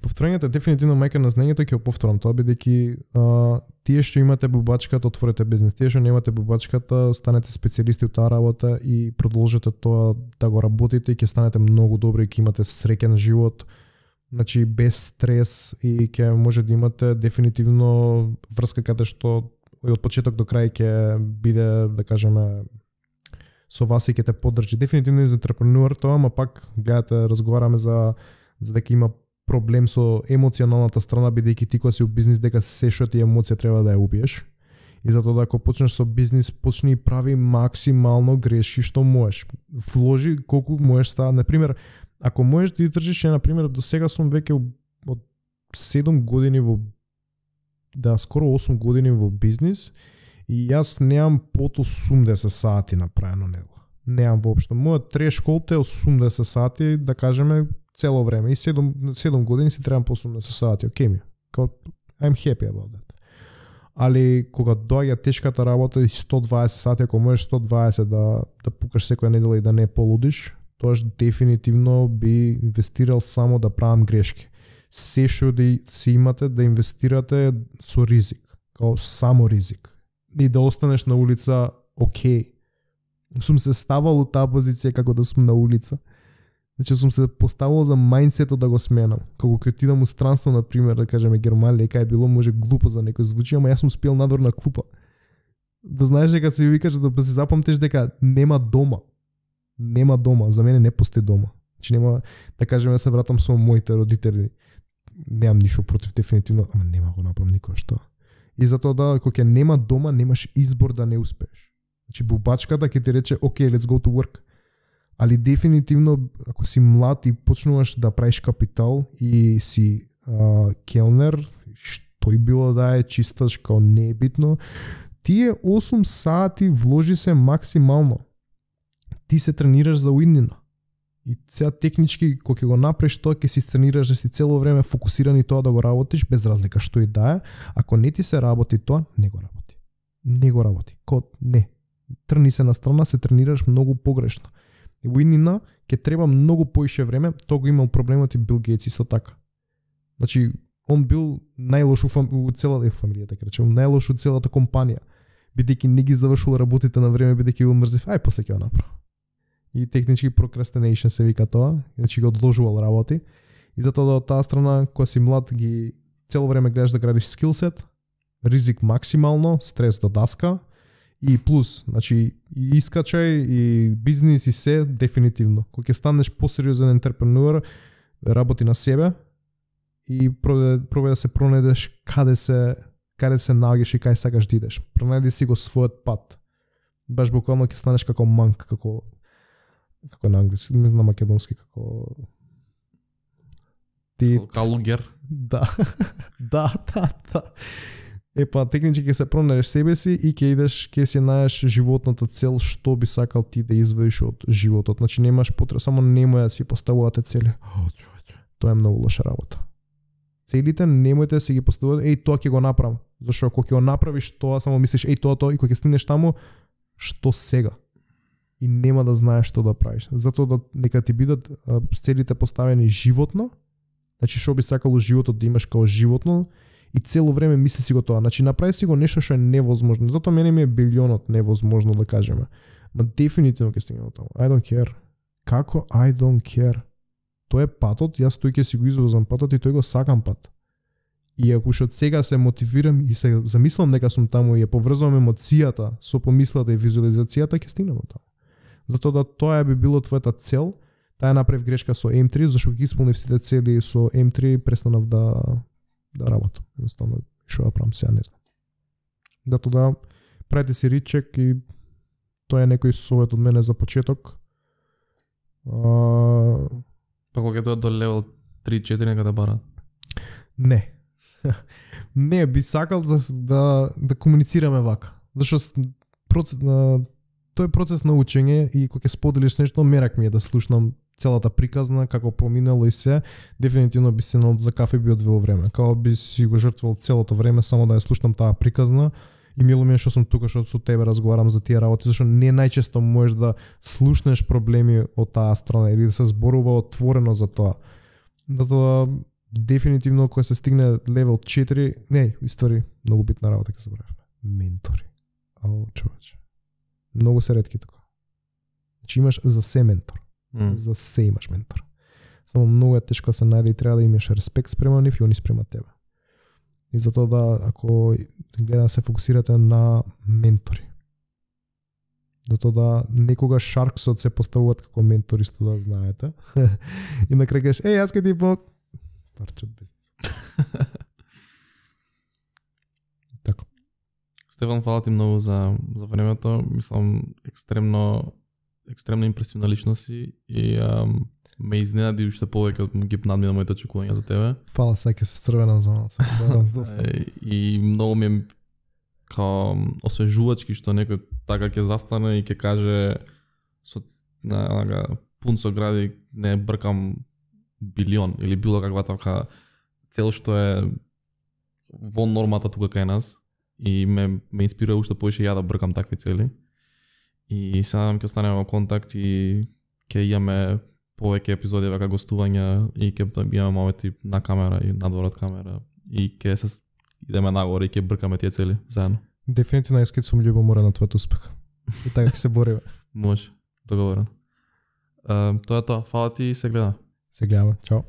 Повторањето е дефинитивно мајка на знаењето, ќе го повторам тоа, бидејќи тие што имате бубачката, отворете бизнес. Тие што немате бубачката, станете специјалисти во таа работа и продолжете тоа да го работите и ќе станете многу добри и ќе имате среќен живот. Значи без стрес и ќе може да имате дефинитивно врска каде што од почеток до крај ќе биде, да кажеме, со вас и ќе те поддржи. Дефинитивно е за ентрепренуер тоа, ама пак гледате, разговараме за дека има проблем со емоционалната страна, бидејќи ти кога си у бизнис дека се што ти емоција треба да ја убиеш. И затоа ако почнеш со бизнис, почни и прави максимално грешки што можеш. Вложи колку можеш става. Например, ако можеш да држиш, например, до сега сум веќе од 7 години скоро 8 години во бизнис и јас немам под 80 сати направено недела. Немам воопшто. Мојот трешколд е 80 сати, да кажеме, цело време. И 7 години си требам по 80 сати. Окей ми. I'm happy about that. Али кога доаѓа тешката работа и 120 сати, ако можеш 120 да пукаш секоја недела и да не полудиш, тоаш дефинитивно би инвестирал само да правам грешки. Се што да си имате да инвестирате со ризик, као само ризик. И да останеш на улица, окей. Сум се ставал у таа позиција како да сум на улица. Значи сум се поставил за мајндсетот да го сменам. Како ќе отидам у странство, на пример, да кажеме Германија, кај било може глупо за некој звучи, ама јас сум спиел надвор на клупа. Да знаеш дека се викаш да се запамтиш дека нема дома. Нема дома, за мене не постои дома. Значи нема, да кажеме, се вратам со моите родители. Немам ништо против дефинитивно, ама нема го направам никој што. И затоа да, кога ќе нема дома, немаш избор да не успееш. Значи бубачката ќе ти рече, окей, let's go to work. Али дефинитивно, ако си млад и почнуваш да правиш капитал и си келнер, што и било да е, чисташ, као не е битно, тие 8 сати вложи се максимално. Ти се тренираш за уиднина. И сега технички, кога ќе го направиш тоа, ќе си тренираш да си цело време фокусиран и тоа да го работиш, без разлика што и да е. Ако не ти се работи тоа, не го работи. Не го работи. Не. Трни се на страна, се тренираш многу погрешно. И уиднина ќе треба многу поише време, тоа го имал проблемот и Бил Гейтс исто така. Значи, он бил најлош у целата фамилија, така речем, најлош у целата компанија, бидејќи не ги завршил работите на време, бидејќи бил мрзив, после ќе го направам. И технички procrastination се вика тоа, значи го одложувал работи. И затоа од таа страна, кога си млад, ги цело време гледаш да градиш скилсет, ризик максимално, стрес до даска, и плюс, значи и искачај, и бизнис, и се, дефинитивно. Кога ќе станеш посериозен ентерпренуер, работи на себе и пробај да се пронедеш каде се наоѓаш и каде сакаш да идеш. Пронајди си го својот пат. Баш буквално ќе станеш како манк, како на англиски, на македонски, како калугер. Да. Да. Технички ќе се пронедеш себе си и ќе идеш, ќе си најдеш животната цел, што би сакал ти да извадиш од животот. Значи немаш потреба, само немој да си поставувате цели. Тоа е многу лоша работа. Целите немојте да си ги поставувате, тоа ќе го направам. Зашто ако ќе го направиш тоа, само мислиш тоа и кога ќе стигнеш таму, што сега? И нема да знаеш што да правиш. Затоа да нека ти бидат целите поставени животно. Значи што би сакало животот да имаш како животно и цело време мисли си го тоа. Значи направи си го нешто што е невозможно. Затоа мене ми е билионот невозможно да кажеме. Ма дефинитивно ќе стигнеме таму. I don't care. Како I don't care? Тоа е патот, јас тој ќе си го извозам патот и тој го сакам пат. И ако што од сега се мотивирам и се замислам дека сум таму и ја поврзувам емоцијата со помислата и визуализацијата, ќе стигнеме таму. Затоа да тоа би било твојата цел, таа направив грешка со M3, зашто ги исполнив сите цели со M3, престанав да работам. Едноставно, што да правам сега, не знам. Затоа да правите си ричек и тоа е некој совет од мене за почеток. Па кога ќе дојдат до левел 3-4 нека да барат? Не. Не, би сакал да комуницираме вака. Зашто тој е процес на учење и кога ќе споделиш нешто, мерак ми е да слушнам целата приказна, како проминало и се, дефинитивно би седнал за кафе би одвел време. Као би си го жртвал целото време само да ја слушнам таа приказна и мило ми е што сум тука, што со тебе разговарам за тие работи, зашто не најчесто можеш да слушнеш проблеми од таа страна или да се зборува отворено за тоа. Затоа дефинитивно кога се стигне левел 4, не, иствари, многу битна работа ќе забравив. Ментори. Човече. Многу се ретки тука. Значи имаш за се ментор. За се имаш ментор. Само многу е тешко да се најде и треба да имаш респект спрема нив и они спрема тебе. И затоа да, ако гледа да се фокусирате на ментори. Затоа да некога Шарксот се поставуваат како ментори, што да знаете. И на крај кажеш, јас ке ти помог. Парче од бизнес. Така. Стефан, фала ти многу за времето. Мислам, екстремно импресивна личност и ме изненади уште повеќе од ги надмина моите очекувања за тебе. Фала, саќе се црвена за малце. И многу ми е као освежувачки што некој така ќе застане и ќе каже пун со гради не бркам билион или било каква така цел што е во нормата тука кај нас и ме инспирира уште повеќе ја да бркам такви цели. И сега ќе останеме во контакт и ќе имаме повеќе епизоди вака гостувања и ќе имаме моменти на камера и надвор од камера и ќе се идеме нагоре и ќе бркаме тие цели заедно. Дефинитивно искам сум љубоморен на твојот успех. И така ќе се бориме. Може, договорен. Тоа е тоа. Фала ти и се гледаме. Се гледаме. Чао.